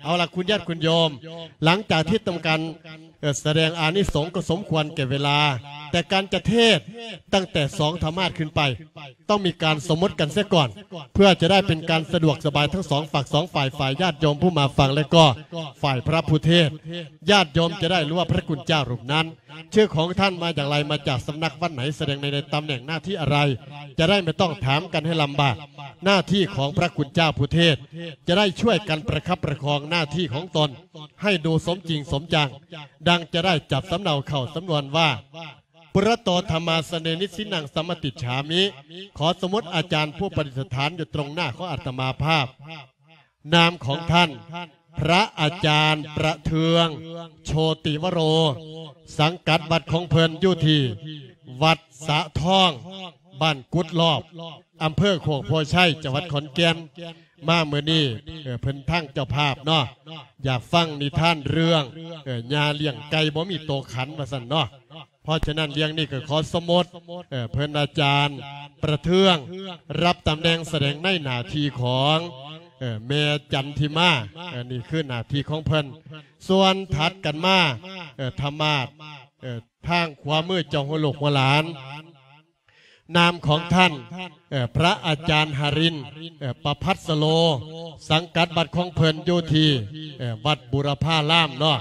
เอาละคุณญาติคุณโยม หลังจากที่ทำการ เอ่อ แสดงอานิสงส์ก็สมควรแก่เวลา แต่การจะเทศน์ตั้งแต่สองธรรมาสน์ขึ้นไป ต้องมีการสมมติกันเสียก่อน เพื่อจะได้เป็นการสะดวกสบายทั้งสองฝักสองฝ่าย ฝ่ายญาติโยมผู้มาฟัง และก็ฝ่ายพระผู้เทศน์ ญาติโยมจะได้รู้ว่าพระคุณเจ้ารูปนั้น ชื่อของท่านมาอย่างไร มาจากสำนักวัดไหน แสดงใน ในตำแหน่งหน้าที่อะไร จะได้ไม่ต้องถามกันให้ลำบาก หน้าที่ของพระคุณเจ้าผู้เทศน์ จะได้ช่วยกันประคับประคองหน้าที่ของตน ให้ดูสมจริงสมจัง ดังจะได้จับสำเนาเข้าสำนวนว่า ปุระโต ธัมมาสเสน นิสสินนัง สัมมติจฉามิ ขอสมมติอาจารย์ผู้ประดิษฐานอยู่ตรงหน้าของอาตมาภาพ นามของท่าน พระอาจารย์ประเทือง โชติวโร สังกัดวัดของเพิ่นอยู่ที่วัดสะทอง บ้านกุดลอบ อำเภอโคกโพธิ์ชัย จังหวัดขอนแก่น มามื้อนี้ เอ่อ เพิ่นทางเจ้าภาพเนาะ อยากฟังนิทานเรื่อง เอ่อ ย่าเลี้ยงไก่บ่มีโตขัน ว่าซั่นเนาะ เพราะฉะนั้นเรื่องนี้ก็ขอสมมติ เอ่อ เพิ่นอาจารย์ประเทือง รับตำแหน่งแสดงในหน้าที่ของ เอ่อ แม่จันทิมา เอ่อ นี่คือหน้าที่ของเพิ่น ส่วนถัดกันมา เอ่อ ธรรมาสน์ เอ่อ ทางขวามือเจ้าหัวลูกหัวหลาน นามของท่าน เอ่อ พระอาจารย์หรินทร์ เอ่อ ประภัสโร สังกัดวัดของเพิ่นอยู่ที่ เอ่อ วัดบูรพารามเนาะ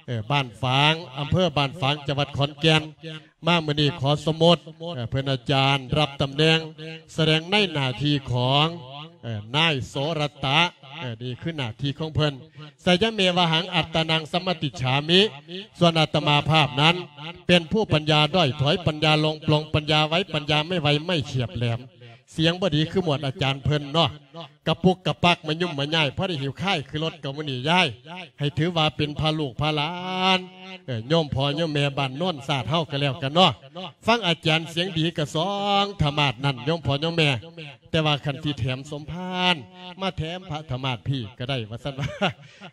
เอ่อ บ้านฝาง อำเภอบ้านฝาง จังหวัดขอนแก่น มามื้อนี้ขอสมมติ เอ่อ เพิ่นอาจารย์รับตำแหน่งแสดงในหน้าที่ของ เอ่อ นายโสรตะ เอ่อ นี่คือหน้าที่ของเพิ่น สยเมวหัง อัตตานัง สัมมติจฉามิ ส่วนอาตมาภาพนั้น เป็นผู้ปัญญาด้อย ถอยปัญญาลง ปลงปัญญาไว้ ปัญญาไม่ไว ไม่เฉียบแหลม เสียงบ่ดีคือหมวดอาจารย์เพิ่นเนาะ กะปุกกะปัก มะยุ่มมะย่าย พอได้หิวข้ายคือรถกับมื้อนี้ย้าย ให้ถือว่าเป็นพาลูกพาหลาน เอ่อ โยมพ่อโยมแม่บ้านโนนสาดเฮาก็แล้วกันเนาะ ฟังอาจารย์เสียงดีกะสองธรรมาสน์นั่น โยมพ่อโยมแม่ แต่ว่าคันสิแถมสมภาร มาแถมพระธรรมาสน์พี้ก็ได้ ว่าซั่นว่า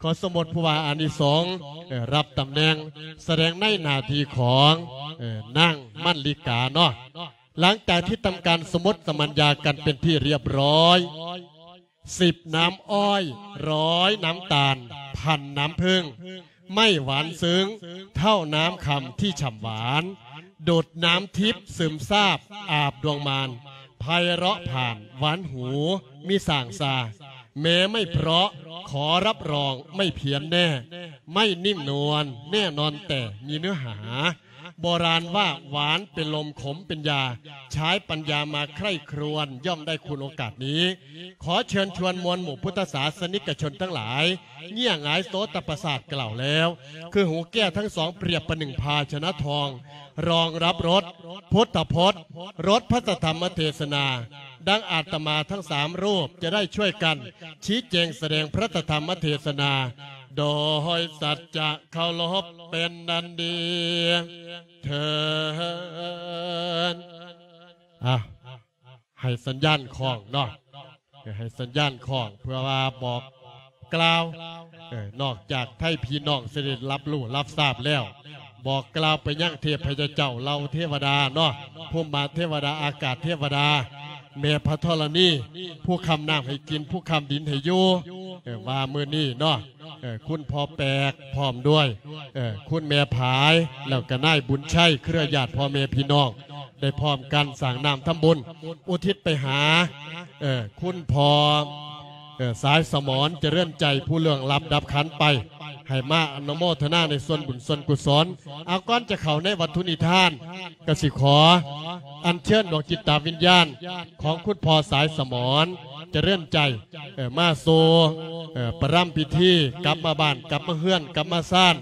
ขอสมมติผู้ว่าอานิสงส์ เอ่อ รับตำแหน่งแสดงในหน้าที่ของ เอ่อ นางมันลิกาเนาะ หลังจากที่ทำการสมมติสมัญญากันเป็นที่เรียบร้อย สิบน้ำอ้อย ร้อยน้ำตาล พันน้ำผึ้ง ไม่หวานซึ้งเท่าน้ำคำที่ฉ่ำหวาน ดุจน้ำทิพย์ซึมซาบอาบดวงมาร ไพเราะผ่านหวานหู มิส่างซา แม้ไม่เพราะขอรับรองไม่เพี้ยนแน่ ไม่นิ่มนวลแน่นอนแต่มีเนื้อหา โบราณว่าหวานเป็นลมขมเป็นยา ใช้ปัญญามาใคร่ครวญย่อมได้คุณโอกาสนี้ ขอเชิญชวนมวลหมู่พุทธศาสนิกชนทั้งหลาย เงี่ยหงายโสตประสาทกล่าวแล้ว คือหูแก้วทั้งสองเปรียบประหนึ่งภาชนะทอง รองรับรสพุทธพจน์ รสพระธรรมเทศนา ดังอาตมาทั้งสามรูปจะได้ช่วยกัน ชี้แจงแสดงพระธรรมเทศนา โดยสัจจะเคารพเป็นอันดีเทอญ อ่ะ ให้สัญญาณคล้องเนาะ ให้สัญญาณคล้อง เพื่อว่าบอกกล่าว เอ่อ นอกจากไทยพี่น้องสิได้รับรู้รับทราบแล้ว บอกกล่าวไปยังเทพเจ้าเหล่าเทวดาเนาะ ภูมิมาเทวดา อากาศเทวดา แม่พระธรณี ผู้ค้ำน้ำให้กิน ผู้ค้ำดินให้อยู่ เอ่อ ว่ามื้อนี้เนาะ เอ่อ คุณพ่อแปกพร้อมด้วย เอ่อ คุณแม่ผาย แล้วก็นายบุญชัย เครือญาติพ่อแม่พี่น้อง ได้พร้อมกันสร้างน้ำทำบุญ อุทิศไปหา เอ่อ คุณพ่อ เอ่อ สายสมร เจริญใจ ผู้ล่วงลับดับขันไป ให้มาอนุโมทนาในส่วนบุญส่วนกุศล เอา ก่อนจะเข้าในวัตถุนิทาน ก็สิขออัญเชิญดวงจิตวิญญาณของคุณพ่อสายสมร เจริญใจ เอ่อ มาสู่ เอ่อ ประรำพิธี กลับมาบ้าน กลับมาเฮือน กลับมาซาน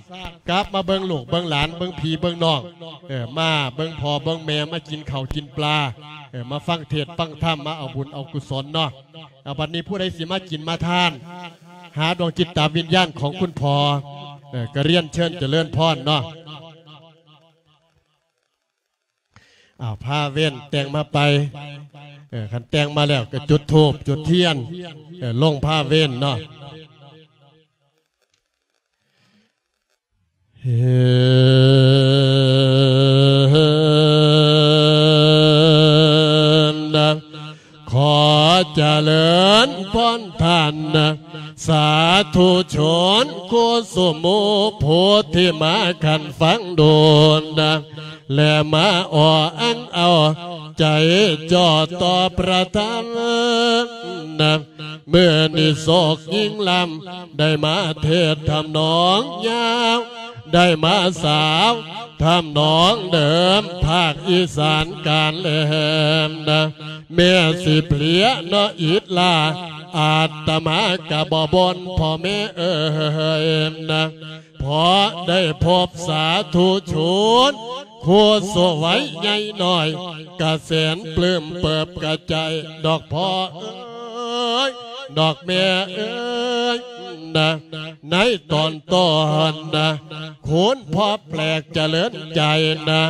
กลับมาเบิ่งลูกเบิ่งหลาน เบิ่งพี่เบิ่งน้อง เอ่อ มาเบิ่งพ่อเบิ่งแม่ มากินข้าวกินปลา เอ่อ มาฟังเทศน์ฟังธรรม มาเอาบุญเอากุศลเนาะ เอา บัดนี้ผู้ใดสิมากินมาทาน หาดวงจิตวิญญาณของคุณพ่อ เอ่อ ก็เรียนเชิญเจริญพรเนาะ อ้าว พาเว้นแต่งมาไป เออ คันแต่งมาแล้วก็จุดธูปจุดเทียน เออ ลงพาเว้นเนาะ เฮน ขอเจริญพรท่าน สาธุช ອນຄູສະໝູຜູ້ທີ່ມາຂັນຟັງດົນນະ ແລະມາອໍອ້າງເອົາໃຈຈ່ອຕໍ່ພະທຳນະ. ມື້ນີ້ໂສກຍິ່ງລ້ຳ ໄດ້ມາເທດທຳນອງຍາວ ໄດ້ມາສາວທຳນອງເດີມ ພາກອີສານການແຫຼມນະ. ແມ່ຊິເພຍເນາະອິດລາ ອາດຕະມາກະບໍ່ບົ່ນພໍ່ແມ່ເອີຍນະ. ພໍໄດ້ພົບສາທຸຊົນ ຄູສວຍໃຫຍ່ນ້ອຍ ກະແສນປຶ້ມເປີບກະໃຈດອກພໍ່ເອີຍ ດອກແມ່ເອີຍນະ. ໃນຕອນຕົ້ນນະ ຄຸນພໍ່ແປກຈະເລີນໃຈນະ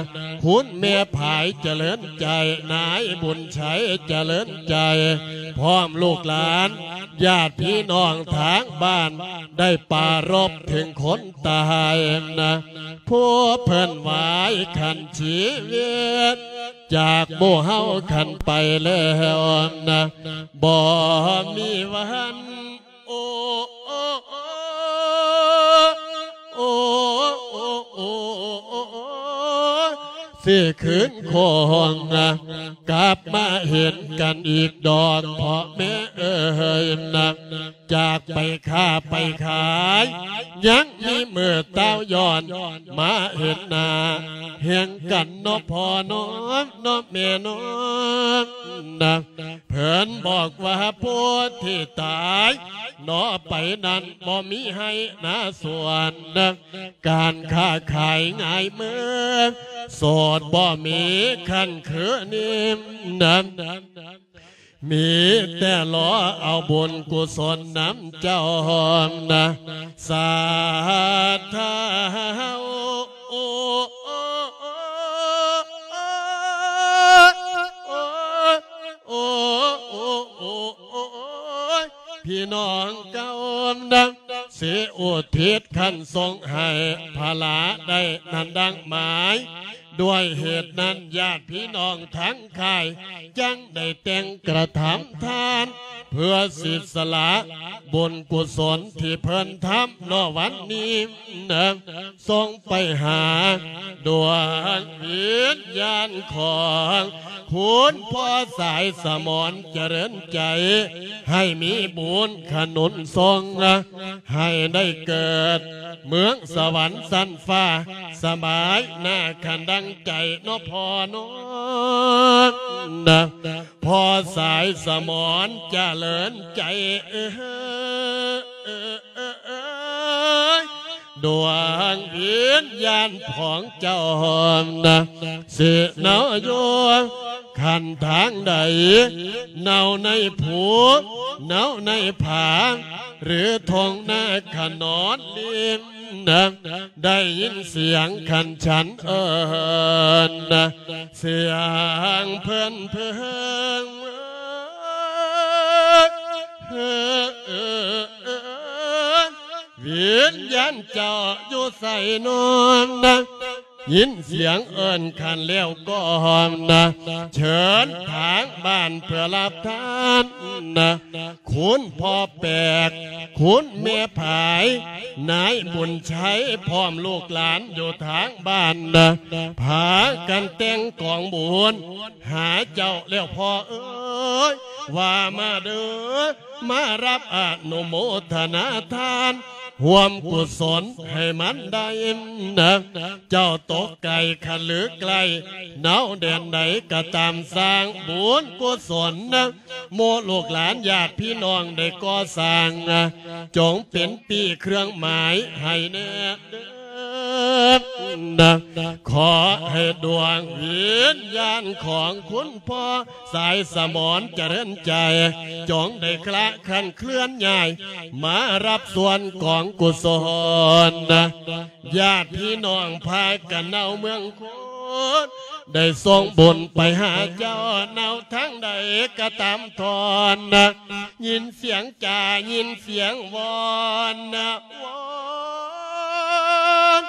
ຄຸນແມ່ຜາຍຈະເລີນໃຈ ນາຍບຸນໄຊຈະເລີນໃຈ ພ້ອມລູກຫຼານ ຍາດພີ່ນ້ອງທາງບ້ານ ໄດ້ປາລົບເຖິງຄົນຕາຍນະ ຜູ້ເພິ່ນຫວາຍຂັນຊີວິດ ຈາກໝູ່ເຮົາຂັນໄປແລ້ວນະ ບໍ່ມີວັນ ໂອ ໂອ ໂອ ຊິຄືນຄົງກັບມາເຫັນກັນອີກດອກ ພໍ່ແມ່ເອີຍນະ. ຈາກໄປຄ້າໄປຂາຍ ຍັງມີມື້ຕ້າວຍ້ອນມາເຫັນໜ້າແຫ່ງກັນເນາະພໍ່ເນາະ ເນາະແມ່ເນາະນະ. ເພິ່ນບອກວ່າຜູ້ທີ່ຕາຍເນາະໄປນັ້ນ ບໍ່ມີໄຮ່ນາສວນນະ ການຄ້າຂາຍງ່າຍເມີ ໂສດບໍ່ມີຄັນຄືນີ້ນະ. ມີແຕ່ລໍເອົາບຸນກຸສົນນຳເຈົ້ານະ ສາທາ ໂອ ໂອ ໂອ ພີ່ນ້ອງເກົ່ານະ ຊິອຸທິດຂັນສົງໃຫ້ພະລາໄດ້ນັ້ນດັ່ງໝາຍ ດ້ວຍເຫດນັ້ນ ຍາດພີ່ນ້ອງທັງຄ້າຍ ຈັ່ງໄດ້ແຕ່ງກະທຳທານ ເພື່ອສິດສະຫຼະບຸນກຸສົນທີ່ເພິ່ນທຳເນາະ ວັນນີ້ນະ ສົ່ງໄປຫາດວງວິນຍານຂອງຄຸນພໍ່ສາຍສະໝອນຈະເລີນໃຈ ໃຫ້ມີບຸນຂະໜູນສົ່ງ ໃຫ້ໄດ້ເກີດເມືອງສະຫວັນຊັ້ນຟ້າ ສະບາຍໜ້າຂັນດັ່ງໃຈເນາະພໍ່ເນາະນະ ພໍ່ສາຍສະໝອນຈະເລີນໃຈເອີຍ. ດວງວິນຍານຂອງເຈົ້ານະ ຊິເນົາຢູ່ ຄັນທາງໃດ ເນົາໃນພູ ເນົາໃນຜາ ຫຼືທົ່ງນາຂະໜອນລິງນະ ໄດ້ຍິນສຽງຂັນສັນເອີ້ນນະ ສຽງເພິ່ນເພິ່ງ ວິນຍານເຈົ້າຢູ່ໃສນອນນະ ຍິນສຽງເອີ້ນຂັນແລ້ວກໍນະ ເຊີນທາງບ້ານເພື່ອຮັບທານນະ ຄຸນພໍ່ແປກ ຄຸນແມ່ຜາຍ ນາຍບຸນໄຊ ພ້ອມລູກຫຼານຢູ່ທາງບ້ານນະ ພາກັນແຕ່ງກອງບຸນຫາເຈົ້າແລ້ວພໍ່ເອີຍ ວ່າມາເດີ ມາຮັບອະນຸໂມທະນາທານ ຮ່ວມກຸສົນໃຫ້ມັນໄດ້ນະ ເຈົ້າຕົກໄກຄັນຫຼືໃກ້ ເນົາແດນໃດກໍຕາມ ສ້າງບຸນກຸສົນນະ ໝູ່ລູກຫຼານຍາດພີ່ນ້ອງໄດ້ກໍ່ສ້າງນະ ຈົ່ງເປັນປີ້ເຄື່ອງໝາຍໃຫ້ແນ່ເດີນະ ຂໍໃຫ້ດວງວິນຍານຂອງຄຸນພໍ່ ສາຍສະໝອນຈະເລີນໃຈ ຈົ່ງໄດ້ຄລະຄັນເຄື່ອນຍ້າຍ ມາຮັບສ່ວນກອງກຸສົນນະ ຍາດພີ່ນ້ອງພາກັນເນົາເມືອງໂຄນ ໄດ້ສົ່ງບຸນໄປຫາເຈົ້າ ເນົາທາງໃດກໍຕາມທ່ອນນະ ຍິນສຽງຈາ ຍິນສຽງວອນນະ ວອນ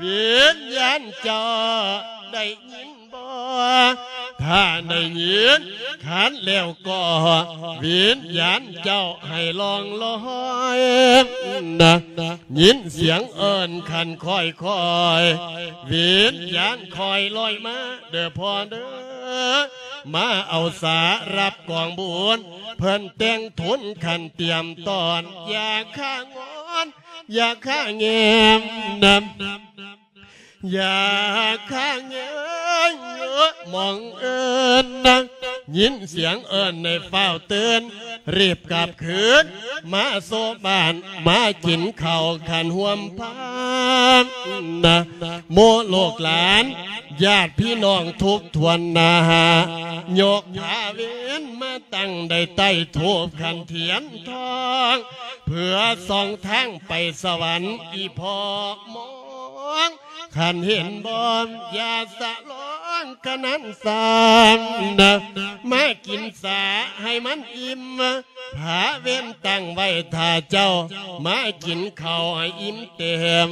ວິນຍານເຈົ້າໄດ້ຍິນ ບໍ່ ຖ້າໄດ້ຍິນ ຄັນແລ້ວກໍວິນຍານເຈົ້າໃຫ້ລ່ອງລອຍນະ ຍິນສຽງເອີ້ນຄັນຄ່ອຍໆ ວິນຍານຄ່ອຍລອຍມາເດີພໍ່ເດີ ມາເອົາສາຮັບກອງບຸນ ເພິ່ນແຕ່ງທຸນຄັນຕຽມຕ້ອນ ຢ່າຂ້າງອນ ຢ່າຂ້າແງມນະ ຢ່າຂ້າແງມມອງເອີ້ນນະ ຍິນສຽງເອີ້ນໃຫ້ຟ້າວຕື່ນ ຣີບກັບຄືນມາໂຊບ້ານ ມາກິນເຂົ້າຄັນຮ່ວມພານນະ ໝູ່ລູກຫຼານ ຍາດພີ່ນ້ອງທຸກຖ້ວນໜ້າ ຍົກຜ້າເວັນມາຕັ້ງໄດ້ໃຕ້ທູບຄັນທຽນທອງ ເພື່ອສ່ອງທາງໄປສະຫວັນ ອີ່ພໍ່ມອງ ຄັນເຫັນບ່ອນ ຢ່າສະຫຼອງກະນັ້ນຊ້ຳນະ ມາກິນສາໃຫ້ມັນອີ່ມ ຜ້າເວັນຕັ້ງໄວ້ຖ້າເຈົ້າ ມາກິນເຂົ້າໃຫ້ອີ່ມເຕັມ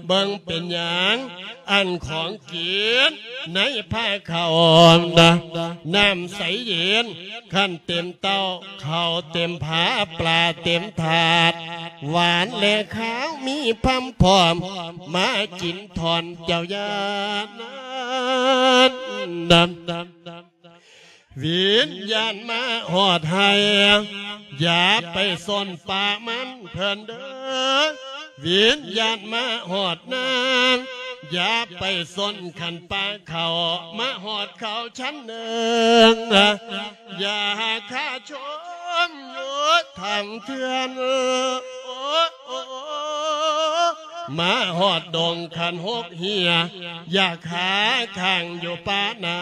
ເບິ່ງເປັນຫຍັງ ອັນຂອງກິນໃນພາເຂົ້ານະ ນ້ຳໃສເຢັນ ຄັນເຕັມເຕົ້າ ເຂົ້າເຕັມຜາ ປາເຕັມຖາດ ຫວານແລະຄາວມີພຳພ້ອມ ມາກິນທ່ອນເຈົ້າຢ່ານານນະ ວິນຍານມາຮອດໄຮ່ ຢ່າໄປສົນປ່າມັນເພິ່ນເດີ ວິນຍານມາຮອດນາ ຢ່າໄປສົນຄັນປ່າເຂົ້າ ມາຮອດເຂົ້າຊັ້ນໜຶ່ງ ຢ່າຂ້າຊົມຢູ່ທາງເທື່ອນ ມາຮອດດົງຄັນຫົກເຫຍ ຢ່າຂ້າຄ້າງຢູ່ປ່າໜາ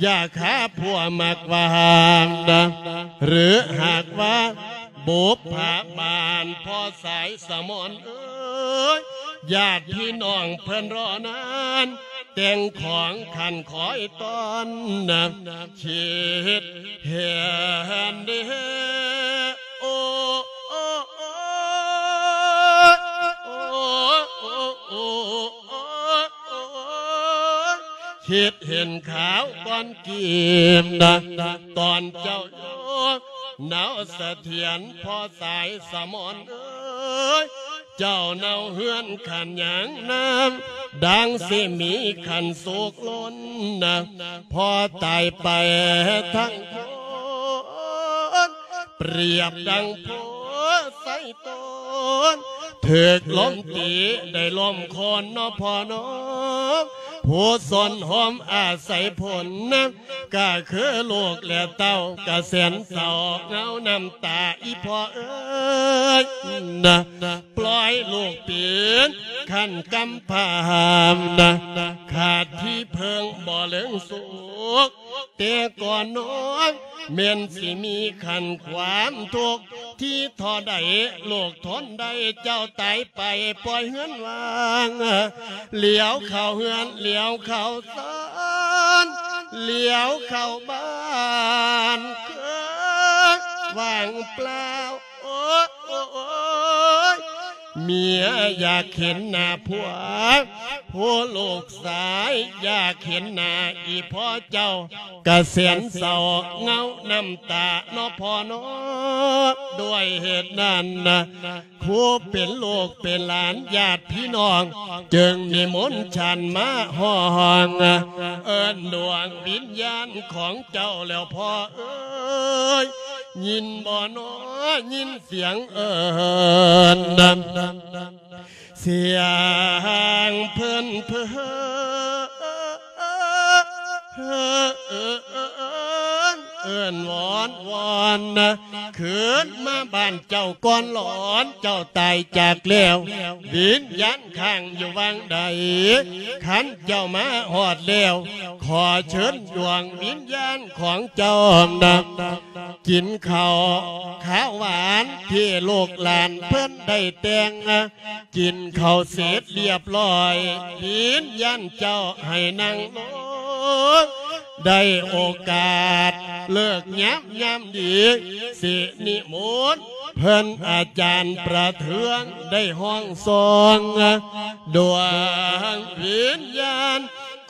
ຢ່າຂ້າຜົວມັກວ່າຫ້າມນະ ຫຼືຫາກວ່າບຸບພາບານພໍ່ສາຍສະໝອນເອີຍ ຍາດພີ່ນ້ອງເພິ່ນລໍນານ ແຕ່ງຂອງຄັນຄອຍຕ້ອນນະ ຄິດເຫັນເດ ໂອ ໂອ ໂອ ໂອ ໂອ ໂອ ຄິດເຫັນຂ່າວກ່ອນກີມນະ ຕອນເຈົ້າຢູ່ເນົາສະຖຽນ ພໍ່ສາຍສະໝອນເອີຍ ເຈົ້າເນົາເຮືອນຂັນຫຍັງນຳ ດັ່ງຊິມີຂັນສຸກລົ້ນນະ ພໍ່ຕາຍໄປທັງຄົນ ປຽບດັ່ງໂພໄຊຕົ້ນ ຖືກລົມຕີໄດ້ລົ້ມໂຄ່ນເນາະພໍ່ເນາະ ຜູ້ຊົນໂຮມອາໄສຜົນນະ ກະຄືລູກແລະເຕົ້າກະແສນເສົ້າ ເຫງົານ້ຳຕາອີ່ພໍ່ເອີຍນະ ປ່ອຍລູກປີນຂັ້ນກຳພານະ ຂາດທີ່ເພິ່ງບໍ່ເລິງສຸກ ແຕ່ກ່ອນນ້ອຍແມ່ນຊິມີຂັ້ນຄວາມທຸກ ທີ່ທໍ່ໃດລູກທົນໄດ້ ເຈົ້າຕາຍໄປປ່ອຍເຮືອນວ່າງ ຫຼຽວເຂົ້າເຮືອນ ຫຼຽວເຂົ້າຊານ ຫຼຽວເຂົ້າບ້ານ ຄືວ່າງເປົ່າ ໂອ້ ໂອ້ ໂອ້ຍ ເມຍຢາກເຫັນໜ້າຜົວ ຜູ້ລູກຊາຍຢາກເຫັນໜ້າອີ່ພໍ່ເຈົ້າ ກະແສນເສົ້າເຫງົານ້ຳຕາເນາະພໍ່ເນາະ ດ້ວຍເຫດນັ້ນນະ ຜູ້ເປັນລູກເປັນຫຼານຍາດພີ່ນ້ອງ ຈຶ່ງນິມົນສັນມາຮ້ອງ ເອີ້ນດວງວິນຍານຂອງເຈົ້າແລ້ວພໍ່ເອີຍ ຍິນບໍ່ນໍ ຍິນສຽງເອີ້ນ ສຽງເພິ່ນເພີນ ເອີ້ນວອນວອນນະ ຄືນມາບ້ານເຈົ້າກ່ອນຫຼອນ ເຈົ້າຕາຍຈາກແລ້ວ ວິນຍານຄ້າງຢູ່ຫວ່າງໃດ ຄັນເຈົ້າມາຮອດແລ້ວ ຂໍເຊີນດວງວິນຍານຂອງເຈົ້ານະ ກິນເຂົ້າຂາວຫວານທີ່ລູກຫຼານເພິ່ນໄດ້ແຕ່ງ ກິນເຂົ້າເສັດລຽບລ້ອຍ ວິນຍານເຈົ້າໃຫ້ນັ່ງລົງ ໄດ້ໂອກາດເລີກຍາມ ຍາມດີ ຊິນິມົນເພິ່ນອາຈານປະເທືອງ ໄດ້ຮ້ອງຊອງ ດວງວິນຍານ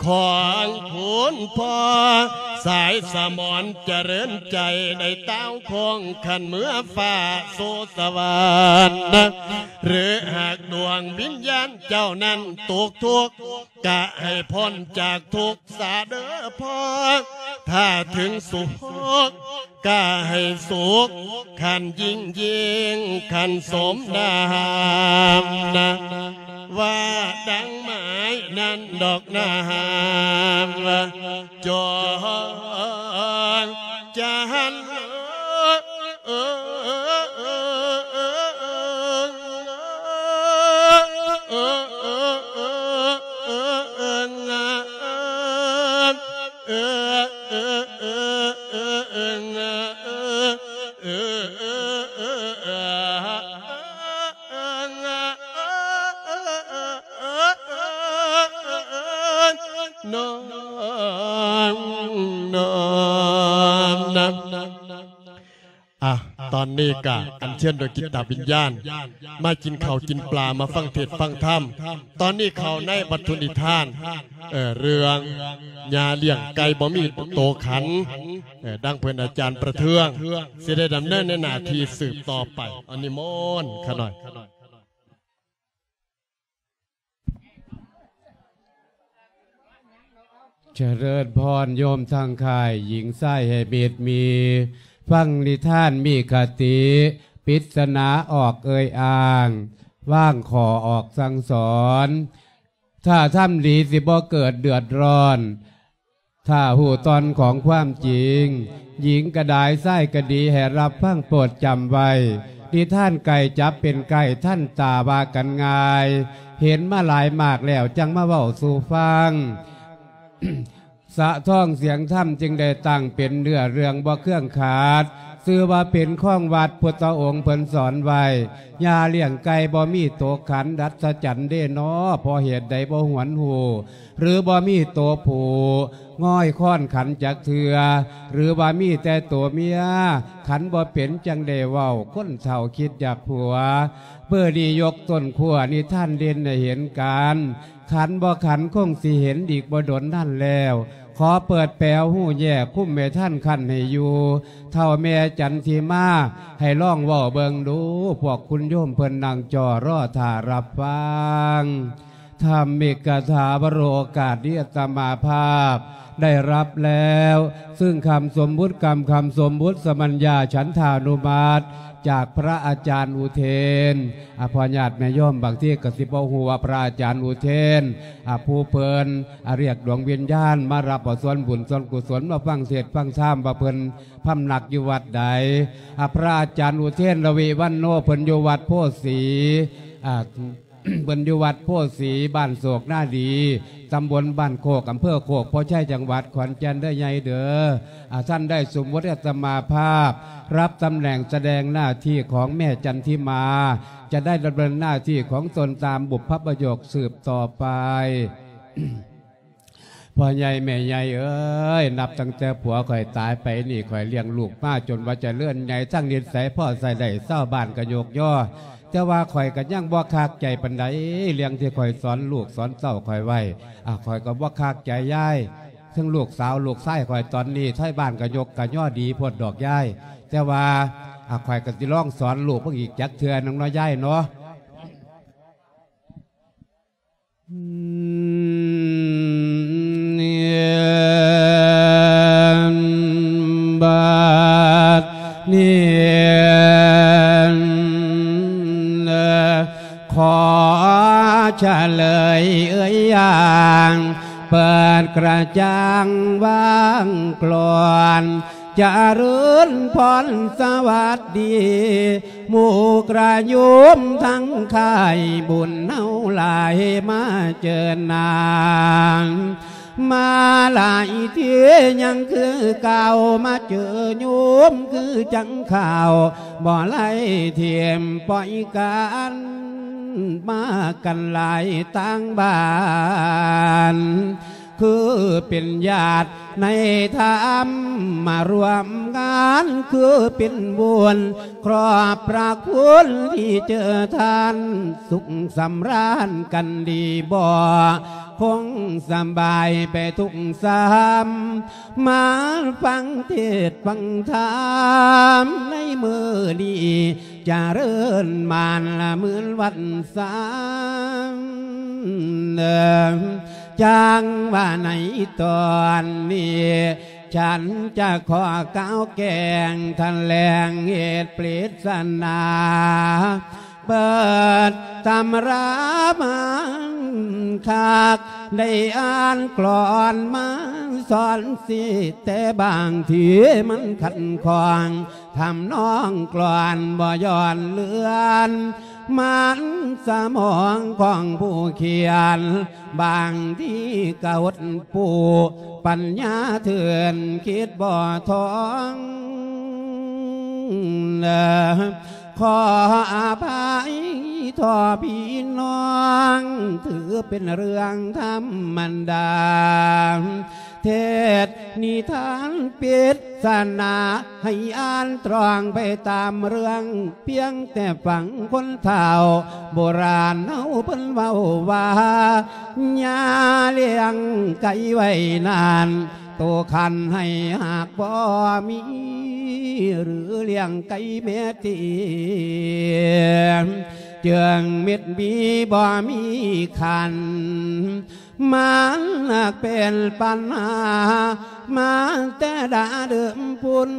ຂອງຄຸນພໍ່ສາຍສະໝອນຈະເລີນໃຈ ໄດ້ຕ່າວຄອງຂັນເມືອຟ້າສູ່ສະຫວັນ ຫຼືຫາກດວງວິນຍານເຈົ້ານັ້ນຕົກທຸກ ກະໃຫ້ພົ້ນຈາກທຸກສາເດີພໍ່ ຖ້າເຖິງສຸກ ກະໃຫ້ສຸກ ຄັນຍິ່ງໆ ຄັນສົມນາມນະ ວ່າດັ່ງໝາຍນັ້ນດອກນາມ ຈອງຈະຫັນ ນ້ອມນຳ. ອ່ະ ຕອນນີ້ກະອັນເຊີນດວງຈິດຕະວິນຍານ ມາກິນເຂົ້າກິນປາ ມາຟັງເທດຟັງທຳ. ຕອນນີ້ເຂົ້າໃນວັດຖຸນິທານ ເອີ ເລື່ອງຍາລ້ຽງໄກ່ບໍ່ມີໂຕຂັນ ເອີ ດັ່ງເພິ່ນອາຈານປະເທືອງ ຊິໄດ້ດຳເນີນໃນໜ້າທີ່ສືບຕໍ່ໄປ. ອາ ນິມົນຂ້ານ້ອຍ. ຈະເລີນພອນໂຍມທັງຄ້າຍ ຍິງຊາຍໃຫ້ມິດມີ ຟັງນິທານມີຄະຕິ ປິດສະໜາອອກເອີ່ຍອ້າງ ວາງຂໍ້ອອກສັ່ງສອນ ຖ້າທຳດີຊິບໍ່ເກີດເດືອດຮ້ອນ ຖ້າຮູ້ຕອນຂອງຄວາມຈິງ ຍິງກະດາຍ ຊາຍກະດີ ໃຫ້ຮັບຟັງໂປດຈຳໄວ້ ນິທານໄກ່ຈັບເປັນໄກ່ ທັນຕາວ່າກັນງ່າຍ ເຫັນມາຫຼາຍມາກແລ້ວ ຈັ່ງມາເວົ້າສູ່ຟັງ. ສະທ້ອງສຽງທຳຈຶ່ງໄດ້ຕັ້ງເປັນເນື້ອເລື່ອງບໍ່ເຄືອງຂາດ ຊື່ວ່າເປັນຄອງວັດພຸດທະອົງເພິ່ນສອນໄວ້ ຢ່າລ້ຽງໄກ່ບໍ່ມີໂຕຂັນ ອັດສະຈັນເດນໍ ເພາະເຫດໃດບໍ່ຫວນຮູ້ ຫຼືບໍ່ມີໂຕຜູ້ງອຍຄອນຂັນຈັກເທື່ອ ຫຼືວ່າມີແຕ່ໂຕເມຍຂັນບໍ່ເປັນ ຈັ່ງໄດ້ເວົ້າ ຄົນເຖົ້າຄິດຢາກຜົວ. ເບີນີ້ຍົກຕົ້ນຂົ້ວນິທານເດັ່ນໃຫ້ເຫັນກັນ ຂັນບໍ່ຂັນຄົງຊິເຫັນອີກບໍ່ດົນນັ້ນແລ້ວ ຂໍເປີດແປວຮູ້ແຍກຄຸມແມ່ທັນຄັນໃຫ້ຢູ່ ເຖົ້າແມ່ຈັນທິມາ ໃຫ້ລອງເວົ້າເບິ່ງດູ ພວກຄຸນໂຍມເພິ່ນນັ່ງຈໍ້ລໍຖ້າຮັບຟັງ. ທຳມິກກະຖາວະໂລກາດນີ້ອາດຕະມາພາບໄດ້ຮັບແລ້ວ ຊຶ່ງຄຳສົມມຸດ ກຳ ຄຳສົມມຸດສະມັນຍາ ສັນທານຸມັດ ຈາກພະອາຈານອຸເທນ ອາ ພໍ່ຍາດແມ່ໂຍມບາງທີກໍຊິບໍ່ຮູ້ວ່າພະອາຈານອຸເທນ ອາ ຜູ້ເພິ່ນ ອາ ຮຽກດວງວິນຍານມາຮັບເອົາສ່ວນບຸນສ່ວນກຸສົນ ມາຟັງເທດຟັງທຳວ່າເພິ່ນພຳນັກຢູ່ວັດໃດ. ອາ ພະອາຈານອຸເທນ ລະວິວັນໂນ ເພິ່ນຢູ່ວັດໂພສີ ອາ ເພິ່ນຢູ່ວັດໂພສີ ບ້ານໂສກນາດີ ຕຳບົນບ້ານໂຄກ ອຳເພີໂຄກໂພໄຊ ຈັງຫວັດຂອນແກ່ນເດີໃຫຍ່ເດີ. ອາ ທ່ານໄດ້ສົມມຸດອາດຕະມາພາບ ຮັບຕຳແໜ່ງສະແດງໜ້າທີ່ຂອງແມ່ຈັນທິມາ ຈະໄດ້ດຳເນີນໜ້າທີ່ຂອງຕົນຕາມບຸບພະປະໂຫຍກສືບຕໍ່ໄປ. ພໍ່ໃຫຍ່ແມ່ໃຫຍ່ເອີຍ ນັບຕັ້ງແຕ່ຜົວຂ້ອຍຕາຍໄປນີ້ ຂ້ອຍລ້ຽງລູກມາຈົນວ່າຈະເລີນໃຫຍ່ ທັງນິດໄສພໍໃຊ້ໄດ້ ຊາວບ້ານກໍຍົກຍໍ ແຕ່ວ່າຂ້ອຍກໍຍັງບໍ່ຄັກໃຈປານໃດ ເລື່ອງທີ່ຂ້ອຍສອນລູກສອນເຕົ້າຂ້ອຍໄວ້ ອາ ຂ້ອຍກໍບໍ່ຄັກໃຈຍາຍ ເຖິງລູກສາວລູກຊາຍຂ້ອຍຕອນນີ້ ໄທບ້ານກໍຍົກກໍຍໍດີໂພດດອກຍາຍ ແຕ່ວ່າ ອາ ຂ້ອຍກໍຊິລອງສອນລູກເບິ່ງອີກຈັກເທື່ອໜຶ່ງເນາະຍາຍເນາະ. ບາດນີ້ ຂໍສະເຫຼີຍເອີຍຢ່າງ ເປີດກະຈ່າງວາງກລອນ ຈະເລີນພອນສະຫວັດດີ ໝູ່ກະໂຍມທັງຄ້າຍ ບຸນເຮົາຫຼາຍມາເຈີນາງ ມາຫຼາຍເທື່ອຍັງຄືເກົ່າ ມາເຈີໂຍມຄືຈັ່ງຄາວ ບໍ່ໄລ່ຖິ້ມປ່ອຍກັນ ມາກັນຫຼາຍຕ່າງບ້ານ ຄືເປັນຍາດ ໃນທຳມາຮ່ວມງານຄືເປັນບຸນ ຂອບພະຄຸນທີ່ເຈີທ່ານ ສຸກສຳຣານກັນດີບໍ່? ຄົງສະບາຍໄປທຸກສາມ ມາຟັງເທດຟັງທຳໃນມື້ນີ້ ຈະເລີນມານລະໝື່ນວັນສາມ ຈັ່ງວ່າໃນຕອນນີ້ ສັນຈະຂໍກ່າວແກງຖະແຫຼງເຫດປຣິດສະໜາ ເປີດຕຳລາມັນຄັກ ໄດ້ອ່ານກລອນມາສອນສິ ແຕ່ບາງທີມັນຂັດຂ້ອງ ທຳນອງກລອນບໍ່ຍ້ອນເລື່ອນ ມັນສະໝອງຂອງຜູ້ຂຽນ ບາງທີກະຫົດປູ່ ປັນຍາເຖື່ອນຄິດບໍ່ທ່ອງ. ຂໍອະໄພຕໍ່ພີ່ນ້ອງ ຖືເປັນເລື່ອງທຳມະດາ ເທດນິທານປິດສະໜາ ໃຫ້ອ່ານຕຣອງໄປຕາມເລື່ອງ ພຽງແຕ່ຟັງຄົນເຖົ້າໂບລານເຮົາເພິ່ນເວົ້າວ່າ ຢ່າລ້ຽງໄກ່ໄວ້ນານ ໂຕຄັນໃຫ້ຫາກບໍ່ມີ ຫຼືລ້ຽງໄກ່ແມ່ຕີ ເຈື່ອງເມັດມີບໍ່ມີຂັນ ມັນເປັນປັນຫາມາແຕ່ດາເດີມພຸ້ນ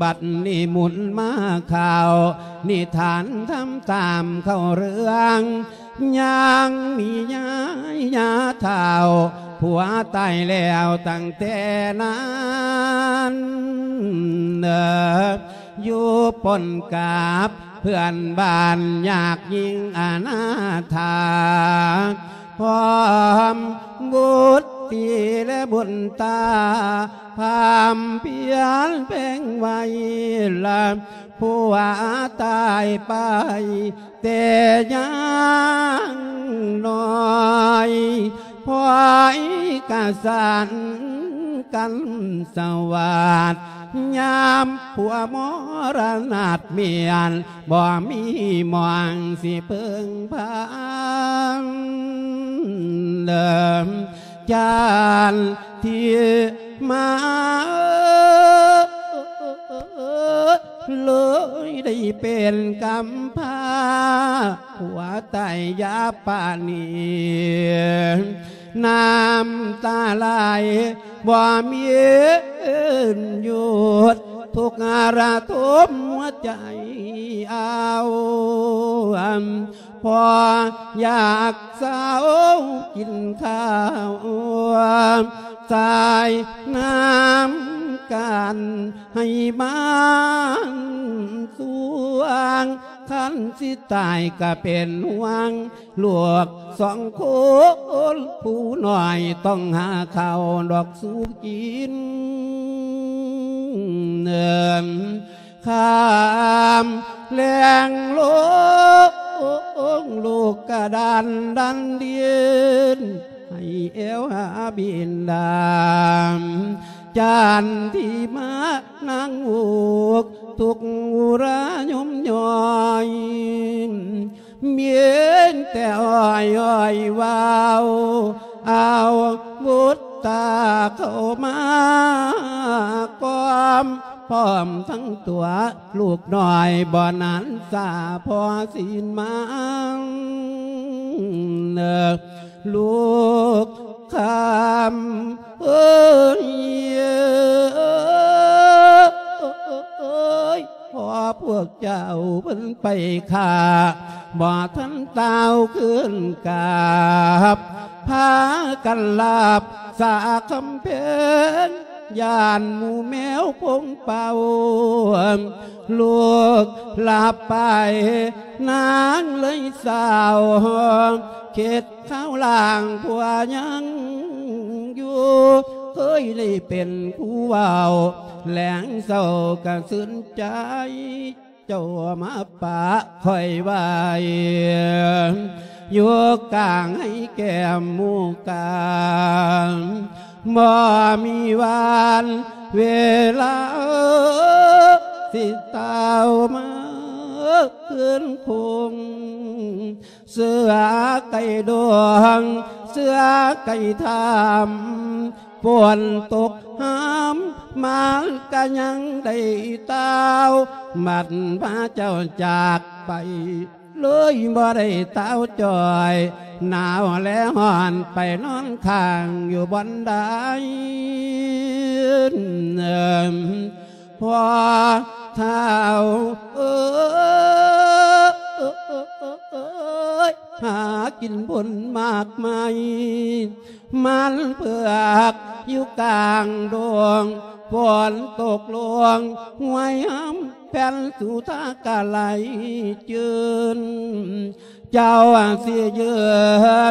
ບັດນີ້ໝຸນມາເຂົ້ານິທານທຳຕາມເຂົ້າເລື່ອງ ຍັງມີຍາຍາເຖົ້າ ຜົວຕາຍແລ້ວຕັ້ງແຕ່ນັ້ນ ຢູ່ປົນກັບ ເພື່ອນບ້ານຍາກຍິ່ງອະນາຖາ ພ້ອມບຸດຕີແລະບຸດຕາ ພາມພຽນເພງໄວ້ລະ ຜົວຕາຍໄປແຕ່ຍັງນ້ອຍ ພອຍກະສັນກັນສະຫວັດ ຍາມຜົວມໍລະນາດມຽນ ບໍ່ມີໝ່ອງຊິເພິ່ງພາ ເດີມຈານທີ່ມາ ເລີຍໄດ້ເປັນກຳພ້າ ຜົວຕາຍຢາປານນີ້ ນ້ຳຕາໄຫຼບໍ່ມີຢຸດ ທຸກລະທົມຫົວໃຈເອົາ ພໍຢາກເຊົາກິນເຂົ້າ ສາຍນ້ຳກັນໃຫ້ມັນສວງ ຄັນຊິຕາຍກະເປັນຫ່ວງ ລູກສອງຄົນຜູ້ນ້ອຍ ຕ້ອງຫາເຂົ້າດອກສູ່ກິນ ຂ້າມແລງລົງ ລູກກະດັນດັນດິນ ໃຫ້ແອວຫາບິນດາ ຈັນທີ່ມານັ່ງອຸກ ທຸກອຸຣາຍົມຍ່ອຍ ມີແຕ່ອ້ອຍໆເວົ້າ ເອົາບຸດຕາເຂົ້າມາກອມ ພ້ອມທັງຕົວລູກນ້ອຍ ບໍ່ນານສາພໍສິນມາ ລູກຄຳເອີຍ ພໍພວກເຈົ້າເພິ່ນໄປຂ້າ ບໍ່ທັນຕ່າວຄືນກັບ ພາກັນລາບສາຄຳເພັນ ຢ້ານໝູ່ແມວພົງເປົ່າ ລູກລາບໄປ ນາງເລີຍເສົ້າ ຄິດ ເຊົາລ່າງຜົວຍັງຢູ່ ເຄີຍໄດ້ເປັນຜູ້ເວົ້າ ແລງເຊົ້າກະຊື່ນໃຈ ເຈົ້າມາປະຂ້ອຍໄວ້ ຢູ່ກາງໃຫ້ແກ້ມໝູ່ກາງ ບໍ່ມີວັນເວລາ ຊິເຕົ້າມາຄືນຄົງ ເສືອໄກ່ດວງ ເສືອໄກ່ທຳ ຝົນຕົກຫາມ ມັນກະຍັງໄດ້ເຕົ້າ ບັດພາເຈົ້າຈາກໄປ ເລີຍບໍ່ໄດ້ເຕົ້າຈ່ອຍ ໜາວແລະຮ້ອນ ໄປນອນຄ້າງຢູ່ບ່ອນໃດ ພໍ່ທ້າວເອີຍ ຫາກິນບຸນໝາກໄມ້ ມັນເຜືອກຢູ່ກາງດົງ ຝົນຕົກລົງ ຫ້ວຍຫຳແຜ່ນສຸທາກະໄຫຼຈືນ ເຈົ້າຊິຢື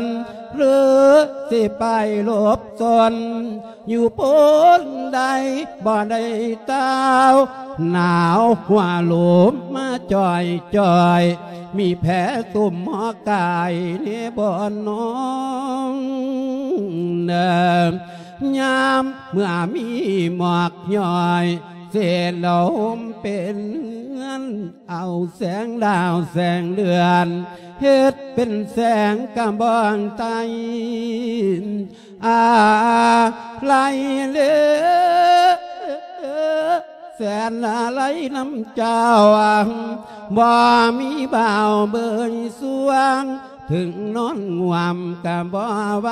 ນ ຫຼື ຊິໄປຫຼົບສົນ ຢູ່ໂພນໃດ ບໍ່ໄດ້ເຕົ້າ ໜາວຫົວໂຫຼມມາຈ່ອຍໆ ມີແຜຕຸ່ມຫົວກາຍແດ່ບໍ່ນ້ອງ ຍາມເມື່ອມີໝອກຍ້ອຍ ເສດລົມເປັນເຮືອນ ເອົາແສງດາວແສງເດືອນ ເຮັດເປັນແສງກະບອງໄຕ ອາໄລເລ ແສນອາໄລນຳເຈົ້າ ບໍ່ມີບ່າວເບີຍສວງ ເຖິງນອນງ່ວມກະບໍ່ໄຫວ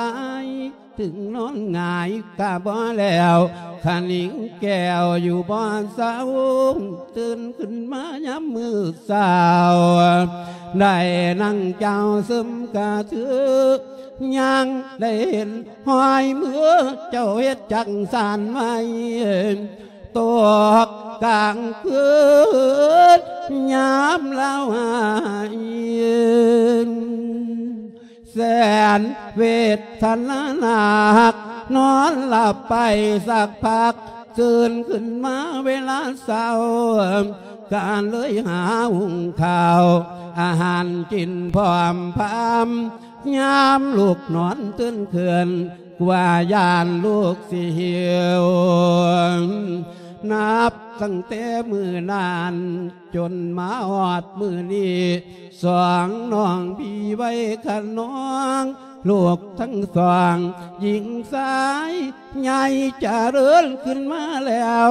ເຖິງນອນຫງາຍກະບໍ່ແລ້ວ ຄະນິງແກ້ວຢູ່ບໍ່ເຊົາ ຕື່ນຂຶ້ນມາຍາມມື້ເຊົ້າ ໄດ້ນັ່ງເຈົ້າຊຶມກະຖື ຍັງໄດ້ເຫັນຮອຍມືເຈົ້າເຮັດຈັກສັນໄວ້ ຕົກກາງຄືນຍາມລາວຫາຍ ແສນເວທະນາໜັກ ນອນຫຼັບໄປສັກພັກ ຕື່ນຂຶ້ນມາເວລາເຊົ້າ ກະເລີຍຫາຫຸງເຂົ້າ ອາຫານກິນພ້ອມພາມ ຍາມລູກນອນຕື່ນຂຶ້ນ ກວ່າຢ້ານລູກຊິຫິວ ນັບຕັ້ງແຕ່ມື້ນັ້ນ ຈົນມາຮອດມື້ນີ້ ສອງນ້ອງພີ່ໄວຂະນອງ ລູກທັງສອງ ຍິງຊາຍ ໃຫຍ່ຈະເລີນຂຶ້ນມາແລ້ວ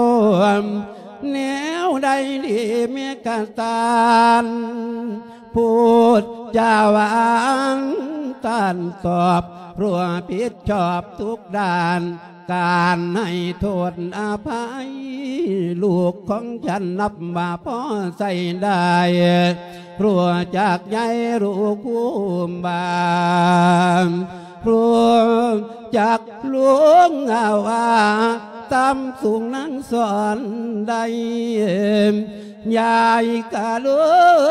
ແນວໃດດີແມ່ກະຕານ ພຸດຈາຫວານຕ້ານຕອບ ຮູ້ຜິດຊອບທຸກດ້ານ ການໃຫ້ໂທດອະໄພ ລູກຂອງສັນນັບວ່າພໍໃຊ້ໄດ້ ຮູ້ຈັກໃຫຍ່ຮູ້ຄຸ້ມບາ ຮູ້ຈັກຫຼວງອາວາ ຕາມສູງນາງສອນໄດ້ ຍາຍກະເລີ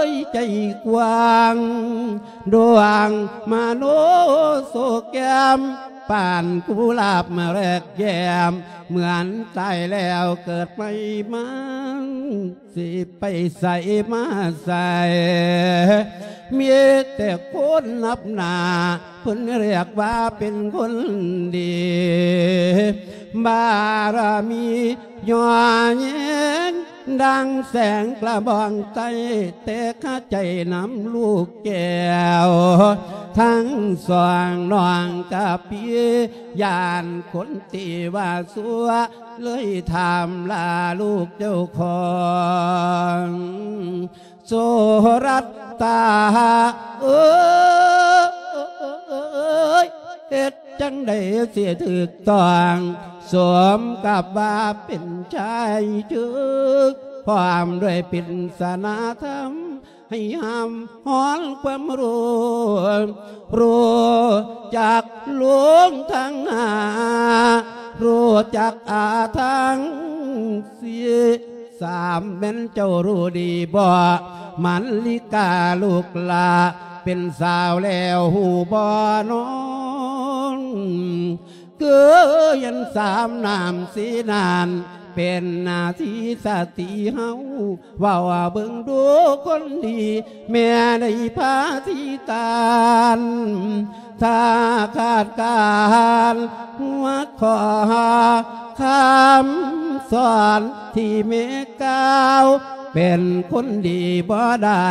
ຍໃຈກວ້າງ ດວງມະໂນໂສແກ້ມ ປານກຸຫຼາບແລກແກ້ມ ເໝືອນຕາຍແລ້ວເກີດໃໝ່ມາ ຊິໄປໃສມາໃສ ມີແຕ່ຄົນນັບໜ້າ ເພິ່ນຮຽກວ່າເປັນຄົນດີ ບາລະມີ ຍໍແຍງດັ່ງແສງກະບອງໄຕ້ ແຕ່ຄາໃຈນຳລູກແກ້ວ ທັງສອງນ້ອງກະປີ ຢ້ານຄົນຕິວ່າຊົ່ວ ເລີຍຖາມລາລູກເຈົ້າຂອງ ໂສລັດຕາເອີຍ ເຮັດຈັ່ງໃດຊິຖືກຕ້ອງ ສົມກັບວ່າເປັນຊາຍເທີກ ພ້ອມດ້ວຍປິດສະນາທຳ ໃຫ້ຫ້າມຮ້ອນຄວາມໂລບ ຮູ້ຈັກຫຼວງທັງຫ້າ ຮູ້ຈັກອາທັງສີ່ ສາມແມ່ນເຈົ້າຮູ້ດີບໍ່ ມະລິກາລູກຫຼ້າ ເປັນສາວແລ້ວຮູ້ບໍ່ນ້ອງ ຄືເຫັນສາມນ້ຳສີນັ້ນ ເປັນໜ້າທີ່ສະຕິເຮົາ ເວົ້າເບິ່ງດູຄົນດີ ແມ່ໄດ້ພາທີ່ຕານ ຖ້າຂາດການຫົວຂໍ້ຄຳສອນທີ່ແມ່ກ່າວ ເປັນຄົນດີບໍ່ໄດ້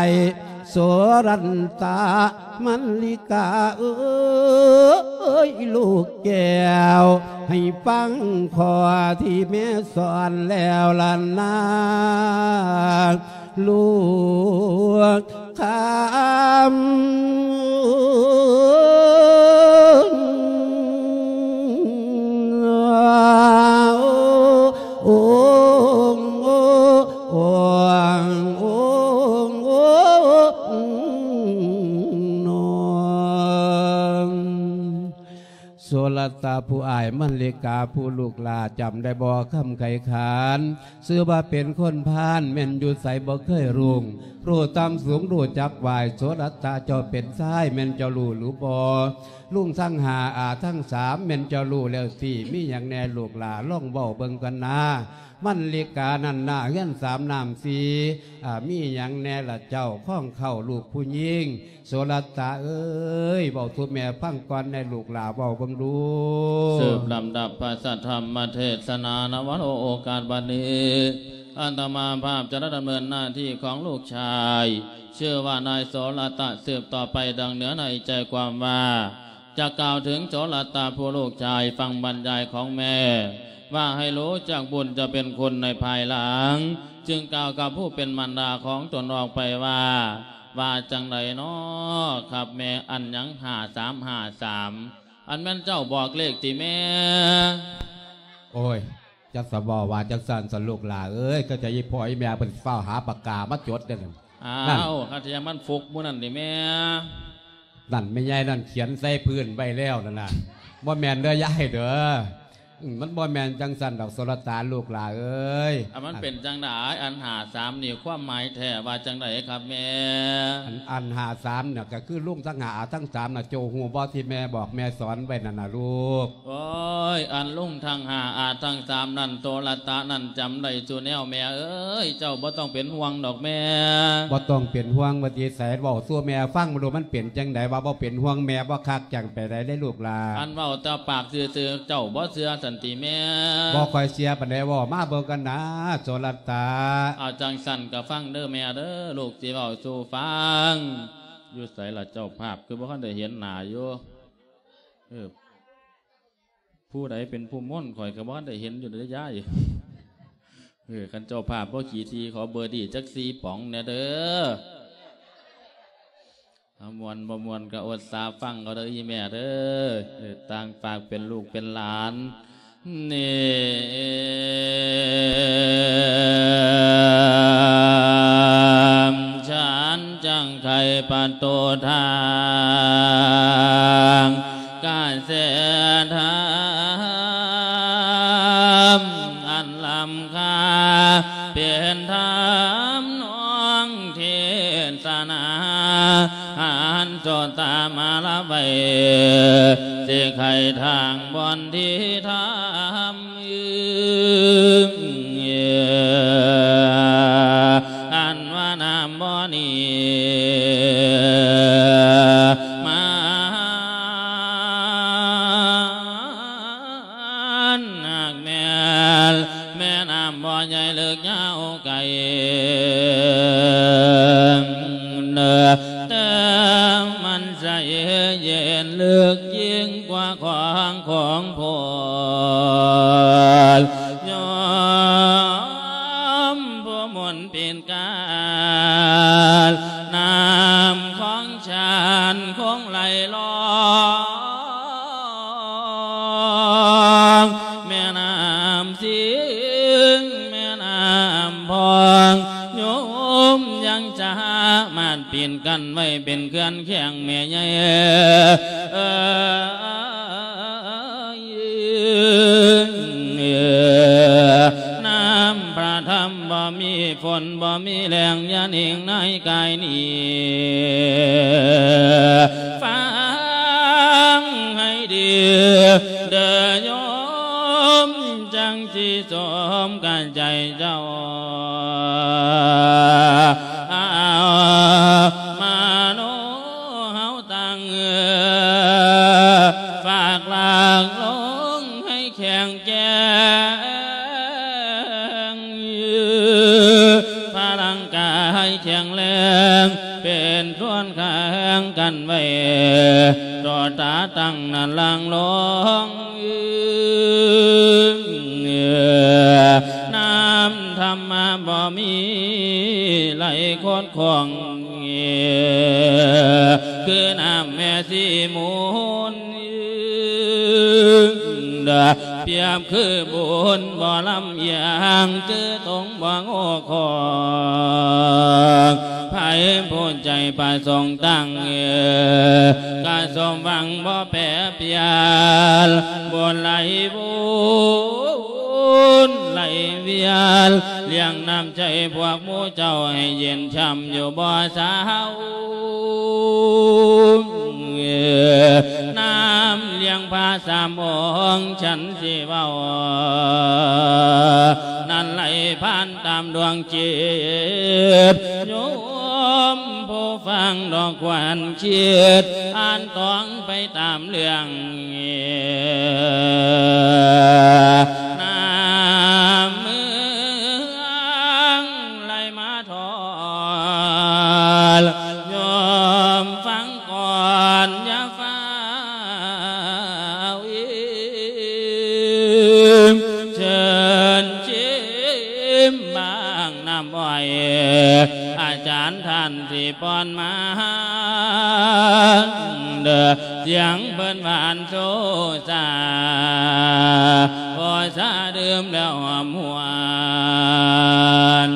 ໂສລັນຕະ ມັນລິກາເອີຍ ລູກແກ້ວ ໃຫ້ຟັງຂໍ້ທີ່ແມ່ສອນແລ້ວລະນາ ລູກຄຳ. ໂສລະຕະຜູ້ອ້າຍ ມັນລິກາຜູ້ລູກຫຼ້າ ຈຳໄດ້ບໍ່ຄຳໄຂຂານ? ຊື່ວ່າເປັນຄົນພານ ແມ່ນຢູ່ໃສບໍ່ເຄີຍລຸງ ຮູ້ຕ່ຳສູງຮູ້ຈັກຫວາຍ ໂສລະຕະເຈົ້າເປັນຊາຍ ແມ່ນເຈົ້າຮູ້ຫຼືບໍ່? ລຸງທັງຫ້າ ອາທັງສາມ ແມ່ນເຈົ້າຮູ້ແລ້ວຕິ ມີຫຍັງແດ່ລູກຫຼ້າ ລອງເວົ້າເບິ່ງກ່ອນນາ. ມັນລິການັ້ນນາ ເຮືອນສາມນ້ຳສີ່ ອາ ມີຫຍັງແດ່ລະເຈົ້າ ຄອງເຄົ້າລູກຜູ້ຍິງ ໂສລະຕະເອີຍ ເວົ້າສູ່ແມ່ຟັງກ່ອນແດ່ລູກຫຼ້າ ເວົ້າເບິ່ງດູ. ສືບລຳດັບພະສັດທຳມະເທສະນານະ ວັນໂອ ໂອກາດບັດນີ້ ອາດຕະມາພາບຈະໄດ້ດຳເນີນໜ້າທີ່ຂອງລູກຊາຍ ຊື່ວ່ານາຍໂສລະຕະ ສືບຕໍ່ໄປດັ່ງເນື້ອໃນໃຈຄວາມວ່າ ຈະກ່າວເຖິງໂສລະຕະຜູ້ລູກຊາຍ ຟັງບັນຍາຍຂອງແມ່ ວ່າໃຫ້ຮູ້ຈັກບຸນຈະເປັນຄຸນໃນພາຍຫຼັງ ຈຶ່ງກ່າວກັບຜູ້ເປັນມານດາຂອງຕົນອອກໄປວ່າ ວ່າຈັ່ງໃດນໍຄັບແມ່? ອັນຫຍັງຫ້າສາມຫ້າສາມ ອັນແມ່ນເຈົ້າບອກເລກຕິແມ່? ໂອ້ຍ ຈັກສະເວົ້າວ່າຈັ່ງຊັ້ນສະລູກຫຼ້າເອີຍ ກໍຈະອີ່ພໍ່ອີ່ແມ່ເພິ່ນຟ້າວຫາປາກກາມາຈົດເດ້. ອ້າວ ຄັນຊິຍັງມັນຟຸກໝູ່ນັ້ນຕິແມ່? ນັ້ນແມ່ໃຫຍ່ນັ້ນຂຽນໃສ່ພື້ນໄວ້ແລ້ວນັ້ນນະ ບໍ່ແມ່ນເດີຍາຍເດີ. ອືມ ມັນບໍ່ແມ່ນຈັ່ງຊັ້ນດອກ ໂສລະຕະ ລູກຫຼ້າເອີຍ. ອັນມັນເປັນຈັ່ງໃດ? ອັນຫ້າສາມນີ້ຄວາມໝາຍແທ້ວ່າຈັ່ງໃດຄັບແມ່? ອັນ ອັນຫ້າສາມນະ ກໍຄືລຸງທັງຫ້າ ອາທັງສາມນະ ເຈົ້າຮູ້ບໍ່ທີ່ແມ່ບອກແມ່ສອນໄວ້ນັ້ນນະລູກ? ໂອ້ຍ ອັນລຸງທັງຫ້າ ອາທັງສາມນັ້ນ ໂສລະຕະນັ້ນຈຳໄດ້ສູ່ແນວແມ່ເອີຍ ເຈົ້າບໍ່ຕ້ອງເປັນຫ່ວງດອກແມ່. ບໍ່ຕ້ອງເປັນຫ່ວງວ່າຕິ ໃສເວົ້າສູ່ແມ່ຟັງເບິ່ງດູ ມັນເປັນຈັ່ງໃດ ວ່າບໍ່ເປັນຫ່ວງແມ່ ບໍ່ຄັກຈັ່ງ ໄປໄດ້ເດ້ລູກຫຼ້າ. ອັນເວົ້າແຕ່ປາກຊື່ໆ ເຈົ້າບໍ່ເຊື່ອຊັ້ນຕິແມ່? ບໍ່ຄ່ອຍເຊື່ອປານໃດ ເວົ້າມາເບິ່ງກັນນາ ໂສລະຕະ. ເອົາຈັ່ງຊັ້ນກໍຟັງເດີແມ່ເດີ ລູກຊິເວົ້າສູ່ຟັງ. ຢູ່ໃສລະເຈົ້າພາບ ຄືບໍ່ທັນໄດ້ເຫັນໜ້າຢູ່? ເອີ ຜູ້ໃດເປັນຜູ້ມົນ ຂ້ອຍກໍບໍ່ທັນໄດ້ເຫັນຢູ່ເດ້ຍາຍ. ເອີ ຄັນເຈົ້າພາບບໍ່ຂີ້ຖີ່ ຂໍເບີດີຈັກສີ່ປ໋ອງແດ່ເດີ. ເອົາ ມ່ວນບໍ່ມ່ວນກໍອົດສາຟັງເອົາເດີອີ່ແມ່ເດີ. ເອີ ຕ່າງຝາກເປັນລູກເປັນຫຼານ ນີ້ ສັນຈັກໄຂປະຕູທາງ ກະແສທຳອັນລ້ຳຄ່າ ເປັນທຳນອງເທສະນາ ຫັນໂສດຕາມາລະໄວ ຊິໄຂທາງບ່ອນທີ່ທຳ ອັນວ່ານ້ຳບໍ່ນີ້ ມານຫາກແມ່ນ ແມ່ນ້ຳບໍ່ໃຫຍ່ເລິກຍາວໄກ ແຕ່ມັນໃສເຢັນເລິກຍິ່ງກວ່າຂອງຂອງໂພນ ຍອມຜູ້ມົນປີນການ ນ້ຳຂອງຊານຄົງໄຫຼລອງ ແມ່ນ້ຳສິງ ແມ່ນ້ຳພອງ ໂຍມຍັງສາມາດ ປີນກັ້ນໄວ້ເປັນເຂື່ອນແຂງແມ່ໃຫຍ່ ນ້ຳພະທຳບໍ່ມີຝົນບໍ່ມີແລ້ງ ຢ່ານິ່ງໃນກາຍນີ້ ຟັງໃຫ້ດີເດີໂຍມ ຈັ່ງຊິສົມກັບໃຈເຈົ້າ ມະໂນເຮົາຕັ້ງ ໂຕຕາຕັ້ງນັ້ນລ່າງລົງ ນ້ຳທຳມະບໍ່ມີໄຫຼຄົດຄົງ ຄືນ້ຳແມ່ສີມູນ ປຽບຄືບຸນບໍ່ລຳອຽງ ຄືຕົງບໍ່ໂງ່ຂອງ ໃຜຜູ້ໃຈປະສົງຕັ້ງ ກະສົມຫວັງບໍ່ແປປ່ຽນ ບຸນໄຫຼວົນໄຫຼວຽນ ລ້ຽງນ້ຳໃຈພວກໝູ່ເຈົ້າໃຫ້ເຢັນຊ່ຳຢູ່ບໍ່ເຊົາ ນ້ຳລ້ຽງພະສາມອົງ ສັນ ຊິເວົ້າ ນັ້ນໄຫຼຜ່ານຕາມດວງຈິດ ໂຍມຜູ້ຟັງດອກຄວັນຄິດ ອ່ານຕອງໄປຕາມເລື່ອງ ນ້ຳເມືອງໄຫຼມາທອດ ໂຍມຟັງກ່ອນ ຢ່າຟ້າ ວອີມ ເຊີນຊິມບາງນ້ຳອ້ອຍ ອາຈານທ່ານຊິປ້ອນມາ ເດີ ສຽງເພິ່ນຫວານໂຊຊາ ພໍຊາດື່ມແລ້ວຫອມຫວນ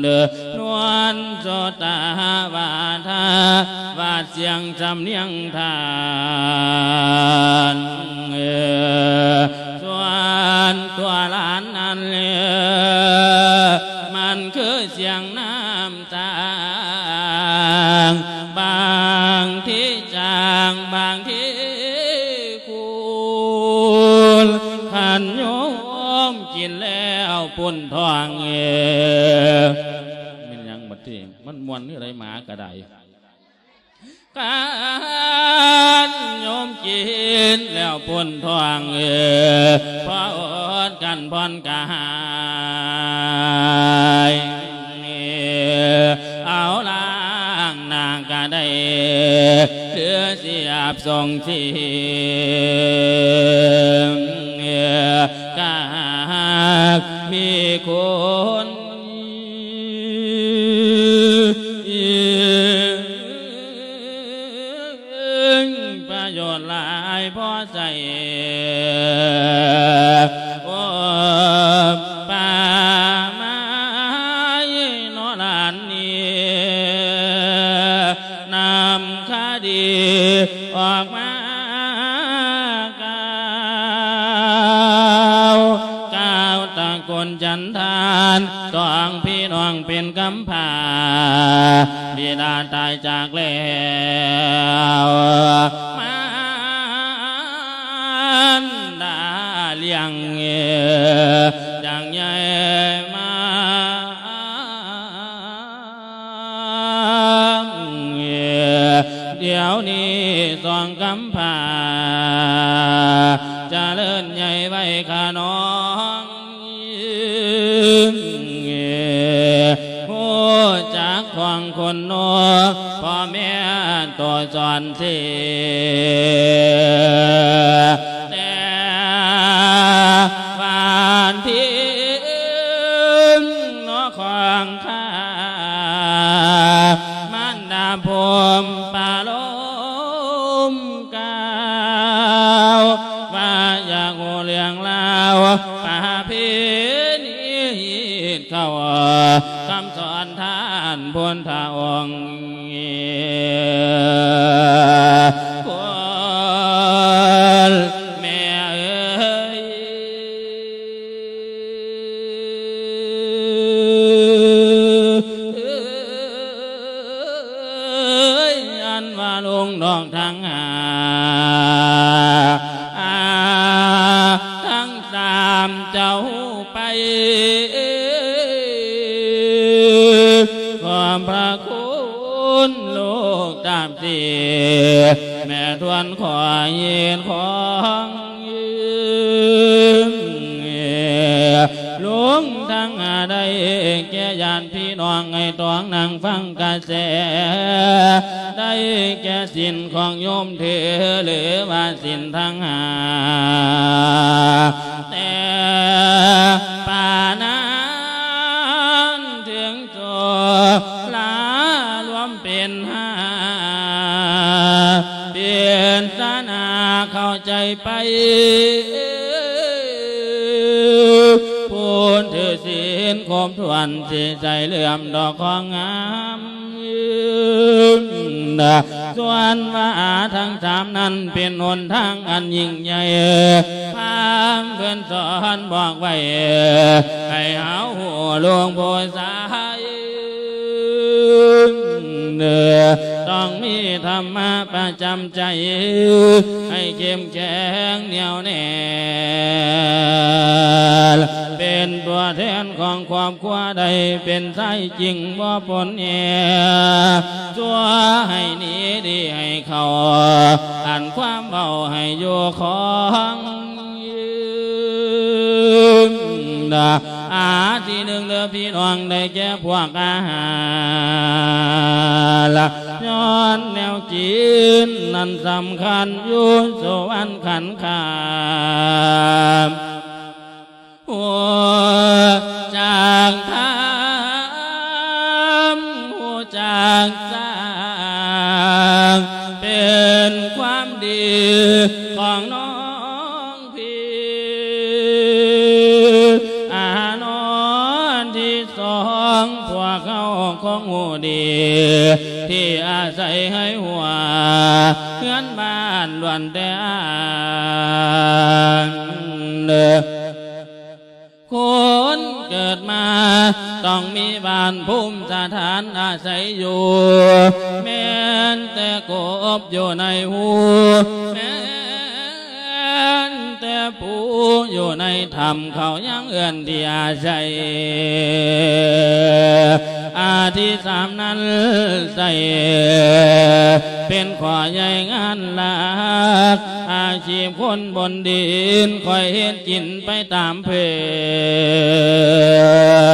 ເດີ ນວນໂສດຕາຫາວາທາ ຫວາດສຽງສຳນຽງທ່ານ ສ່ວນຕົວຫຼານນັ້ນ ມັນຄືສຽງນ້ຳຕາງ ບາງທີຈາງ ບາງທີຂຸ່ນ ຄັນໂຍມກິນແລ້ວປຸ້ນທ້ອງ ແມ່ນຫຍັງບັດນີ້ ມັນມ່ວນຄືໃດ ໝາກະໄດ້ ຄັນໂຍມກິນແລ້ວປຸ້ນທ້ອງ ພໍອົດກັນຜ່ອນກາຍ ເອົາລ້າງໜ້າກະໄດ້ ຫຼືຊິອາບສົງສີ ກະຫາກມີຄຸນ ປະໂຫຍດຫຼາຍພໍໃຊ້ ໂອ ປາໄມ້ເນາະຫຼານນີ້ ນຳຄະດີອອກມາກ່າວ ກ່າວຕະໂກນຈັນທານ ສອງພີ່ນ້ອງເປັນກຳພ້າ ບິດາຕາຍຈາກແລ້ວ ມາ ດາລ້ຽງ ຈາກໃຫຍ່ມາ ດຽວນີ້ສອງກຳພ້າ ຈະເລີນໃຫຍ່ໄວຂະໜອງ ຮູ້ຈັກຂອງຄົນໂນ ພໍ່ແມ່ໂຕສອນເສ ແຕ່ວ່າທີ່ນອຂອງຂ້າ ມານດາພົມປາລົມກ່າວ ວ່າຢາກຮູ້ເລື່ອງລາວປະເພນີ ເຂົ້າຄຳສອນທ່ານພຸດທະອົງ ຄົນແມ່ເອີຍ ອັນວ່າລຸງນ້ອງທັງຫ້າ ທັງສາມເຈົ້າໄປ ຂອບພະຄຸນລູກຕາມທີ່ ແມ່ທວນຂໍເຮັດຂອງ ລຸງທັງຫ້າໄດ້ແກ່ຍາດພີ່ນ້ອງ ໃຫ້ຕ້ອງນັ່ງຟັງກະແສ ໄດ້ແກ່ສິນຂອງໂຍມເທ ຫຼືວ່າສິນທັງຫ້າ ແຕ່ປານານເຖິງໂສລາລວມເປັນຫ້າ ເປັນສະໜາເຂົ້າໃຈໄປ ຜູ້ຖືສິນຄົບຖ້ວນ ຊິໃສ່ເຫຼື້ອມດອກຂອງງາມ ສ່ວນວ່າທັງສາມນັ້ນເປັນຫົນທາງອັນຍິ່ງໃຫຍ່ ພາມເພິ່ນສອນບອກໄວ້ ໃຫ້ເຮົາຮູ້ລວງຜູ້ຊາຍ ຕ້ອງມີທຳມະປະຈຳໃຈ ໃຫ້ເຂັ້ມແຂງແໜ້ວແໜ້ນ ເປັນຕົວແທນຂອງຄອບຄົວ ໄດ້ເປັນຊາຍຈິງບໍ່ປົນແອ ຊົ່ວໃຫ້ໜີດີໃຫ້ເຂົ້າ ອັນຄວາມເວົ້າໃຫ້ຢູ່ຂອງ ອາ ທີໜຶ່ງເດີພີ່ນ້ອງ ໄດ້ແກ່ພວກອາຫານ ຍ້ອນແນວກິນນັ້ນສຳຄັນຢູ່ສຸວັນຂັນຄາ ຮູ້ຈັກທຳ ຮູ້ຈັກສ້າງ ເປັນຄວາມດີຂອງນ້ອງພີ່ ອານອນທີສອງ ພວກເຮົາຄົງຮູ້ດີ ທີ່ອາໄສໃຫ້ຫົວ ເຮືອນບ້ານລ້ວນແຕ່ອ້າງ ເດີ ຄົນເກີດມາຕ້ອງມີບ້ານພູມສະຖານອາໄສຢູ່ ແມ່ນແຕ່ກົບຢູ່ໃນຮູ ແມ່ນແຕ່ປູຢູ່ໃນຖ້ຳ ເຂົາຍັງເອີ້ນທີ່ອາໄສ ອາ ທີສາມນັ້ນໃສ່ ເປັນຂໍ້ໃຫຍ່ງານຫຼັກ ອາຊີບຄົນບົນດິນ ຂ້ອຍເຮັດກິນໄປຕາມເພິ່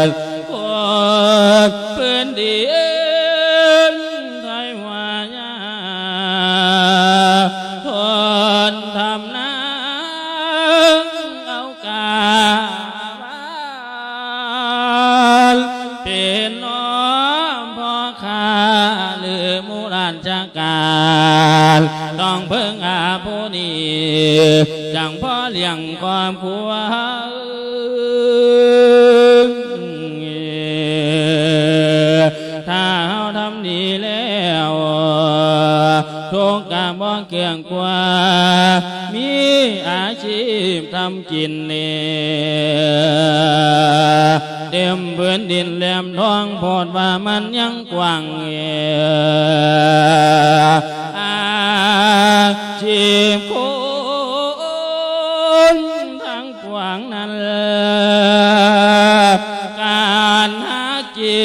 ນ ຄົນພື້ນດິນໄທວ່າຍາ ຄົນທຳນາເອົາກາ ເປັນນ້ອງພໍ່ຄ້າ ຫຼື ໝູ່ລານຈາການ ຕ້ອງເພິ່ງອາຜູ້ນີ້ ຈັ່ງພໍລ້ຽງຄອບຄົວ ຖ້າເຮົາທຳດີແລ້ວ ທຸກກະບໍ່ເກືອງ ກວ່າມີອາຊີບທຳກິນແນ່ ເຕັມພື້ນດິນແຫຼມທອງ ໂພດວ່າມັນຍັງກວ້າງແອ ອາຊີບຄົນທັງປວງນັ້ນ ການຫາກິ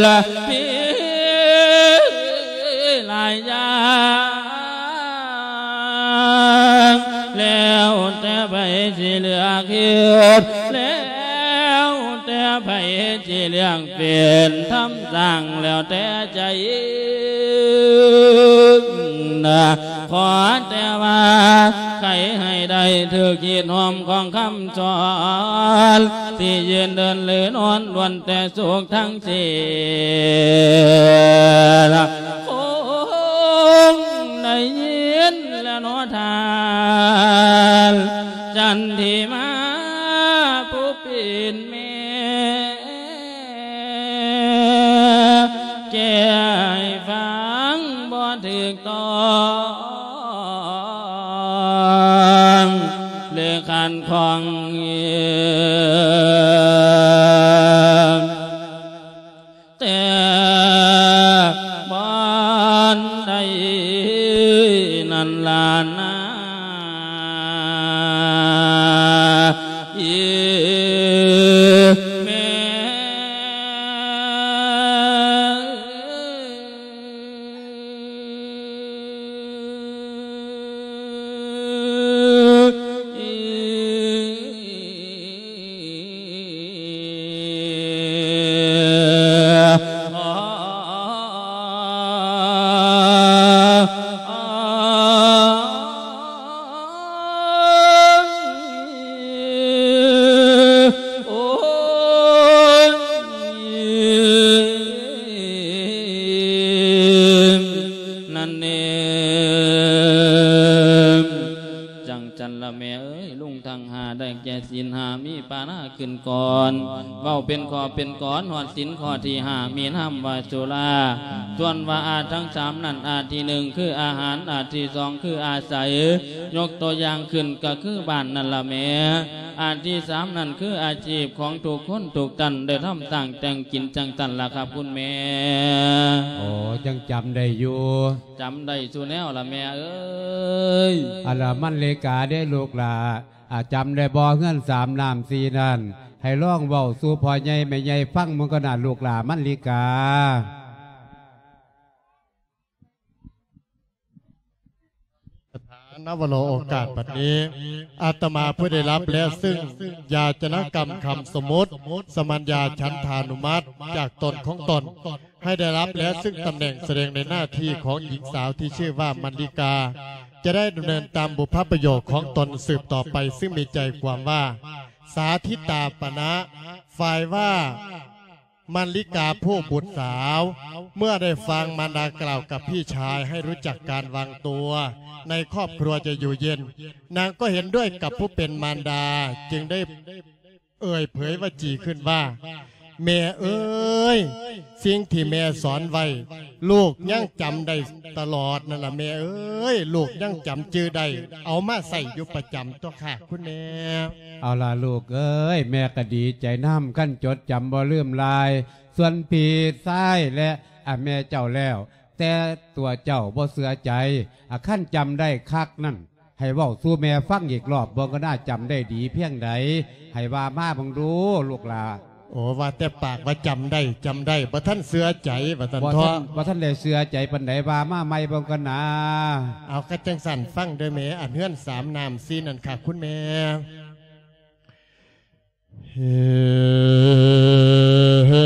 ນມີຫຼາຍຢ່າງ ແລ້ວແຕ່ໃຜຊິເລືອກເຮັດ ແລ້ວແຕ່ໃຜຊິເລືອກເປັນທຳສ້າງ ແລ້ວແຕ່ໃຈນະ ຂໍແຕ່ວ່າໃຜໃຫ້ໄດ້ຖືກຮີດຫົມຂອງຄຳສອນ ທີ່ຢືນເດີນຫຼືນອນ ລ້ວນແຕ່ສຸກທັງ ເສຍລະຄົງໄດ້ຍິນແລ້ວເນາະທ່ານ ຈັນທິມາຜູ້ເປັນແມ່ ແກ້ໃຫ້ຟັງບໍ່ຖືກຕ້ອງ ຫຼືຂັດຂ້ອງ ແຕ່ບ່ອນໃດນັ້ນລະນາ ອີແມ່ ນັ້ນລະແມ່ເອີຍ ລຸງທັງຫ້າໄດ້ແກ່ສິນຫ້າ ມີປານາຂຶ້ນກ່ອນ ເວົ້າເປັນຂໍ້ເປັນກອນ ຮອດສິນຂໍ້ທີຫ້າ ມີນາມວ່າສຸລາ ສ່ວນວ່າອາທັງສາມນັ້ນ ອາທີໜຶ່ງຄືອາຫານ ອາທີສອງຄືອາໄສ ຍົກຕົວຢ່າງຂຶ້ນກໍຄືບ້ານນັ້ນລະແມ່ ອາທີສາມນັ້ນຄືອາຊີບຂອງທຸກຄົນທຸກທ່ານ ໄດ້ທຳສ້າງແຕ່ງກິນຈັ່ງຊັ້ນລະຄັບຄຸນແມ່. ໂອ້ ຍັງຈຳໄດ້ຢູ່ ຈຳໄດ້ສູ່ແນວລະແມ່ເອີຍ. ອັນລະມັນລິກາເດ້ລູກຫຼ້າ ອາ ຈຳໄດ້ບໍ່ ເຮືອນສາມນ້ຳສີ່ນັ້ນ ໃຫ້ລອງເວົ້າສູ່ພໍ່ໃຫຍ່ແມ່ໃຫຍ່ຟັງເບິ່ງກ່ອນນະລູກຫຼ້າມັນລິກາ. ສະຖານະວະໂລ ໂອກາດບັດນີ້ ອາດຕະມາຜູ້ໄດ້ຮັບແລະຊຶ່ງຢາຈະນະກຳຄຳສົມມຸດ ສະມັນຍາ ສັນທານຸມັດ ຈາກຕົນຂອງຕົນ ໃຫ້ໄດ້ຮັບແລະຊຶ່ງຕຳແໜ່ງສະແດງໃນໜ້າທີ່ຂອງຍິງສາວທີ່ຊື່ວ່າມັນລິກາ ຈະໄດ້ດຳເນີນຕາມບຸບພະປະໂຫຍກຂອງຕົນສືບຕໍ່ໄປ ຊຶ່ງມີໃຈຄວາມວ່າ ສາທິຕາປະນະ ຝ່າຍວ່າ ມັນລິກາຜູ້ບຸດສາວ ເມື່ອໄດ້ຟັງມານດາກ່າວກັບພີ່ຊາຍໃຫ້ຮູ້ຈັກການວາງຕົວໃນຄອບຄົວຈະຢູ່ເຢັນ ນາງກໍເຫັນດ້ວຍກັບຜູ້ເປັນມານດາ ຈຶ່ງໄດ້ເອີ່ຍເຜີຍວາຈີຂຶ້ນວ່າ ແມ່ເອີຍ ສິ່ງທີ່ແມ່ສອນໄວ້ ລູກຍັງຈຳໄດ້ຕະຫຼອດນັ້ນລະແມ່ເອີຍ ລູກຍັງຈຳຈື່ໄດ້ ເອົາມາໃຊ້ຢູ່ປະຈຳຕົວະຄ່ະຄຸນແມ່. ເອົາລະລູກເອີຍ ແມ່ກໍດີໃຈນຳ ຄັນຈົດຈຳບໍ່ລືມລາຍ ສ່ວນພີ່ຊາຍ ແລະ ອາ ແມ່ເຈົ້າແລ້ວ ແຕ່ຕົວເຈົ້າບໍ່ເຊື່ອໃຈ ອາ ຄັນຈຳໄດ້ຄັກນັ້ນ ໃຫ້ເວົ້າສູ່ແມ່ຟັງອີກລອບເບິ່ງກໍໜ້າຈຳໄດ້ດີພຽງໃດ ໃຫ້ວ່າມາເບິ່ງດູລູກຫຼ້າ. ໂອ້ ວ່າແຕ່ປາກວ່າຈຳໄດ້ ຈຳໄດ້ ບໍ່ທັນເຊື່ອໃຈວ່າຊັ້ນເຖາະ ບໍ່ທັນ ບໍ່ທັນໄດ້ເຊື່ອໃຈປານໃດ ວ່າມາໃໝ່ເບິ່ງກ່ອນນາ. ເອົາ ຄັນຈັ່ງຊັ້ນຟັງເດີແມ່ ອັນເຮືອນສາມນ້ຳສີ່ນັ້ນຄ່ະຄຸນແມ່. ເຫັ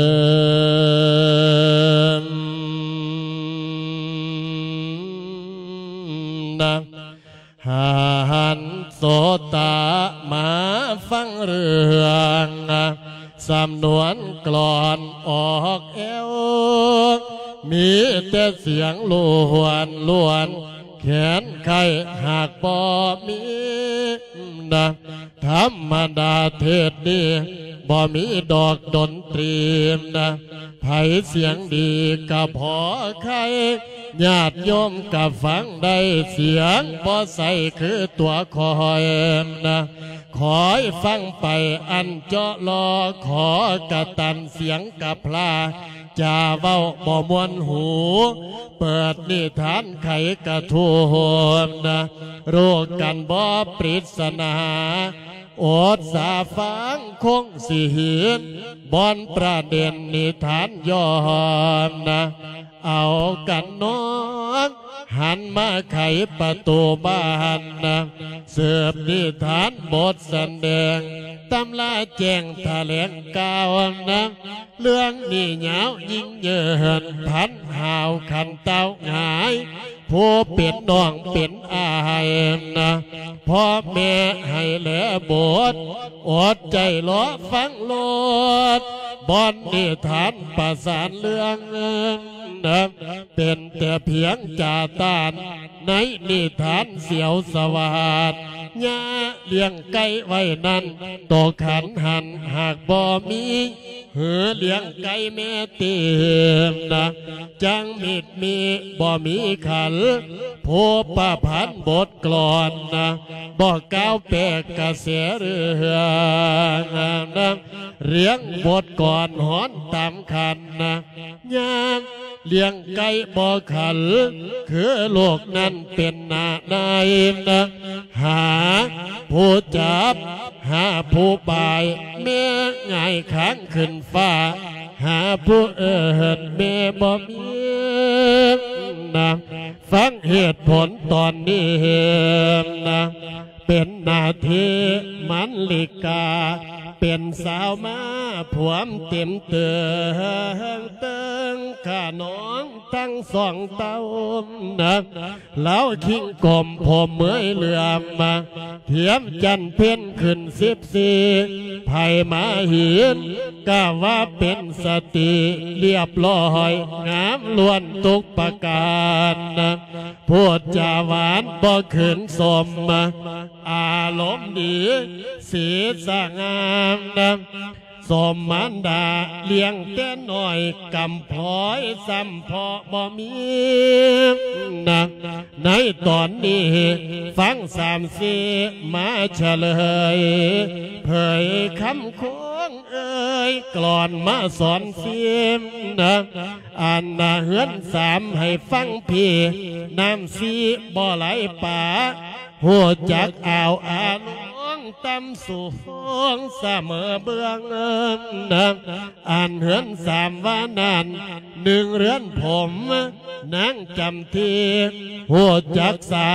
ນນະ ຫັນໂສຕະມາຟັງເລື່ອງ ສຳນວນກລອນອອກແອວ ມີແຕ່ສຽງລ້ວນໆ ແຂນໄຂຫາກບໍ່ມີນະ ທຳມະດາເທດນີ້ບໍ່ມີດອກດົນຕຣີນະ ໃຜສຽງດີກະພໍໄຄ ຍາດໂຍມກະຟັງໄດ້ ສຽງບໍ່ໃສຄືຕົວຂ້ອຍນະ ຄອຍຟັງໄປອັນເຈາະລໍ ຂໍກະຕັນສຽງກັບພລາ ຈາເວົ້າບໍ່ມ່ວນຫູ ເປີດນິທານໄຂກະທູນະ ຮູ້ກັນບໍ່ປຣິດສະໜາ ອົດສາຟັງຄົງຊິເຫັນ ບ່ອນປະເດັນນິທານຍ້ອນນະ ເອົາກັນນ້ອງ ຫັນມາໄຂປະຕູບ້ານນະ ສືບນິທານບົດສະແດງ ຕຳລາແຈ້ງຖະແຫຼງກ່າວນະ ເລື່ອງນີ້ຍາວຍິ່ງເຍີນ ພັນຫາວຂັນເຕົ້າຫງາຍ ຜູ້ເປັນນ້ອງເປັນອ້າຍນະ ພໍ່ແມ່ໃຫ້ແລບົດ ອົດໃຈລໍຟັງໂລດ ບ່ອນນິທານປະສານເລື່ອງນະ ເປັນແຕ່ພຽງຈາຕານ ໃນນິທານສຽວສະຫວາດ ຍ່າລ້ຽງໄກ່ໄວ້ນັ້ນ ໂຕຂັນຫັນຫາກບໍ່ມີ ຫືອລ້ຽງໄກ່ແມ່ຕີມນະ ຈັ່ງມິດມີບໍ່ມີຂັນ ຜູ້ປະພັນບົດກລອນນະ ບໍ່ກ່າວແປກກະແສເລື່ອງນະ ລ້ຽງບົດກອນຮ້ອນຕາມຂັນນະ ຍາມລ້ຽງໄກ່ບໍ່ຂັນ ຄືລູກນັ້ນເປັນໜ້ານາຍນະ ຫາຜູ້ຈັບ ຫາຜູ້ບາຍ ແມ່ຫງາຍຄາງຂຶ້ນຟ້າ ຫາຜູ້ເອີ້ນແມ່ບໍ່ມີນະ ຟັງເຫດຜົນຕອນນີ້ນະ ເປັນໜ້າທີ່ມັນລິກາ ເປັນສາວມາພວມເຕັມເຕີງ ເຕີງຂ້ານ້ອງທັງສອງເຕົ້ານະ ລາວຄິງກົ້ມຜົມເໝືອຍເຫຼືອມ ທຽມຈັນເພັນຂຶ້ນສິບສີ່ ໃຜມາເຫັນກະວ່າເປັນສະຕີລຽບລ້ອຍ ງາມລ້ວນທຸກປະການນະ ພູດຈາຫວານບໍ່ຄືນສົມ ອາລົມດີ ສີສະຫງ່າງາມນະ ສົມມານດາລ້ຽງແຕ່ນ້ອຍ ກຳພ້ອຍຊ້ຳເພາະບໍ່ມີນະ ໃນຕອນນີ້ຟັງສາມສີມາສະເຫຼີຍ ເຜີຍຄຳຄວນເອີຍ ກລອນມາສອນຊີມນະ ອັນນະເຮືອນສາມໃຫ້ຟັງພີ້ ນ້ຳສີບໍ່ໄຫຼປາ ຮູ້ຈັກອ່າວອາລົງຕ່ຳສູງສະເໝີເບື້ອງນະ ອັນເຮືອນສາມວ່ານັ້ນ ໜຶ່ງເຮືອນຜົມນາງຈຳທີ ຮູ້ຈັກສາ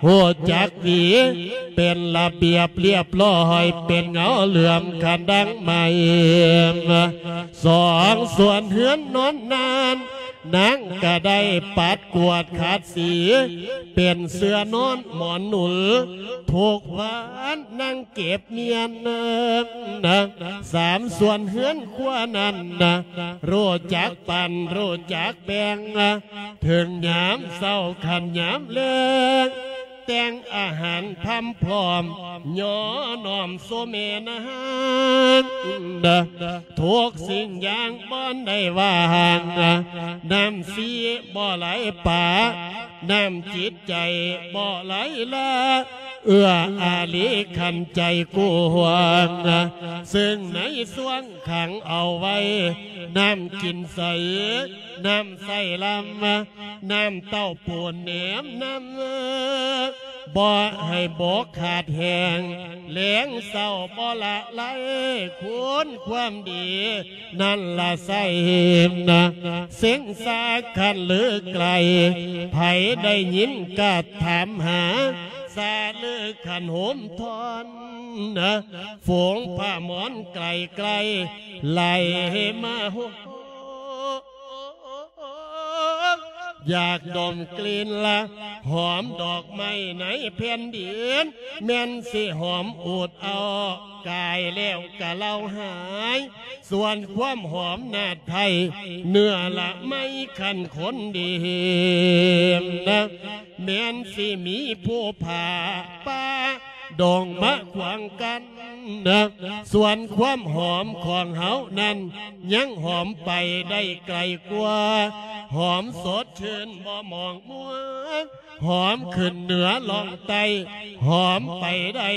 ຮູ້ຈັກຫວີ ເປັນລະບຽບລຽບຮ້ອຍ ເປັນເງົາເຫຼືອມຄັນດັ່ງໄມ້ນະ ສອງສ່ວນເຮືອນນອນນານ ນາງກະໄດ້ປັດກວາດຂັດສີ ເປັນເສື່ອນອນໝອນໜູນ ທຸກວັນນາງເກັບມຽນນະ ສາມສ່ວນເຮືອນຄົວນັ້ນນະ ຮູ້ຈັກປັ້ນ ຮູ້ຈັກແບ່ງ ເຖິງຍາມເຊົ້າຄັນຍາມແລງ ແຕ່ງອາຫານພຳພ້ອມ ຍໍນ້ອມສູ່ແມ່ນາງ ທຸກສິ່ງຢ່າງບໍ່ໄດ້ວ່າງ ນ້ຳສີບໍ່ໄຫຼປາ ນ້ຳຈິດໃຈບໍ່ໄຫຼລາ ເອື້ອອາລີຄັນໃຈກວ້າງ ເຊິ່ງໃນຊ່ວງຂັງເອົາໄວ້ ນ້ຳກິນໃສ ນ້ຳໃຊ້ລຳ ນ້ຳເຕົ້າປູນແນມນຳ ບໍ່ໃຫ້ບົກຂາດແຫ້ງ ແລງເຊົ້າບໍ່ລະໄລ ຄຸນຄວາມດີ ນັ້ນລະໃສ່ນະ ເສັງສາຄັນລືໄກລ ໃຜໄດ້ຍິນກະຖາມຫາ ສາລືຄັນໂຮມທອນນະ ຝູງພະມອນໄກລໆ ໄຫຼມາໂຮ ຢາກດົມກິ່ນລະຫອມດອກໄມ້ໃນແຜ່ນດິນ ແມ່ນຊິຫອມອູດເອົາ ກາຍແລ້ວກະເລົ່າຫາຍ ສ່ວນຄວາມຫອມນາດໄພ ເນື້ອລະໄມ້ຄັນຄົນດີນະ ແມ່ນຊິມີຜູ້ຜ່າປ່າ ດົງມາຂວາງກັນນະ ສ່ວນຄວາມຫອມຂອງເຮົານັ້ນ ຍັງຫອມໄປໄດ້ໄກກວ່າ ຫອມສົດຊື່ນບໍ່ໝອງມົວ ຫອມຂຶ້ນເໜືອລ່ອງໃຕ້ ຫອມໄປໄດ້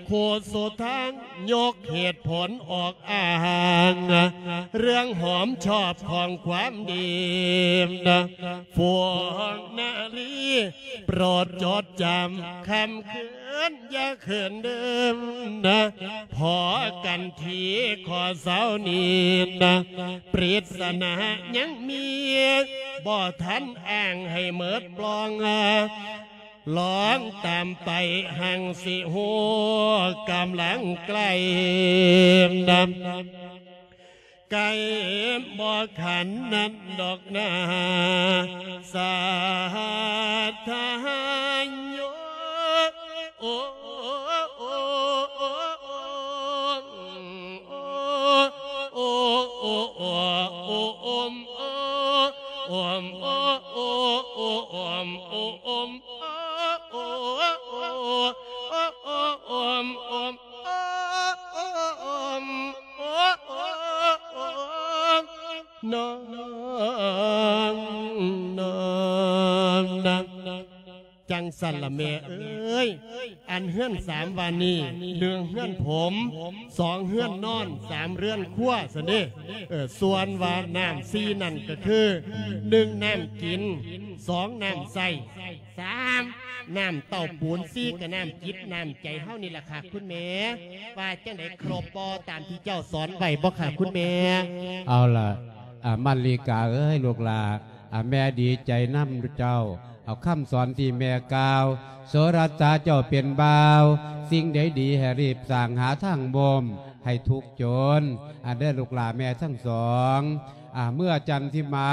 ຄູ່ສູ່ທາງ ຍົກເຫດຜົນອອກອ້າງ ເລື່ອງຫອມຊອບຂອງຄວາມດີນະ ພວກນາລີ ໂປດຈົດຈຳ ຄ່ຳຄືນຢ່າຄືນເດີມນະ ພໍກັນທີຂໍເຊົານີ້ນະ ປຣິດສະໜາຍັງມີ ບໍ່ທັນອ້າງໃຫ້ເໝິດປ່ອງ ລອງຕາມໄປຮັ່ງຊິຮູ້ ກຳລັງໃກ້ນະ ໃກ້ບໍ່ຂັນນັ້ນດອກນາ ສາທາໂຍ ໂອ ໂອ ໂອ ໂອ ໂອ ໂອ ໂອ ໂອ ໂອ ໂອ ໂອ ນ້ອງ ນ້ອງ ນ້ອງນະ ຈັ່ງຊັ້ນລະແມ່ເອີຍ ອັນເຮືອນສາມວ່ານີ້ ໜຶ່ງເຮືອນຜົມ ສອງເຮືອນນອນ ສາມເຮືອນຄົວຊັ້ນເດ້ ເອີ ສ່ວນວ່ານ້ຳສີ່ນັ້ນກະຄື ໜຶ່ງນ້ຳກິນ ສອງນ້ຳໃຊ້ ສາມນ້ຳເຕົ້າປູນ ສີ່ກະນ້ຳຈິດນ້ຳໃຈເຮົານີ້ລະຄ່ະຄຸນແມ່ ວ່າຈັ່ງໃດ ຄົບບໍ່ຕາມທີ່ເຈົ້າສອນໄວ້ບໍ່ຄ່ະຄຸນແມ່? ເອົາລະ ອາ ມັນລີກາເອີຍ ລູກຫຼ້າ ອາ ແມ່ດີໃຈນຳເຈົ້າ ເອົາຄຳສອນທີ່ແມ່ກ່າວ ໂສລະຊາເຈົ້າເປັນບ່າວ ສິ່ງໃດດີໃຫ້ຮີບສ້າງ ຫາທາງບົ່ມໃຫ້ທຸກຈົນ ອາ ເດີລູກຫຼ້າແມ່ທັງສອງ ອາ ເມື່ອຈັນທິມາ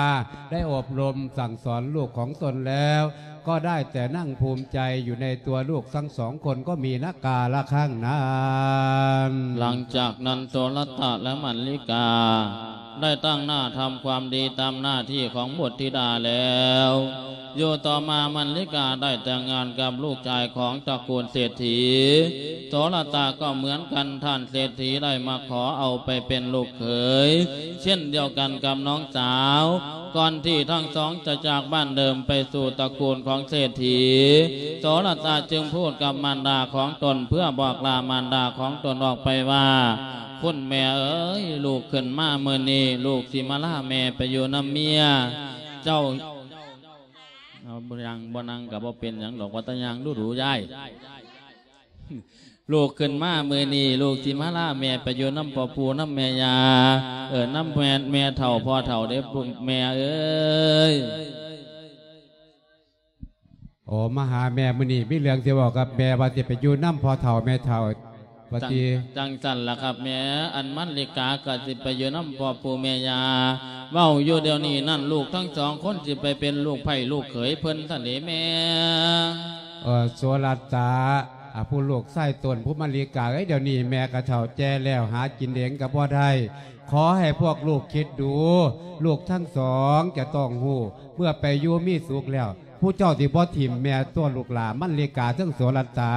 ໄດ້ອົບຮົມສັ່ງສອນລູກຂອງຕົນແລ້ວ ກໍໄດ້ແຕ່ນັ່ງພູມໃຈຢູ່ໃນຕົວລູກທັງສອງຄົນ ກໍມີນະກາລະຄັ້ງນັ້ນ. ຫຼັງຈາກນັ້ນ ໂສລະຕະ ແລະ ມັນລິກາ ໄດ້ຕັ້ງໜ້າທຳຄວາມດີຕາມໜ້າທີ່ຂອງບຸດທິດາແລ້ວ ຢູ່ຕໍ່ມາມັນລິກາໄດ້ແຕ່ງງານກັບລູກຊາຍຂອງຕະກູນເສດຖີ ໂສລະຕາກໍເໝືອນກັນ ທ່ານເສດຖີໄດ້ມາຂໍເອົາໄປເປັນລູກເຂຍ ເຊັ່ນດຽວກັນກັບນ້ອງສາວ. ກ່ອນທີ່ທັງສອງຈະຈາກບ້ານເດີມໄປສູ່ຕະກູນຂອງເສດຖີ ໂສລະຕາຈຶ່ງພູດກັບມານດາຂອງຕົນ ເພື່ອບອກລາມານດາຂອງຕົນອອກໄປວ່າ ຄຸນແມ່ເອີຍ, ລູກຂຶ້ນມາມື້ນີ້ ລູກຊິມາລາແມ່ໄປຢູ່ນຳເມຍ. ເຈົ້າ ເອົາ ບໍ່ນັ່ງ ບໍ່ນັ່ງກໍບໍ່ເປັນຫຍັງດອກ ວ່າແຕ່ຍ່າງດູໆ ຍາຍ. ລູກຂຶ້ນມາມື້ນີ້ ລູກຊິມາລາແມ່ໄປຢູ່ນຳພໍ່ປູ່ນຳແມ່ຍ່າ. ເອີ ນຳແມ່ ແມ່ເຖົ້າ ພໍ່ເຖົ້າເດ້ ແມ່ເອີຍ. ໂອ້ ມາຫາແມ່ມື້ນີ້ ມີເລື່ອງຊິເວົ້າກັບແມ່ ວ່າຊິໄປຢູ່ນຳພໍ່ເຖົ້າແມ່ເຖົ້າ ວ່າ ຈັ່ງ ຕິ ຈັ່ງຊັ້ນລະຄັບແມ່. ອັນມັນລິກາກໍຊິໄປຢູ່ນຳພໍ່ປູ່ແມ່ຍ່າ. ເວົ້າຢູ່ດຽວນີ້ນັ້ນ ລູກທັງສອງຄົນຊິໄປເປັນລູກໃພ້ລູກເຂີຍເພິ່ນຊັ້ນເດແມ່. ເອີ ໂສລະຕາ ອາ ຜູ້ລູກຊາຍຕົນ ຜູ້ມັນລິກາເອີຍ, ດຽວນີ້ແມ່ກໍເຖົ້າແກ່ແລ້ວ ຫາກິນເອງກໍບໍ່ໄດ້. ຂໍໃຫ້ພວກລູກຄິດດູ, ລູກທັງສອງຈະຕ້ອງຮູ້ ເມື່ອໄປຢູ່ມີສຸກແລ້ວ ຜູ້ເຈົ້າຊິບໍ່ຖິ້ມແມ່ຕົວະລູກຫຼ້າ ມັນລິກາເຖິງໂສລະຕາ.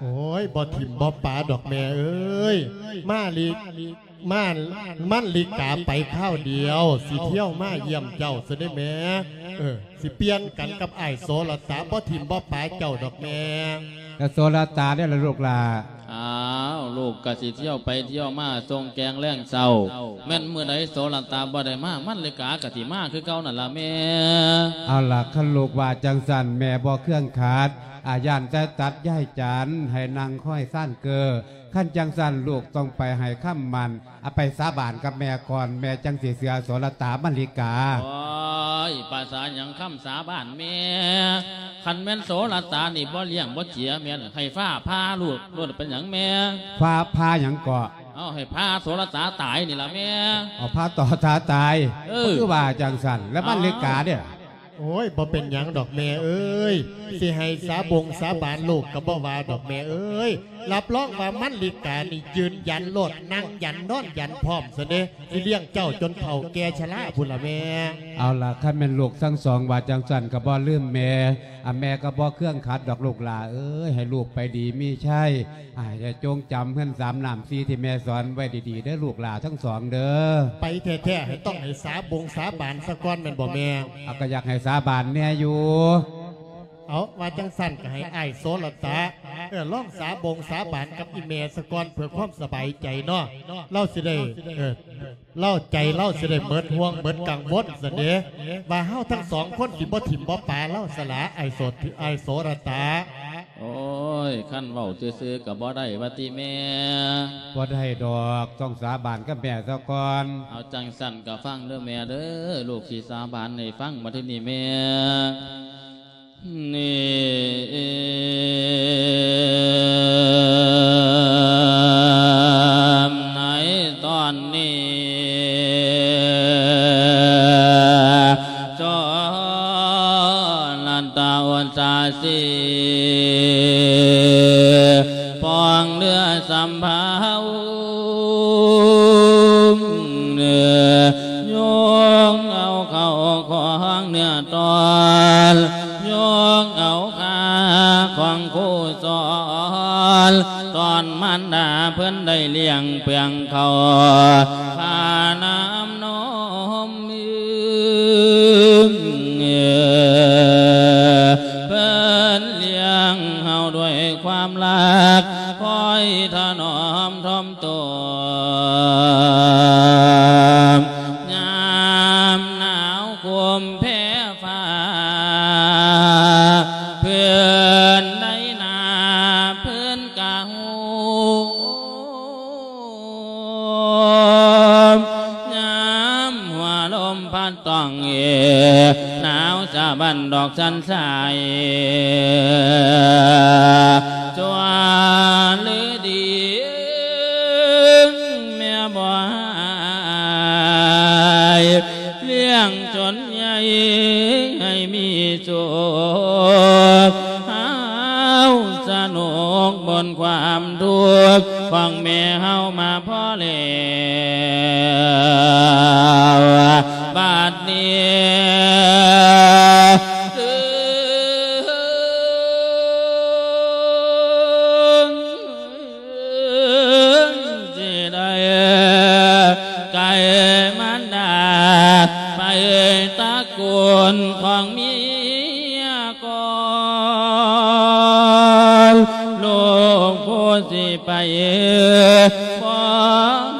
ໂອ້ຍ ບໍ່ຖິ້ມບໍ່ປາດອກແມ່ເອີຍ. ມາລິ ມາ ມັນລິກາໄປຄາວດຽວ ຊິທ່ຽວມາຢ້ຽມເຈົ້າຊະເດ້ແມ່. ເອີ ຊິປ່ຽນກັນກັບອ້າຍໂສລະຕາ ບໍ່ຖິ້ມບໍ່ປາເຈົ້າດອກແມ່. ແລ້ວໂສລະຕາເດ້ລະລູກຫຼ້າ? ອ້າວ ລູກກະຊິທ່ຽວໄປທ່ຽວມາ ສົ່ງແກງແລງເຊົ້າ. ແມ່ນມື້ໃດໂສລະຕາບໍ່ໄດ້ມາ ມັນລິກາກະຊິມາຄືເກົ່ານັ້ນລະແມ່. ເອົາລະ ຄັນລູກວ່າຈັ່ງຊັ້ນ ແມ່ບໍ່ເຄືອງຂັດ. ອາ ຢ້ານແຕ່ຕັດຍາຍຈັນໃຫ້ນັ່ງຄອຍຊານເກີ. ຄັນຈັ່ງຊັ້ນ ລູກຕ້ອງໄປໃຫ້ຄຳໝັ້ນ ອາ ໄປສາບານກັບແມ່ກ່ອນ ແມ່ຈັ່ງຊິເຊື່ອໂສລະຕາ ມັນລິກາ. ໂອ້ຍ ພາສາຫຍັງຄຳສາບານແມ່? ຄັນແມ່ນໂສລະຕານີ້ບໍ່ລ້ຽງບໍ່ເຈຍແມ່ນ ໃຫ້ຟ້າຜ່າລູກໂລດ ເປັນຫຍັງແມ່? ຟ້າຜ່າຫຍັງເກາະ? ເອົາ ໃຫ້ຜ່າໂສລະຕາຕາຍນີ້ລະແມ່. ເອົາ ຜ່າຕໍ່ຕາຕາຍ. ເອີ ຄືວ່າຈັ່ງຊັ້ນ ແລ້ວມັນລິກາເດ້? ໂອ້ຍ ບໍ່ເປັນຫຍັງດອກແມ່ເອີຍ. ຊິໃຫ້ສາບົງສາບານລູກກໍບໍ່ວ່າດອກແມ່ເອີຍ. ຮັບຮອງວ່າມັນລິການີ້ຢືນຢັນໂລດ ນັ່ງຢັນນອນຢັນພ້ອມຊະເດ. ຊິລ້ຽງເຈົ້າຈົນເຖົ້າແກ່ຊະລາພຸ້ນລະແມ່. ເອົາລະ ຄັນແມ່ນລູກທັງສອງວ່າຈັ່ງຊັ້ນກໍບໍ່ລືມແມ່. ອາ ແມ່ກໍບໍ່ເຄືອງຂັດດອກລູກຫຼ້າເອີຍ. ໃຫ້ລູກໄປດີມີໄຊ. ອາ ໃຫ້ຈົງຈຳເຮືອນສາມນ້ຳສີ່ທີ່ແມ່ສອນໄວ້ດີໆເດີລູກຫຼ້າທັງສອງເດີ. ໄປແທ້ໆ ໃຫ້ຕ້ອງໃຫ້ສາບົງສາບານສາກ່ອນແມ່ນບໍ່ແມ່? ອາ ກໍຢາກໃຫ້ສາບານແດ່ຢູ່. ເອົາ ວ່າຈັ່ງຊັ້ນກໍໃຫ້ອ້າຍໂສລະຕາ ເອີ ລອງສາບົງສາບານກັບອີ່ແມ່ສາກ່ອນ ເພື່ອຄວາມສະບາຍໃຈເນາະ. ລາວຊິໄດ້ ເອີ ລາວ ໃຈລາວຊິໄດ້ເໝິດຫ່ວງເໝິດກັງວົນຊັ້ນເດ ວ່າເຮົາທັງສອງຄົນຊິບໍ່ຖິ້ມບໍ່ປາລາວສະຫຼາ ອ້າຍໂສ ອ້າຍໂສລະຕາ. ໂອ້ຍ ຄັນເວົ້າຊື່ໆກໍບໍ່ໄດ້ວ່າຕິແມ່? ບໍ່ໄດ້ດອກ ຕ້ອງສາບານກັບແມ່ສາກ່ອນ. ເອົາ ຈັ່ງຊັ້ນກໍຟັງເດີແມ່ເດີ ລູກຊິສາບານໃຫ້ຟັງບັດທີນີ້ແມ່. ນີ້ ໃນຕອນນີ້ ໂສລະຕາອຸດສາສີ ປອງເນື້ອສຳເພົາ ຍົກເອົາເຂົ້າຂອງເນື້ອຕອນ ຍົກເອົາຄ່າຂອງຄູ່ສອນ ຕອນມານດາເພິ່ນໄດ້ລ້ຽງເປືອງເຂົ້າ ຄ່ານ້ຳນົມ ເພິ່ນລ້ຽງເຮົາດ້ວຍຄວາມຮັກ ຄອຍຖະໜອມຖ່ອມຕົວ ຍາມໜາວໂຄມແພຟ້າ ເພື່ອນໃດໜ້າເພື່ອນກະໂຮມ ຍາມຫົວລົມພັດຕ້ອງເອ ໜາວສະບັ້ນດອກສັນສາຍ ຊົ່ວຫຼືດີ ແມ່ບໍ່ຮ້າຍ ລ້ຽງຈົນໃຫຍ່ໃຫ້ມີສຸກ ເຮົາສະໜຸກບົນຄວາມທຸກຂອງແມ່ເຮົາມາພໍແລ້ວ ບັດນີ້ ບໍ່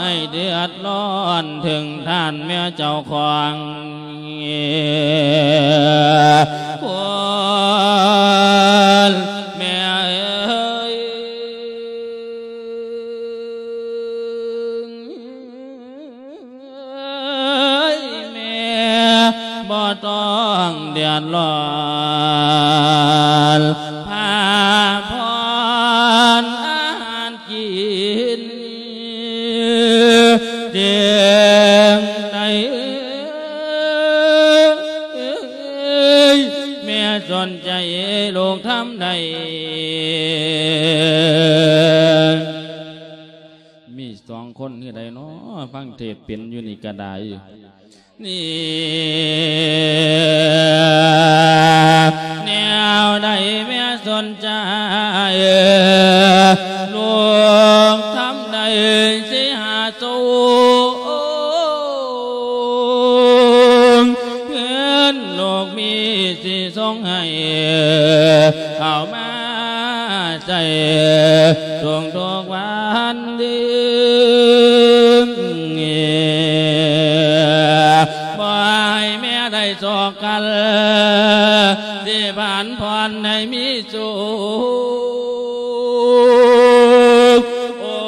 ໃຫ້ເດືອດຮ້ອນເຖິງທ່ານແມ່ເຈົ້າຂອງ ຄຸນແມ່ເອີຍ ແມ່ບໍ່ຕ້ອງເດືອດຮ້ອນ ພາຜ່ອນອາຫານກິນ ຈຶ່ງໄດ້ ແມ່ສົນໃຈລູກທຳໃດ ມີສອງຄົນຄືໃດເນາະ ຟັງເທດເປັນຢູ່ນີ້ກະໄດ້. ນີ້ແນວໃດແມ່ສົນໃຈ ລູກທຳໃດຊິຫາສູງ ເງິນລູກມີຊິສົ່ງໃຫ້ ເຂົ້າມາໃຊ້ທຸກໆວັນ ບໍ່ໃຫ້ແມ່ໄດ້ສອກກັນ ຊິຜັນຜ່ອນໃຫ້ມີສຸກ ໂອ້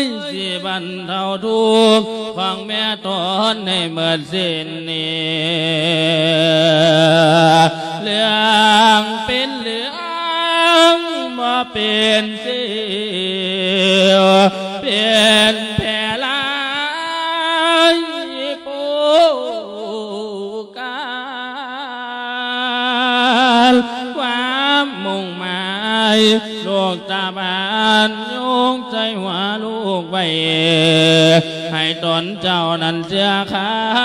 ຍ ຊິບັນເທົາທຸກຂອງແມ່ຕົນໃຫ້ໝົດສິ້ນນີ້ ເລື່ອງເປັນເລື່ອງ ບໍ່ເປັນຊິວ ເປັນແຜລາຍໂປການ ຄວາມມຸ່ງໝາຍ ລູກຕາບານຍົກໃສ່ຫົວລູກໄວ້ ໃຫ້ຕົນເຈົ້ານັ້ນເຊື່ອຄ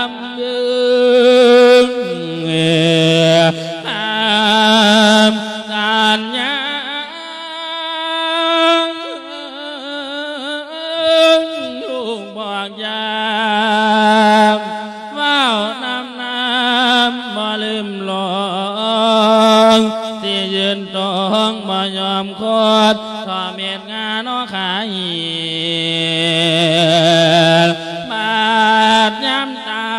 ຳຢືນ ຄຳສັນຍາ ລູກບອກຢ່າເວົ້ານຳນຳ ບໍ່ລືມຫຼວງ ຊິຢືນຕົງບໍ່ຍອມຄົດ ທໍ່ເມັດງານອກຂາຍ ບາດຍາມຕາ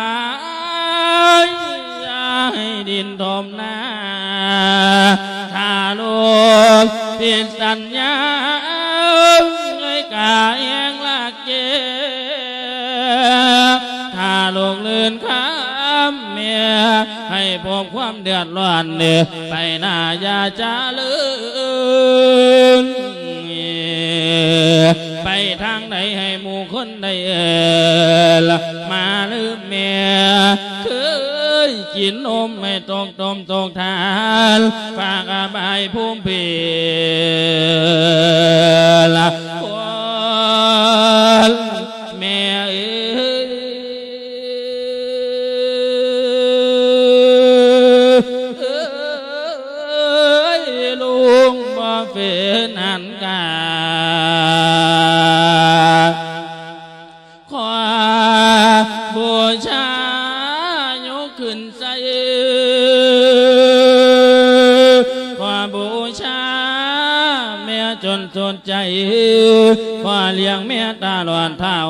ຍ ຢ່າໃຫ້ດິນຖົມໜ້າ ຖ້າລູກຜິດສັນຍາ ເອີຍກາແຮງລາກເຈັບ ຖ້າລູກລື່ນຄຳແມ່ ໃຫ້ພົບຄວາມເດືອດຮ້ອນ ໄປໜ້າຢ່າຈະເລີນ ໄປທາງໃດໃຫ້ໝູ່ຄົນໄດ້ເອີ້ນ ມາລືມແມ່ ເຄີຍກິນນົມໃຫ້ຕົກຕົ້ມຕົກທານ ຝາກອະບາຍພູມເພລະ ຄົນແມ່ເອີຍ ລຸງບໍ່ເປັນອັນກາ ຂໍບູຊາຍົກຂຶ້ນໃສ່ ຂໍບູຊາແມ່ຈົນສຸດໃຈ ຂໍລ້ຽງແມ່ຕະຫຼອດເທົ່າ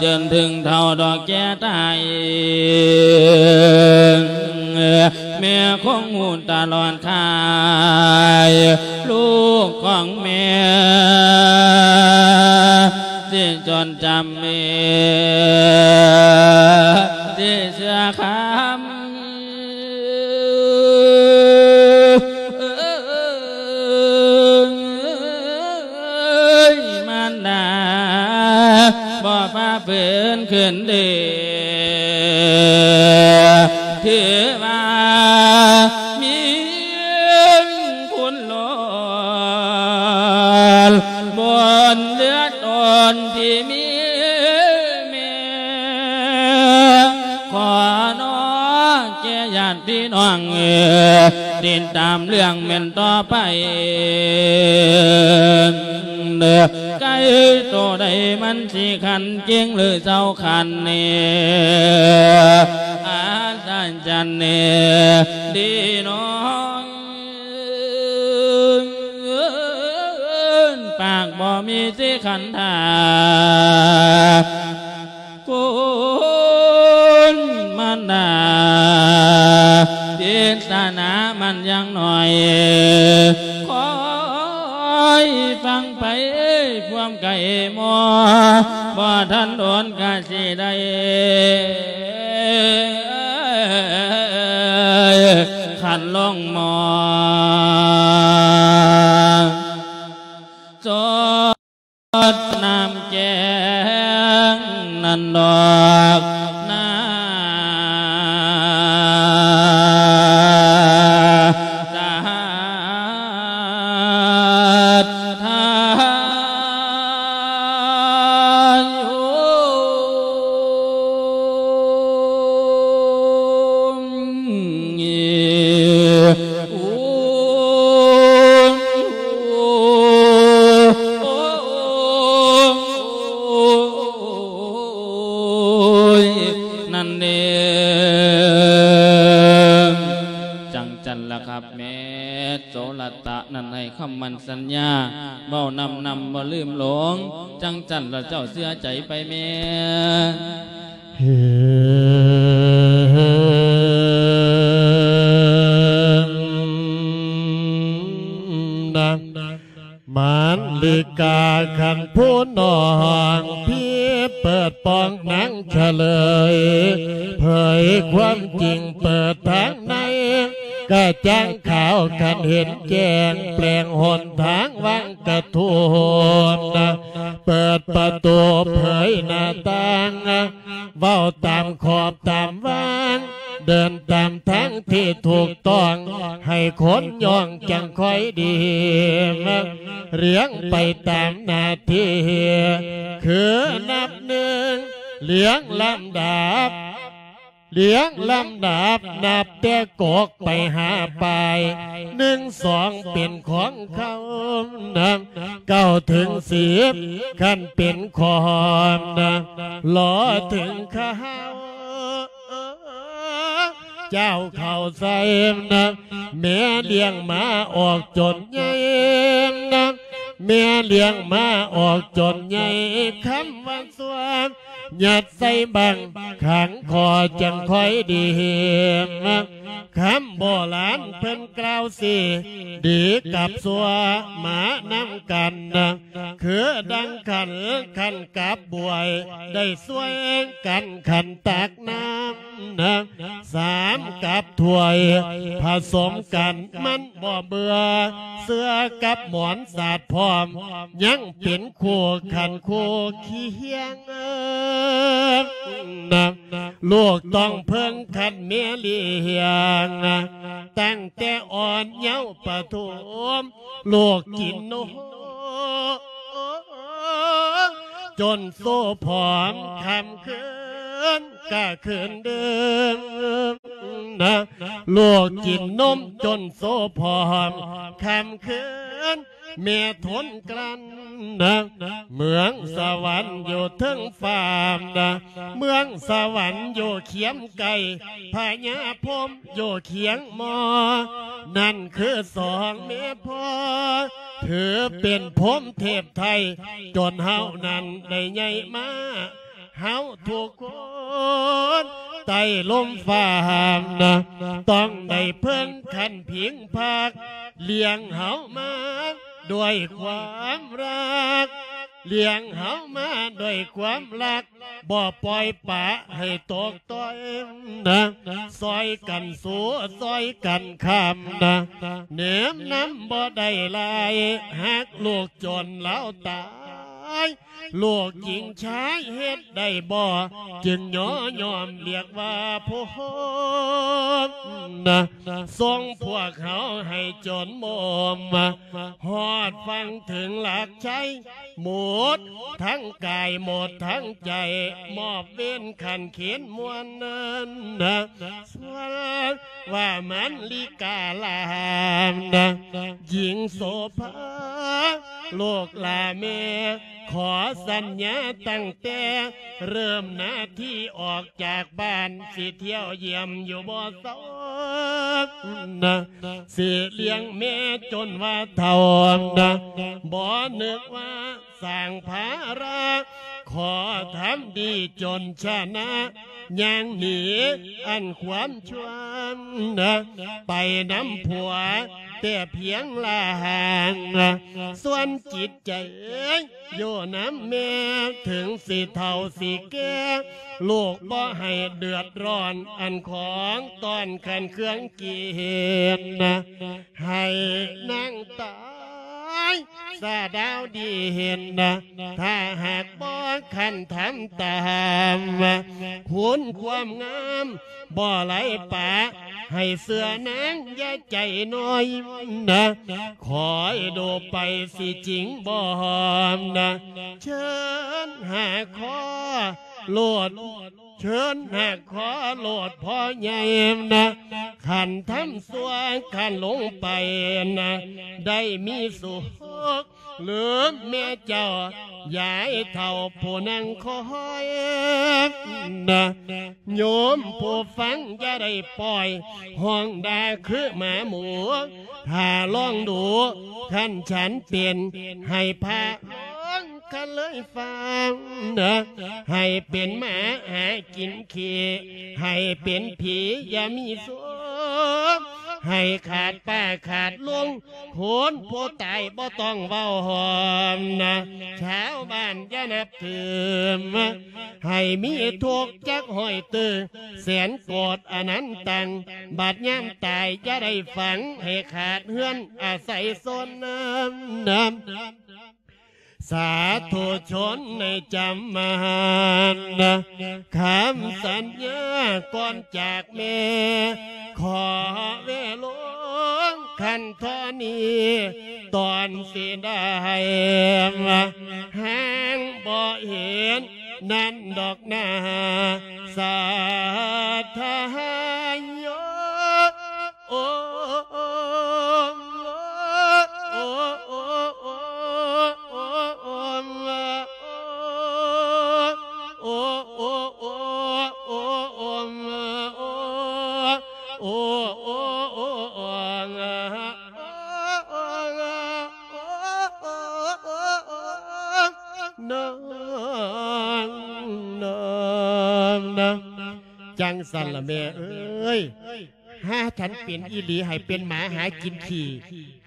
ຈົນເຖິງເຖົ້າດອກແກ່ຕາຍ ແມ່ຄົງຮູ້ຕະຫຼອດຄາຍ ລູກຂອງແມ່ ຊິຈົດຈຳ ຊິເຊື່ອຄຳ ມານດາ ບໍ່ຟ້າເຟື້ນຂຶ້ນເດ ຖືວ່າມີບຸນລ້ນ ບຸນເຫຼືອ ຕົນທີ່ມີແມ່ ຂໍນ້ອງແກ່ຍາດພີ່ນ້ອງ ຕິດຕາມເລື່ອງແມ່ນຕໍ່ໄປ ເດີ ໄກ່ໂຕໃດມັນຊິຂັນເກັ່ງ ຫຼືເຊົາຂັນແນ່ ອັດສະຈັນແນ່ ດີນ້ອງ ມີສິຂັນທາ ຄຸນມານດາ ທິດສະໜາມັນຍັງໜ້ອຍ ຄອຍຟັງໄປພວມໄກມໍ່ ບໍ່ທັນດົນກະຊິໄດ້ຂັນລົງໝໍ້ ສົດນ້ຳແກງນັ້ນດອກນາສາດທານຢູ່. ນັ້ນເດ້ ຈັ່ງຊັ້ນລະຄັບແມ່ ໂສລະຕະນັ້ນໃຫ້ຄຳໝັ້ນສັນຍາ ເວົ້ານຳນຳບໍ່ລືມຫຼົງ ຈັ່ງຊັ້ນລະເຈົ້າເຊື່ອໃຈໄປແມ່. ມານລິກາຂັນຜູ້ນ້ອງ ພີເປີດປ່ອງນາງສະເຫຼີຍ ເຜີຍຄວາມຈິງເປີດທາງໃນ ກະຈ່າງຂາວຄັນເຫັນແຈ້ງ ແປງຫົນທາງວາງກະທຸບ ເປີດປະຕູເຜີຍໜ້າຕ່າງ ເວົ້າຕາມຂອບຕາມວາງ ເດີນຕາມທາງທີ່ຖືກຕ້ອງ ໃຫ້ຄົນຍ່ອງຈັ່ງຄ່ອຍດີ ລຽງໄປຕາມໜ້າທີ່ ຄືນັບໜຶ່ງ ລຽງລຳດັບ ລຽງລຳດັບ ນັບແຕ່ກົກໄປຫາປາຍ ໜຶ່ງ ສອງ ເປັນຂອງເຂົານະ ເກົ້າ ເຖິງ ສິບ ຄັນເປັນຂອງນະ ລໍເຖິງເຂົາ ເຈົ້າເຂົ້າໃສ່ນະ ແມ່ລ້ຽງມາອອກຈົນໃຫຍ່ນະ ແມ່ລ້ຽງມາອອກຈົນໃຫຍ່ ຄຳວ່າຊົ່ວ ຍັດໃສ່ບັງຂັງຄໍຈັ່ງຄ່ອຍດີ ຄຳໂບລານເພິ່ນກ່າວຊີ້ ດີກັບຊົ່ວມານຳກັນນະ ຄືດັ່ງຂັນ ຂັນກັບບວຍ ໄດ້ຊ່ວຍກັນຂັນຕັກນ້ຳນະ ສາມ ກັບຖ້ວຍ ຜະສົມກັນມັນບໍ່ເບື່ອ ເສື້ອກັບໝອນສາດພ້ອມ ຍັງເປັນຄູ່ຂັນຄູ່ຄຽງນະ ລູກຕ້ອງເພິ່ງຂັນແມ່ລ້ຽງ ຕັ້ງແຕ່ອ່ອນເຍົາປະຖົມ ລູກກິນນົມຈົນໂຊຜອມ ຄ່ຳຄືນກະຄືນເດີມນະ ລູກກິນນົມຈົນໂຊຜອມ ຄ່ຳຄືນ ແມ່ທົນກລັ້ນນະ ເມືອງສະຫວັນຢູ່ເທິງຟ້ານະ ເມືອງສະຫວັນຢູ່ຄຽມໄກ ພະຍາພົມຢູ່ຄຽງມໍ່ ນັ້ນຄືສອງແມ່ພໍ່ ຖືເປັນພົມເທບໄທ ຈົນເຮົານັ້ນໄດ້ໃຫຍ່ມາ ເຮົາທຸກຄົນໃຕ້ລົມຟ້ານະ ຕ້ອງໄດ້ເພິ່ງຂັນພິງພັກ ລ້ຽງເຮົາມາດ້ວຍຄວາມຮັກ ລ້ຽງເຮົາມາດ້ວຍຄວາມຮັກ ບໍ່ປ່ອຍປະໃຫ້ຕົກຕ່ອຍນະ ຊ່ອຍກັນສູ້ ຊ່ອຍກັນຄ້ຳນະ ເໜັບນຳບໍ່ໄດ້ຫຼາຍ ຫາກລູກຈົນລາວຕາຍ ລູກຈິງຊາຍເຮັດໄດ້ບໍ່ ຈຶ່ງຍໍຍອມລຽກວ່າພົມນະ ສົ່ງພວກເຮົາໃຫ້ຈົນໝົມ ຮອດຝັ່ງເຖິງຫຼັກໄຊ ໝົດທັງກາຍໝົດທັງໃຈ ມອບເວນຂັນເຂນມວນນັ້ນນະ ສ່ວນວ່າມັນລິກາລານນະ ຍິງໂສພາ ລູກຫຼ້າແມ່ ຂໍສັນຍາຕັ້ງແຕ່ເລີ່ມໜ້າທີ່ອອກຈາກບ້ານ ຊິທ່ຽວຢ້ຽມຢູ່ບໍ່ເຊົານະ ຊິລ້ຽງແມ່ຈົນວ່າເຖົ້ານະ ບໍ່ນຶກວ່າສ້າງພາລະ ຂໍທຳດີຈົນຊະນະ ຍ່າງໜີອັນຄວາມຊົ່ວນະ ໄປນຳຜົວແຕ່ພຽງລະຫ່າງ ສ່ວນຈິດໃຈຢູ່ນຳແມ່ ເຖິງຊິເຖົ້າຊິແກ່ ລູກບໍ່ໃຫ້ເດືອດຮ້ອນ ອັນຂອງຕ້ອນຂັນເຄື່ອງກິນນະ ໃຫ້ນາງຕາຍສາດາວດີເຫັນນະ ຖ້າຫາກບໍ່ຂັນທຳຕາມ ຄຸນຄວາມງາມບໍ່ໄຫຼປະ ໃຫ້ເຊື່ອນາງຢ່າໃຈນ້ອຍນະ ຄອຍດູໄປຊິຈິງບໍ່ຫອມນະ ເຊີນຫາຂໍໂລດ ເຊີນຫາຂໍໂລດພໍ່ໃຫຍ່ນະ ຂັນທຳຊົ່ວຂັນລົງໄປນະ ໄດ້ມີສຸກ ຫຼືແມ່ເຈົ້າ ຍາຍເຖົ້າຜູ້ນັ່ງຄອຍນະ ໂຍມຜູ້ຟັງຢ່າໄດ້ປ່ອຍ ຮ້ອງດ່າຄືໝາໝູ ຖ້າລອງດູ ຄັນສັນເປັນ ໃຫ້ພາລອງ ຄັນເລີຍຟັງນະ ໃຫ້ເປັນໝາຫາກິນຂີ້ ໃຫ້ເປັນຜີຢ່າມີສຸກ ໃຫ້ຂາດປ້າຂາດລຸງ ຄົນຜູ້ຕາຍບໍ່ຕ້ອງເວົ້າຫອມນະ ຊາວບ້ານຢ່ານັບຖື ໃຫ້ມີທຸກຈັກຮ້ອຍຕື້ ແສນໂກດອະນັນຕັງ ບາດຍາມຕາຍຢ່າໄດ້ຝັງ ໃຫ້ຂາດເຮືອນອາໄສຊົນນຳ ສາທຸຊົນໃນຈຳມານ ຄຳສັນຍາກ່ອນຈາກແມ່ ຂໍເວລົງຄັນທໍ່ນີ້ ຕອນຊິໄດ້ ແຮງບໍ່ເຫັນນັ້ນດອກນາ ສາທາຍໂຍ ໂອມ ໂອມ ໂອມ ນາງ ນາງ ນາງ ຈັ່ງຊັ້ນລະແມ່ເອີຍ ຫາສັນເປັນອີ່ຫຼີ ໃຫ້ເປັນໝາຫາກິນຂີ້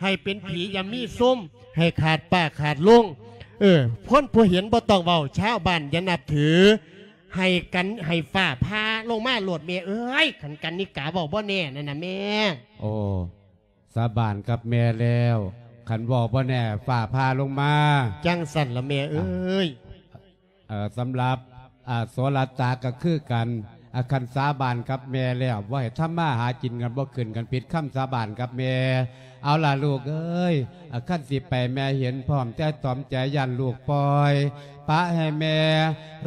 ໃຫ້ເປັນຜີຢ່າມີຊຸມ ໃຫ້ຂາດປ້າຂາດລຸງ ເອີ ຄົນຜູ້ເຫັນບໍ່ຕ້ອງເວົ້າ ຊາວບ້ານຢ່ານັບຖື ໃຫ້ກັນ ໃຫ້ຟ້າຜ່າລົງມາໂລດແມ່ເອີຍ ຄັນກັນນິກາເວົ້າບໍ່ແນ່ນັ້ນນະແມ່. ໂອ້ ສາບານກັບແມ່ແລ້ວ ຄັນເວົ້າບໍ່ແນ່ຟ້າຜ່າລົງມາ ຈັ່ງຊັ້ນລະແມ່ເອີຍ. ເອີ ສຳລັບ ອາ ໂສລະຕາກໍຄືກັນ ອາ ຄັນສາບານກັບແມ່ແລ້ວ ບໍ່ໃຫ້ທຳມາຫາກິນກັນບໍ່ຂຶ້ນ ຄັນຜິດຄຳສາບານກັບແມ່. ເອົາລະລູກເອີຍ ອາ ຄັນຊິໄປແມ່ເຫັນພ້ອມແຕ່ຕອມໃຈ ຢ້ານລູກປ່ອຍ ປະໃຫ້ແມ່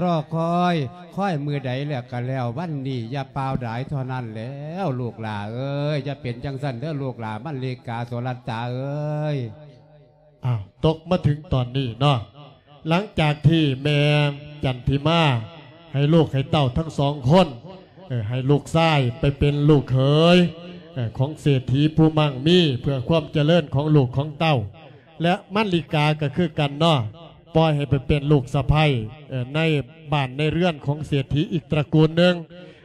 ລໍຄອຍ ຄອຍມື້ໃດແລ້ວກໍແລ້ວ ວັນນີ້ຢ່າປ່າວດາຍເທົ່ານັ້ນແລ້ວ ລູກຫຼ້າເອີຍ. ຢ່າເປັນຈັ່ງຊັ້ນເດີລູກຫຼ້າ ມັນລິກາ ໂສລະຕາເອີຍ. ອ້າວ ຕົກມາເຖິງຕອນນີ້ເນາະ ຫຼັງຈາກທີ່ແມ່ຈັນທິມາໃຫ້ລູກໃຫ້ເຕົ້າທັງສອງຄົນ ເອີ ໃຫ້ລູກຊາຍໄປເປັນລູກເຂີຍ ເອີ ຂອງເສດຖີຜູ້ໝັ່ງມີ ເພື່ອຄວາມຈະເລີນຂອງລູກຂອງເຕົ້າ ແລະ ມັນລິກາກໍຄືກັນເນາະ ປ່ອຍໃຫ້ໄປເປັນລູກສະໃພ້ ເອີ ໃນບ້ານໃນເຮືອນຂອງເສດຖີອີກຕະກູນໜຶ່ງ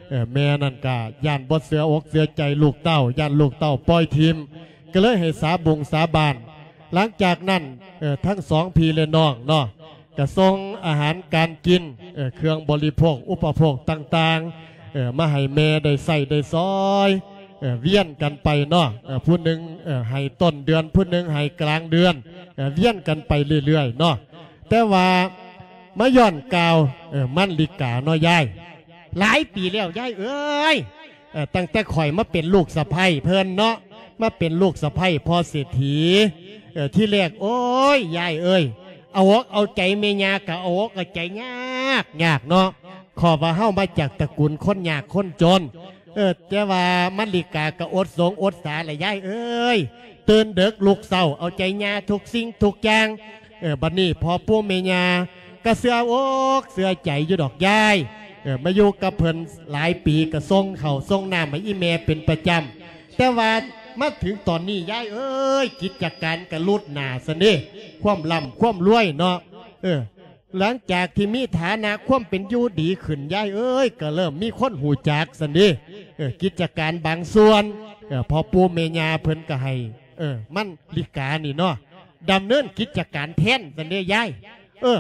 ເອີ ແມ່ນັ້ນກໍຢ້ານບໍ່ເຊື່ອອົກເຊື່ອໃຈລູກເຕົ້າ ຢ້ານລູກເຕົ້າປ່ອຍຖິ້ມ ກໍເລີຍໃຫ້ສາບົງສາບານ. ຫຼັງຈາກນັ້ນ ເອີ ທັງສອງພີ່ແລະນ້ອງເນາະ ກະສົ່ງອາຫານການກິນ ເອີ ເຄື່ອງບໍລິໂພກອຸປະໂພກຕ່າງໆ ເອີ ມາໃຫ້ແມ່ໄດ້ໃຊ້ໄດ້ສອຍ ເອີ ວຽນກັນໄປເນາະ ເອີ ຜູ້ໜຶ່ງ ເອີ ໃຫ້ຕົ້ນເດືອນ ຜູ້ໜຶ່ງໃຫ້ກາງເດືອນ ເອີ ວຽນກັນໄປເລື້ອຍໆເນາະ. ແຕ່ວ່າມາຍ້ອນກ່າວ ເອີ ມັນລິກາເນາະຍາຍ ຫຼາຍປີແລ້ວຍາຍເອີຍ ເອີ ຕັ້ງແຕ່ຂ້ອຍມາເປັນລູກສະໃພ້ເພິ່ນເນາະ ມາເປັນລູກສະໃພ້ພໍ່ເສດຖີ ເອີ ທີແລກ ໂອ້ຍ ຍາຍເອີຍ ເອົາອົກເອົາໃຈແມ່ຍ່າກໍເອົາອົກເອົາໃຈຍາກ ຍາກເນາະ ເພາະວ່າເຮົາມາຈາກຕະກູນຄົນຍາກຄົນຈົນ ເອີ ແຕ່ວ່າມັນລິກາກໍອົດສົງອົດສາລະຍາຍເອີຍ ຕື່ນເດິກລຸກເຊົ້າ ເອົາໃຈຍ່າທຸກສິ່ງທຸກຢ່າງ ເອີ ບັດນີ້ພໍ່ປູ່ແມ່ຍ່າກໍເຊື່ອອົກເຊື່ອໃຈຢູ່ດອກຍາຍ. ເອີ ມາຢູ່ກັບເພິ່ນຫຼາຍປີ ກໍສົ່ງເຂົ້າສົ່ງນ້ຳໃຫ້ອີ່ແມ່ເປັນປະຈຳ. ແຕ່ວ່າມາເຖິງຕອນນີ້ ຍາຍເອີຍ ກິດຈະການກໍຫຼຸດໜ້າຊັ້ນເດ້ ຄວາມລ່ຳຄວາມລວຍເນາະ. ເອີ ຫຼັງຈາກທີ່ມີຖານະຄວາມເປັນຢູ່ດີຂຶ້ນ ຍາຍເອີຍ ກໍເລີ່ມມີຄົນຮູ້ຈັກຊັ້ນເດ້. ເອີ ກິດຈະການບາງສ່ວນ ເອີ ພໍ່ປູ່ແມ່ຍ່າເພິ່ນກໍໃຫ້ ເອີ ມັນລິການີ້ເນາະ ດຳເນີນກິດຈະການແທນຊັ້ນເດ້ຍາຍ. ເອີ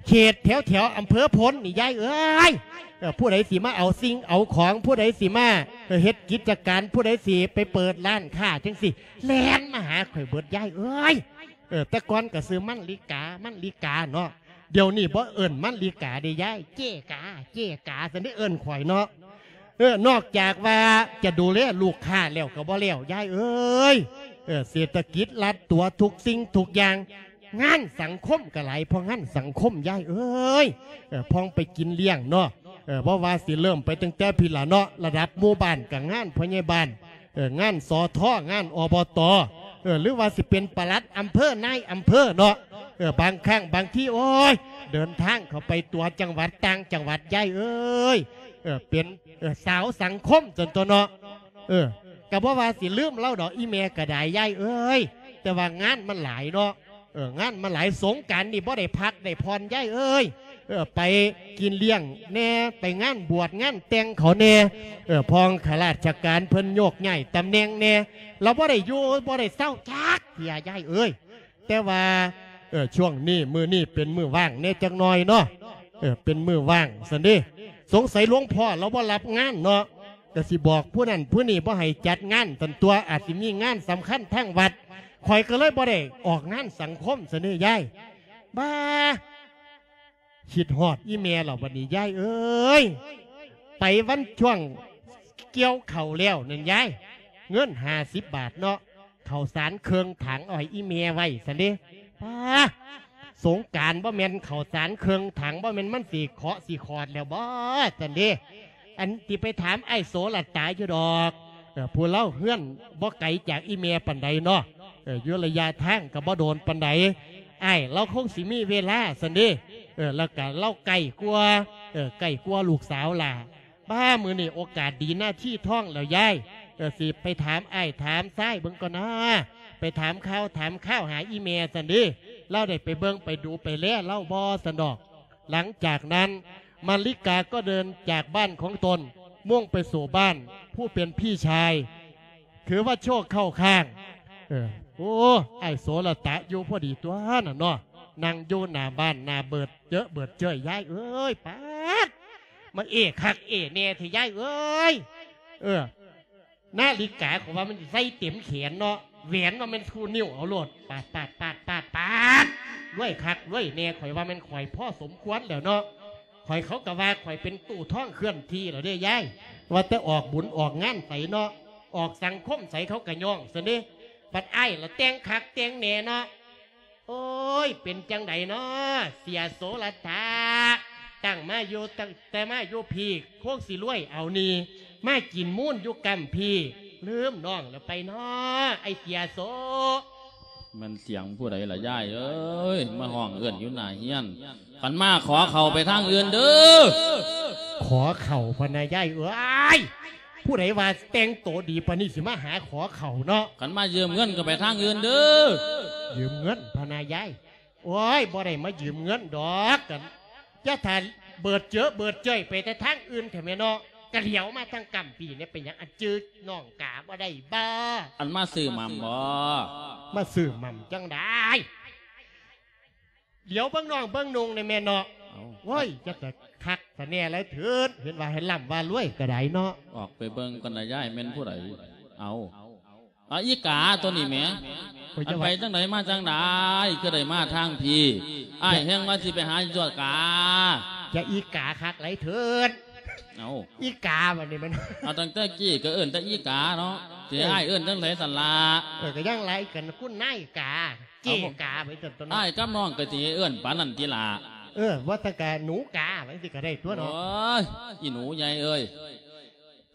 ເຂດແຖວໆອຳເພີໂພນນີ້ຍາຍເອີຍ ເອີ ຜູ້ໃດຊິມາເອົາສິ່ງເອົາຂອງ ຜູ້ໃດຊິມາ ເອີ ເຮັດກິດຈະການ ຜູ້ໃດຊິໄປເປີດຮ້ານຄ້າຈັ່ງຊີ້ ແລ່ນມາຫາຂ້ອຍເບິດຍາຍເອີຍ. ເອີ ແຕ່ກ່ອນກໍຊື່ມັນລິກາ ມັນລິກາເນາະ ດຽວນີ້ບໍ່ເອີ້ນມັນລິກາເດ້ຍາຍ ເຈ້ກາ ເຈ້ກາຊັ້ນເດ້ເອີ້ນຂ້ອຍເນາະ. ເອີ ນອກຈາກວ່າຈະດູແລລູກຄ້າແລ້ວກໍບໍ່ແລ້ວຍາຍເອີຍ ເອີ ເສດຖະກິດລັດຕົວທຸກສິ່ງທຸກຢ່າງ ງານສັງຄົມກໍຫຼາຍ ເພາະງານສັງຄົມຍາຍເອີຍ. ເອີ ພອງໄປກິນລ້ຽງເນາະ ເອີ ບໍ່ວ່າຊິເລີ່ມໄປຕັ້ງແຕ່ພີ້ລະເນາະ ລະດັບໝູ່ບ້ານກໍງານພະຍາບານ ເອີ ງານ ສທ ງານ ອບຕ ເອີ ຫຼືວ່າຊິເປັນປະຫຼັດອຳເພີ ນາຍອຳເພີເນາະ. ເອີ ບາງຄັ້ງບາງທີ ໂອ້ຍ ເດີນທາງເຂົ້າໄປຕົວະຈັງຫວັດຕ່າງຈັງຫວັດຍາຍເອີຍ ເອີ ເປັນ ເອີ ສາວສັງຄົມຊັ້ນຕົວະເນາະ. ເອີ ກໍບໍ່ວ່າຊິລືມລາວດອກອີ່ແມ່ກໍໄດ້ຍາຍເອີຍ ແຕ່ວ່າງານມັນຫຼາຍເນາະ. ເອີ ງານມັນຫຼາຍ ສົງການນີ້ບໍ່ໄດ້ພັກໄດ້ຜ່ອນຍາຍເອີຍ. ເອີ ໄປກິນລ້ຽງແດ່ ໄປງານບວດງານແຕ່ງເຂົາແດ່ ເອີ ພອງຂ້າລາຊະການເພິ່ນໂຍກຍ້າຍຕຳແໜ່ງແດ່ ລະບໍ່ໄດ້ຢູ່ບໍ່ໄດ້ເຊົາຈັກເທື່ອຍາຍເອີຍ. ແຕ່ວ່າ ເອີ ຊ່ວງນີ້ ມື້ນີ້ເປັນມື້ວ່າງແດ່ຈັກໜ່ອຍເນາະ ເອີ ເປັນມື້ວ່າງຊັ້ນເດ້ ສົງໄສຫຼວງພໍ່ລາວບໍ່ຮັບງານເນາະ ກໍຊິບອກຜູ້ນັ້ນຜູ້ນີ້ບໍ່ໃຫ້ຈັດງານຊັ້ນຕົວະ ອາດຊິມີງານສຳຄັນທາງວັດ ຂ້ອຍກໍເລີຍບໍ່ໄດ້ອອກງານສັງຄົມຊັ້ນເດ້ຍາຍ. ບ້າ ຄິດຮອດອີ່ແມ່ແລ້ວບັດນີ້ຍາຍເອີຍ ໄປວັນຊ່ວງກ່ຽວເຂົ້າແລ້ວນັ້ນຍາຍ ເງິນຫ້າສິບບາດເນາະ ເຂົ້າສານເຄິ່ງຖັງເອົາໃຫ້ອີ່ແມ່ໄວ້ຊັ້ນເດ້. ປ້າ ສົງການບໍ່ແມ່ນເຂົ້າສານເຄິ່ງຖັງ ບໍ່ແມ່ນມັນຊິເຄາະຊິຂອດແລ້ວບໍ່ຊັ້ນເດ້. ອັນທີ່ໄປຖາມອ້າຍໂສລະຕາຢູ່ດອກ ເອີ ຜູ້ລາວເຮືອນບໍ່ໄກຈາກອີ່ແມ່ປານໃດເນາະ ເອີ ຢູ່ໄລຍະທາງກໍບໍ່ໂດນປານໃດ ອ້າຍລາວຄົງຊິມີເວລາຊັ້ນເດ້. ເອີ ແລ້ວກໍລາວໃກ້ກວ່າ ເອີ ໃກ້ກວ່າລູກສາວຫຼ້າ. ປ້າ ມື້ນີ້ໂອກາດດີນາທີທອງແລ້ວຍາຍ ເອີ ຊິໄປຖາມອ້າຍຖາມຊາຍເບິ່ງກ່ອນນາ ໄປຖາມຂ່າວຖາມຄາວຫາອີ່ແມ່ຊັ້ນເດ້ ລາວໄດ້ໄປເບິ່ງໄປດູໄປແລລາວບໍ່ຊັ້ນດອກ. ຫຼັງຈາກນັ້ນ ມາລິກາກໍເດີນຈາກບ້ານຂອງຕົນ ມຸ່ງໄປສູ່ບ້ານຜູ້ເປັນພີ່ຊາຍ ຖືວ່າໂຊກເຂົ້າຂ້າງ. ເອີ ໂອ້ ອ້າຍໂສລະຕະຢູ່ພໍດີຕົວນັ້ນເນາະ ນັ່ງຢູ່ໜ້າບ້ານໜ້າເບີດເຈີເບີດເຈີຍຍາຍເອີຍ. ປາດ ມາເອຄັກເອແນ່ແທ້ຍາຍເອີຍ. ເອີ ນາລິກາຂ້ອຍວ່າມັນໃສ່ເຕັມແຂນເນາະ ແຫວນວ່າແມ່ນຄູ່ນິ້ວເອົາໂລດ. ປາດ ປາດ ປາດ ປາດ ປາດ ລວຍຄັກລວຍແນ່ ຂ້ອຍວ່າແມ່ນຂ້ອຍພໍສົມຄວນແລ້ວເນາະ. ຂ້ອຍ ເຂົາກໍວ່າຂ້ອຍເປັນຕູ້ທອງເຄື່ອນທີ່ແລ້ວເດ້ຍາຍ ວ່າແຕ່ອອກບຸນອອກງານໃສເນາະ ອອກສັງຄົມໃສເຂົາກໍຍ້ອງຊັ້ນເດ້. ບັດອ້າຍລະແຕ່ງຄັກແຕ່ງແນ່ເນາະ. ໂອ້ຍ ເປັນຈັ່ງໃດເນາະ ເສຍໂສລະຕາ ຕັ້ງມາຢູ່ ຕັ້ງແຕ່ມາຢູ່ພີ້ ຄົງຊິລວຍເອົານີ້ ມາກິນມູນຢູ່ກຳພີ້ ລືມນ້ອງແລ້ວໄປເນາະ ໄອ້ເສຍໂສ. ແມ່ນສຽງຜູ້ໃດລະຍາຍເອີຍ ມາຮ້ອງເອີ້ນຢູ່ໜ້າເຮືອນ. ຄັນມາຂໍເຂົ້າໄປທາງອື່ນເດີ້. ຂໍເຂົ້າພະນາຍາຍເອີຍ. ຜູ້ໃດວ່າແຕ່ງໂຕດີປານນີ້ ຊິມາຫາຂໍເຂົ້າເນາະ. ຄັນມາຢືມເງິນກໍໄປທາງອື່ນເດີ້. ຢືມເງິນພະນາຍາຍ. ໂອ້ຍ ບໍ່ໄດ້ມາຢືມເງິນດອກ. ກັນຢ່າຖ້າເບີດເຈີເບີດເຈີຍໄປແຕ່ທາງອື່ນແທ້ແມ່ເນາະ. ກະຫຼຽວມາທາງກຳປີນີ້ ເປັນຫຍັງ ອັນຈື່ນ້ອງກາບໍ່ໄດ້ບໍ່? ອັນມາຊື້ໝ່ຳບໍ່? ມາຊື້ໝ່ຳຈັ່ງໃດ? ຫຼຽວເບິ່ງນ້ອງເບິ່ງນຸ່ງນີ້ແມ່ເນາະ. ເອົ້າ ໂອ້ຍ ຈັກກະຄັກຊະແນ່ແລ້ວເທີດ ເຫັນວ່າໃຫ້ລ່ຳວ່າລວຍກະໄດ້ເນາະ. ອອກໄປເບິ່ງກ່ອນນະຍາຍ ແມ່ນຜູ້ໃດ? ເອົາ ອາ ອີກາໂຕນີ້ແໝ. ໂອ້ຍ ອັນ ຈະວ່າ ໄປຈັ່ງໃດມາຈັ່ງໃດ ຄືໄດ້ມາທາງພີ້? ອ້າຍແຮ່ງວ່າຊິໄປຫາຕົວະກາ. ຈະອີກາຄັກຫຼາຍເທີດ. ເອົ້າ ອີກາບັດນີ້ແມ່ນ. ເອົາ ຕັ້ງແຕ່ກີ້ກໍເອີ້ນແຕ່ອີກາເນາະ ຊິໃຫ້ອ້າຍເອີ້ນຈັ່ງໃດຊັ້ນລະ? ເອີ ກໍຍັງຫຼາຍກັນ ຄຸນນາຍກາ ເຈ້ກາໄປຊັ້ນຕົວະເນາະ. ອ້າຍກັບນ້ອງກໍຊິເອີ້ນປານນັ້ນຕິລະ. ເອີ ວ່າແຕ່ກະໜູກາ ວ່າຈັ່ງຊີ້ກໍໄດ້ຕົວະເນາະ. ໂອ້ຍ ອີໜູໃຫຍ່ເອີຍ.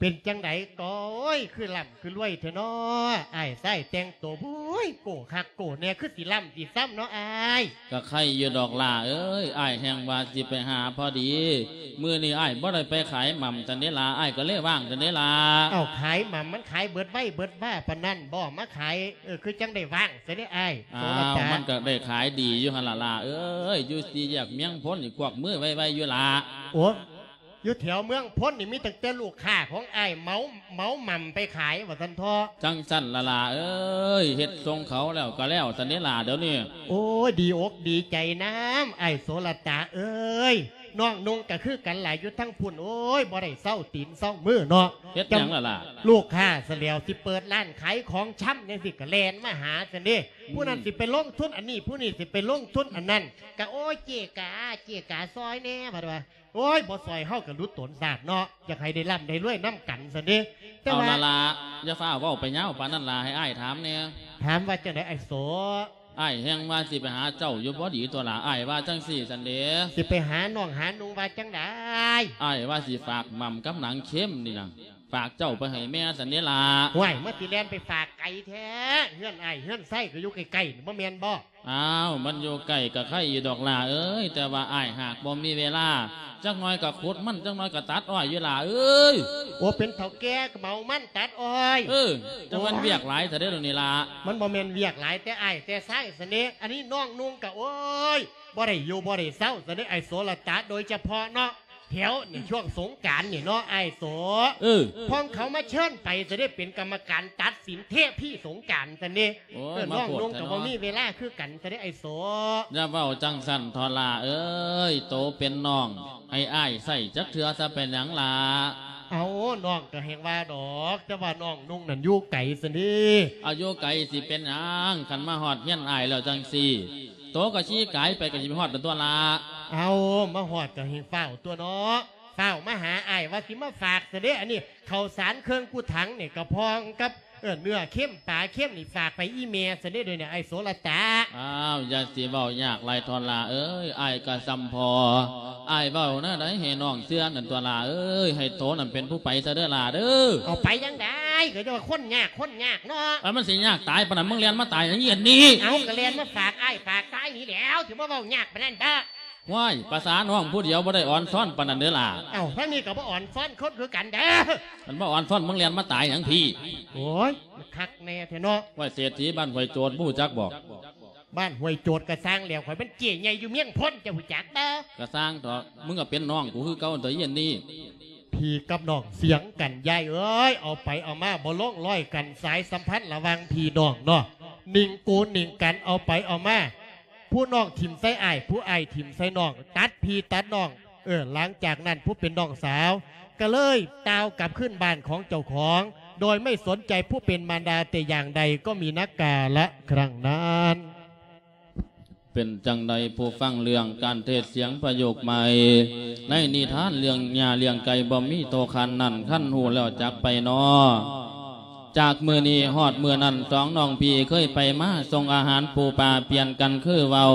ເປັນຈັ່ງໃດກໍ ໂອ້ຍ ຄືລ່ຳຄືລວຍແທ້ເນາະ ອ້າຍຊາຍແຕ່ງໂຕ ໂອ້ຍ ໂກ້ຄັກໂກ້ແນ່ ຄືຊິລ່ຳຊິຊ້ຳເນາະອ້າຍ. ກະໄຄຢູ່ດອກຫຼ້າເອີຍ ອ້າຍແຮ່ງວ່າຊິໄປຫາພໍດີ ມື້ນີ້ອ້າຍບໍ່ໄດ້ໄປຂາຍໝ່ຳຊັ້ນເດລະ ອ້າຍກໍເລີຍວ່າງຊັ້ນເດລະ. ເອົ້າ ຂາຍໝ່ຳມັນຂາຍເບິດໄວເບິດວາປານນັ້ນບໍ່ ມາຂາຍ ເອີ ຄືຈັ່ງໄດ້ວ່າງຊັ້ນເດອ້າຍ. ອ້າວ ໂສລະຕາ ມັນກໍໄດ້ຂາຍດີຢູ່ຫັ້ນລະຫຼ້າເອີຍ ຢູ່ສີ່ແຍກເມືອງພົນນີ້ກວັກມືໄວໆຢູ່ລະ. ໂອ້ ຢູ່ແຖວເມືອງພົນນີ້ມີຕັ້ງແຕ່ລູກຄ້າຂອງອ້າຍເໝົາ ເໝົາໝ່ຳໄປຂາຍວ່າຊັ້ນເຖາະ. ຈັ່ງຊັ້ນລະຫຼ້າເອີຍ ເຮັດສົ່ງເຂົາແລ້ວກໍແລ້ວຊັ້ນເດລະດຽວນີ້. ໂອ້ຍ ດີອົກດີໃຈນຳອ້າຍໂສລະຕາເອີຍ ນ້ອງນຸ່ງກໍຄືກັນຫຼາຍຢູ່ທາງພຸ້ນ ໂອ້ຍ ບໍ່ໄດ້ເຊົາຕີນເຊົາມືເນາະ. ເຮັດຫຍັງລະຫຼ້າ? ລູກຄ້າຊະແລ້ວ ຊິເປີດຮ້ານຂາຍຂອງຊຳຈັ່ງຊີ້ກໍແລ່ນມາຫາຊັ້ນເດ ອືມ ຜູ້ນັ້ນຊິໄປລົງທຶນອັນນີ້ ຜູ້ນີ້ຊິໄປລົງທຶນອັນນັ້ນ ກະ ໂອ້ຍ ເຈ້ກາ ເຈ້ກາ ຊ່ອຍແດ່ ພັດວ່າ ໂອ້ຍ ບໍ່ຊ່ອຍເຮົາກໍຫຼຸດຕົນຊາດເນາະ ຢາກໃຫ້ໄດ້ລ່ຳໄດ້ລວຍນຳກັນຊັ້ນເດ. ແຕ່ ເອົາ ວ່າ ລະຫຼ້າ ຢ່າຟ້າວເວົ້າໄປຍາວປານນັ້ນຫຼ້າ ໃຫ້ອ້າຍຖາມແດ່. ຖາມວ່າຈັ່ງໃດອ້າຍໂສ? ອ້າຍແຮ່ງວ່າຊິໄປຫາເຈົ້າຢູ່ພໍດີຕົວະຫຼ້າ ອ້າຍວ່າຈັ່ງຊີ້ຊັ້ນເດ. ຊິໄປຫານ້ອງຫານຸ່ງວ່າຈັ່ງໃດ? ອ້າຍວ່າຊິຝາກໝ່ຳກັບໜັງເຄັມນີ້ນະ ຝາກເຈົ້າໄປໃຫ້ແມ່ຊັ້ນເດລະ. ຫ້ວຍ ມາຊິແລ່ນໄປຝາກໄກແທ້ ເຮືອນອ້າຍເຮືອນໄຊກໍຢູ່ໃກ້ໆ ບໍ່ແມ່ນບໍ່? ອ້າວ ມັນຢູ່ໃກ້ກະໄຄຢູ່ດອກຫຼ້າເອີຍ ແຕ່ວ່າອ້າຍຫາກບໍ່ມີເວລາ ຈັກໜ່ອຍກະຂຸດມັນ ຈັກໜ່ອຍກະຕັດອ້ອຍຢູ່ຫຼ້າເອີຍ. ໂອ້ ເປັນເຖົ້າແກ່ກະເໝົາມັນຕັດອ້ອຍ. ເອີ ຈັ່ງມັນ ໂອ້ຍ ວຽກຫຼາຍແທ້ເດດຽວນີ້ລະ. ມັນບໍ່ແມ່ນວຽກຫຼາຍແຕ່ອ້າຍແຕ່ຊາຍຊັ້ນເດ ອັນນີ້ນ້ອງນຸ່ງກະ ໂອ້ຍ ບໍ່ໄດ້ຢູ່ບໍ່ໄດ້ເຊົາຊັ້ນເດ ອ້າຍໂສລະຕາ ໂດຍສະເພາະເນາະ ແຖວນີ້ ອືມ ຊ່ວງສົງການນີ້ເນາະ ອ້າຍໂສ. ເອີ ພວກເຂົາມາເຊີນໄປ ຈະໄດ້ເປັນກຳມະການຕັດສິນເທພີສົງການຊັ້ນເດ. ໂອ້ຍ ເອີ ມາໂພດແທ້ເນາະ ນ້ອງນຸ່ງກໍບໍ່ມີເວລາຄືກັນຊັ້ນເດ ອ້າຍໂສ. ຢ່າເວົ້າຈັ່ງຊັ້ນເຖາະຫຼ້າເອີຍ ໂຕເປັນນ້ອງ ໃຫ້ອ້າຍໃຊ້ຈັກເທື່ອຊະເປັນຫຍັງລະ? ເອົາ ນ້ອງກໍແຮ່ງວ່າດອກ ແຕ່ວ່ານ້ອງນຸ່ງນັ້ນຢູ່ໄກຊັ້ນເດ. ເອົາ ຢູ່ໄກຊິເປັນຫຍັງ ຄັນມາຮອດເຮືອນອ້າຍແລ້ວຈັ່ງຊີ້ ໂຕກໍຂີ່ກາຍໄປກໍຊິໄປຮອດນັ້ນຕົວະລະ. ເອົາ ມາຮອດກໍໃຫ້ຟ້າວຕົວະເນາະ ຟ້າວມາຫາອ້າຍ ວ່າຊິມາຝາກຊະເດ ອັນນີ້ເຂົ້າສານເຄິ່ງກຸຖັງນີ້ ກະພອງກັບ ເອີ ເນື້ອເຄັມປາເຄັມນີ້ ຝາກໄປອີ່ແມ່ຊະເດ ດຽວນີ້ ອ້າຍໂສລະຕາ. ອ້າວ ຢ່າຊິເວົ້າຍາກຫຼາຍເຖາະຫຼ້າເອີຍ ອ້າຍກໍສ່ຳພໍ່ ອ້າຍເວົ້າແນວໃດໃຫ້ນ້ອງເຊື່ອນັ້ນຕົວະຫຼ້າເອີຍ ໃຫ້ໂຕນັ້ນເປັນຜູ້ໄປຊະເດີຫຼ້າເດີ. ເອົາ ໄປຈັ່ງໃດ ກໍຈະວ່າຄົນຍາກ ຄົນຍາກເນາະ. ເອີ ມັນຊິຍາກຕາຍປານນັ້ນ ມຶງແລ່ນມາຕາຍຫຍັງອີ່ອັນນີ້? ເອົາ ກໍແລ່ນມາຝາກອ້າຍຝາກຊາຍນີ້ແລ້ວ ຊິມາເວົ້າຍາກປານນັ້ນເດີ. ວ້າຍ ພາສານ້ອງຜູ້ດຽວບໍ່ໄດ້ອ່ອນຊ້ອນປານນັ້ນເດີຫຼ້າ. ເອົ້າ ທາງນີ້ກໍບໍ່ອ່ອນຊ້ອນຄົນຄືກັນເດີ. ຄັນບໍ່ອ່ອນຊ້ອນ ມຶງແລ່ນມາຕາຍຫຍັງພີ້? ໂອ້ຍ ມັນຄັກແນ່ແທ້ເນາະ. ວ່າເສດຖີບ້ານຫ້ວຍໂຈດ ບໍ່ຮູ້ຈັກບໍ? ບ້ານຫ້ວຍໂຈດກໍຊ່າງແລ້ວ ຂ້ອຍເປັນເຈ້ໃຫຍ່ຢູ່ເມືອງພົນ ເຈົ້າຮູ້ຈັກບໍ່? ກໍຊ່າງເຖາະ ມຶງກໍເປັນນ້ອງກູຄືເກົ່າຕົວະ ອີ່ອັນນີ້. ພີ່ກັບນ້ອງສຽງກັນ ຍາຍເອີຍ ເອົາໄປເອົາມາບໍ່ລົງລອຍກັນ ສາຍສຳພັນລະຫວ່າງພີ່ນ້ອງເນາະ ໜິງກູໜິງກັນ ເອົາໄປເອົາມາ ຜູ້ນ້ອງຖິ້ມໃສ່ອ້າຍ ຜູ້ອ້າຍຖິ້ມໃສ່ນ້ອງ ຕັດພີ່ຕັດນ້ອງ. ເອີ ຫຼັງຈາກນັ້ນຜູ້ເປັນນ້ອງສາວກໍເລີຍຕ່າວກັບຄືນບ້ານຂອງເຈົ້າຂອງ ໂດຍໄມ່ສົນໃຈຜູ້ເປັນມານດາແຕ່ຢ່າງໃດ ກໍມີນັກກາລະຄັ້ງນັ້ນ. ເປັນຈັ່ງໃດຜູ້ຟັງເລື່ອງການເທດສຽງປະໂຫຍກໃໝ່ ໃນນິທານເລື່ອງຫຍ້າລ້ຽງໄກ່ບໍ່ມີໂຕຄັນນັ້ນ ຄັນຮູ້ແລ້ວຈັກໄປນໍ? ຈາກມື້ນີ້ຮອດມື້ນັ້ນ ສອງນ້ອງພີ່ເຄີຍໄປມາສົ່ງອາຫານປູປາປ່ຽນກັນຄືເວົ້າ.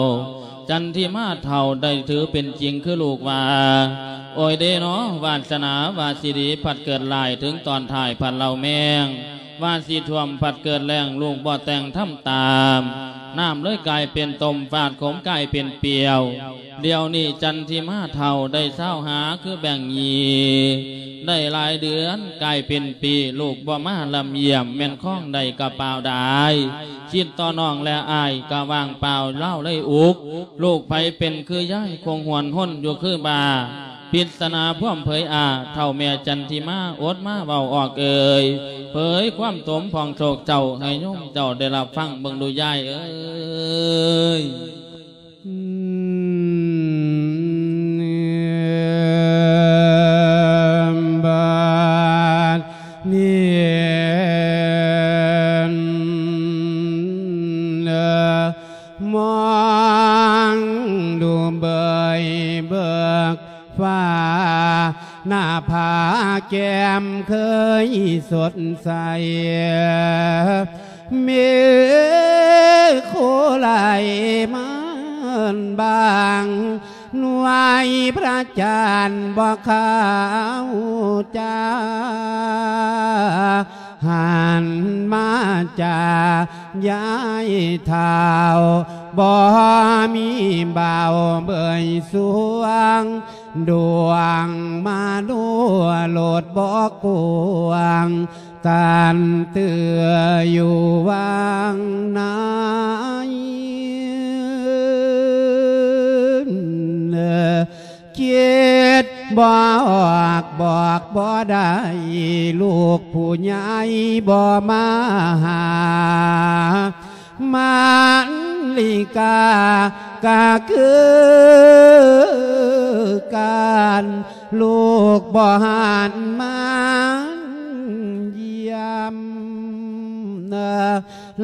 ຈັນທິມາເຖົ້າໄດ້ຖືເປັນຈິງຄືລູກວ່າ ໂອຍເດນໍ ວາດສະໜາວ່າຊິດີພັດເກີດຮ້າຍ ເຖິງຕອນທ້າຍພັດເລົ່າແມງ ວ່າຊິຖ້ວມພັດເກີດແລ້ງ ລູກບໍ່ແຕ່ງທຳຕາມ ນ້ຳເລີຍກາຍເປັນຕົ້ມ ຟາດຂົມກາຍເປັນປ່ຽວ. ດຽວນີ້ຈັນທິມາເຖົ້າໄດ້ຊາວຫ້າຄືແບ່ງຍີ່ ໄດ້ຫຼາຍເດືອນກາຍເປັນປີ ລູກບໍ່ມາລຳຢ້ຽມ ແມ່ນຄອງໄດ້ກະປາວດາຍ ຄິດຕໍ່ນ້ອງແລະອ້າຍກະວ່າງເປົ່າ ລາວເລີຍອຸກ ລູກໃຜເປັນຄືຍາຍ ຄົງຫວນຫົນຢູ່ຄືບ້າ ປິດສະໜາພວມເຜີຍອາ ເຖົ້າແມ່ຈັນທິມາ ອົດມາເວົ້າອອກເອີຍ ເຜີຍຄວາມສົມພອງໂສກເສົ້າ ໃຫ້ໂຍມເຈົ້າໄດ້ຮັບຟັງເບິ່ງດູຍາຍເອີຍ. ບາດນີ້ ມອງດູເບີຍເບີກຟ້າ ໜ້າຜາແກ້ມເຄີຍສົດໃສ ມີໂຄໄລມາບາງ ນວຍພະຈັນບໍ່ຂາວຈ້າ ຫັນມາຈາຍາຍເຖົ້າ ບໍ່ມີເບົາເບີຍສວງ ດວງມະໂນໂລດບໍ່ກວ້າງ ຕັນເຕືອຢູ່ຫວ່າງໃນ ຄິດບໍ່ອອກບອກບໍ່ໄດ້ ລູກຜູ້ໃຫຍ່ບໍ່ມາຫາ ມາລິກາກະຄືກັນ ລູກບໍ່ຫັນມາຢ້ຽມ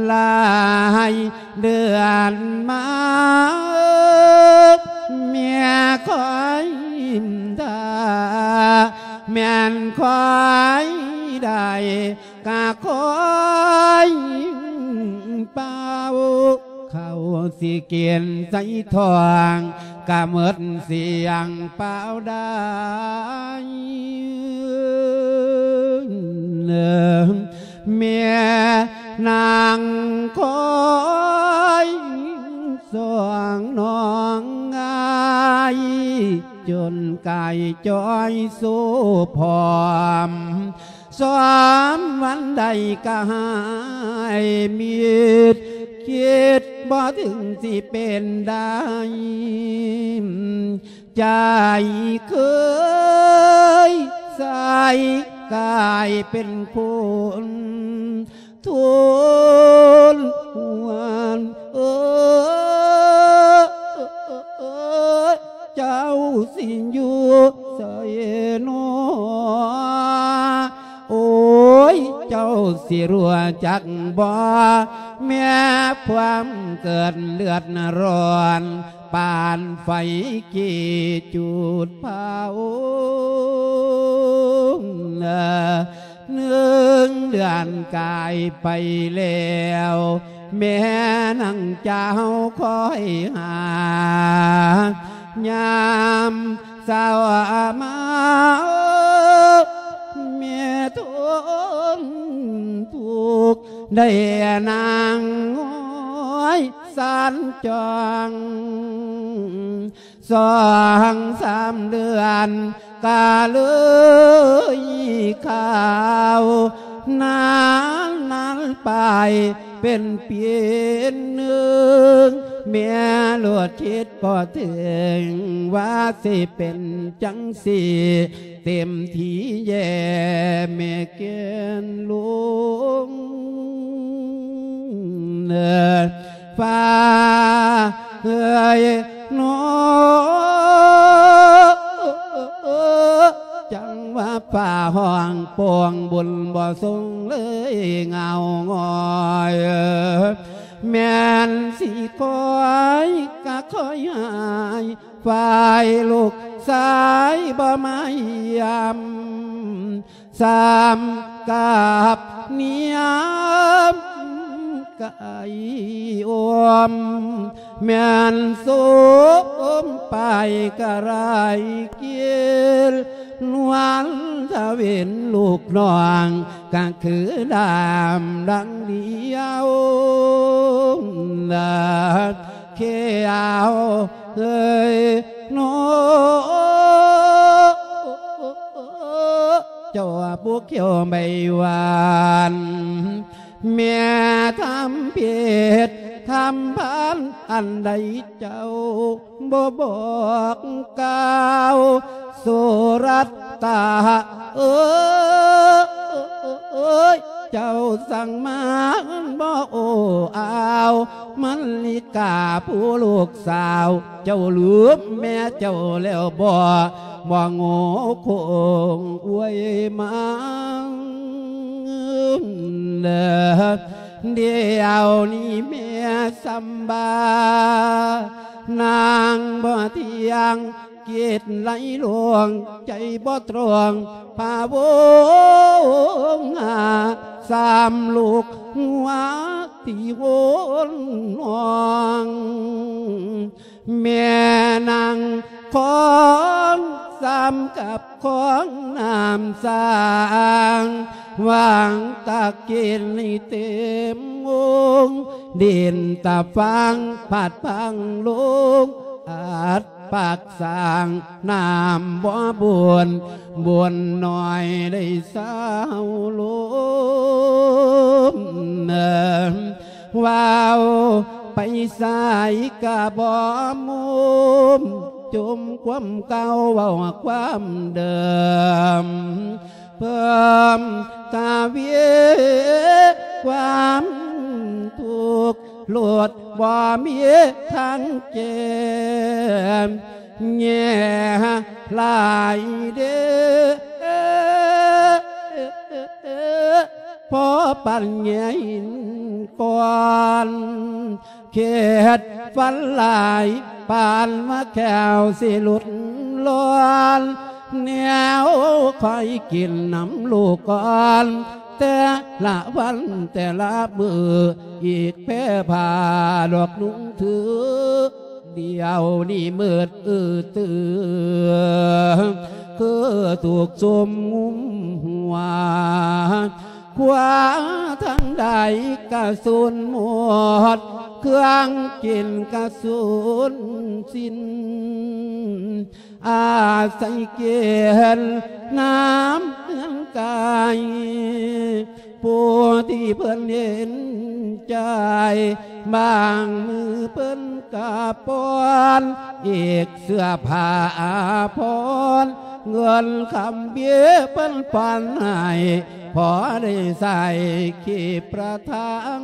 ຫຼາຍເດືອນມາ ແມ່ຄອຍຖ້າ ແມ່ນຄອຍໄດ້ ກະຄອຍເປົ່າ ເຂົ້າຊິກິນໃສ່ທ້ອງ ກະໝົດສ່ຽງເປົ່າໄດ້ ແມ່ນາງຄອຍສອງນ້ອງອາຍ ຈົນກາຍຈ່ອຍໂຊຜອມ ສອມວັນໃດກະຫາຍມິດ ຄິດບໍ່ເຖິງຊິເປັນໄດ້ ໃຈເຄີຍໃສກາຍເປັນຄົນ ທົນຫວນ ເອີ ເຈົ້າຊິຢູ່ໃສນໍ ໂອ້ຍ ເຈົ້າຊິຮູ້ຈັກບໍ່ ແມ່ຄວາມເກີດເລືອດຮ້ອນ ປານໄຟກີ້ຈູດເຜົາ ໜຶ່ງເດືອນກາຍໄປແລ້ວ ແມ່ນາງເຈົ້າຄອຍຫາ ຍາມເຊົ້າມາ ແມ່ທົນທຸກ ໄດ້ນັ່ງຫອຍສັນຈ່ອງ ສອງສາມເດືອນກະເລີຍຄາວ ນານນານໄປເປັນປີໜຶ່ງ ແມ່ໂລດຄິດບໍ່ເຖິງ ວ່າຊິເປັນຈັ່ງຊີ້ ເຕັມທີ່ແຍ່ແມ່ແກ່ນລົງ ຟ້າເອີຍນອ ຈັ່ງວ່າຟ້າຮ້ອງໂປ່ງບຸນບໍ່ສົ່ງເລີຍເງົາງອຍ ແມ່ນຊິຄອຍກະຄອຍຫາຍ ຝ່າຍລູກຊາຍບໍ່ມາຢ້ຽມ ຊ້ຳກັບນຽມໄກໂອມ ແມ່ນໂສມໄປກະໄລກິນ ນວນຕາເວັນລູກນ້ອງ ກະຄືດຳດັງດຽວ ນາ ແຂ້ວເອີຍນອ ເຈົ້າຜູ້ແຂວໃບຫວານ ແມ່ທຳຜິດທຳພານອັນໃດເຈົ້າ ບໍ່ບອກກ່າວ ໂສລັດຕາເອີຍ ເຈົ້າສັ່ງມາບໍ່ໂອ້ອາວ ມະລິກາຜູ້ລູກສາວ ເຈົ້າລືມແມ່ເຈົ້າແລ້ວບໍ່ ບໍ່ໂງ່ຄົງອວຍມາ ດຽວນີ້ແມ່ສຳບາ ນາງບໍ່ທ່ຽງ ຄິດໄຫຼຫຼວງ ໃຈບໍ່ຕຣອງ ພະວົງຫາ ສາມລູກຫົວທີ່ໂຫນຫ້ອງ ແມ່ນາງ ຂອງຊ້ຳກັບຂອງນ້ຳສ້າງ ຫວ່າງຕາກກິນໃຫ້ເຕັມວົງ ດິນຕາຟາງພັດພັງລົງ ອັດປາກສ້າງນ້ຳບໍ່ບຸນ ບຸນໜ້ອຍໄດ້ເຊົາລົມ ເວົ້າໄປໃສກະບໍ່ມຸມ ຈົ່ມຄວາມເກົ່າເວົ້າຄວາມເດີມ ເພີ່ມທະວີຄວາມທຸກ ໂລດບໍ່ມີທາງແກ້ ແຍ່ຫຼາຍເດ້ ພໍປັນແຍ່ຫີນກ້ອນ ເຂດຝັນຫຼາຍ ປານວ່າແຂ້ວຊິຫຼຸດລ້ອນ ແນວຄອຍກິນນຳລູກກ່ອນ ແຕ່ລະວັນແຕ່ລະມື້ ອີກແຜ່ຜ້າດອກນຸ່ງຖື ດຽວນີ້ມືດອື້ອຕື່ ຄືຖືກຊຸມງຸມຫົວ ຄວ້າທາງໃດກະສູນໝົດ ເຄື່ອງກິນກະສູນສິ້ນ ອາໄສກິນນ້ຳເຮືອນກາຍ ຜູ້ທີ່ເພິ່ນເຫັນໃຈ ບາງມື້ເພິ່ນກະປ້ອນ ອີກເສື້ອຜ້າອາພອນ ເງິນຄຳເບຍເພິ່ນປ້ອນໃຫ້ ພໍໄດ້ໃຊ້ຄີບປະທັງ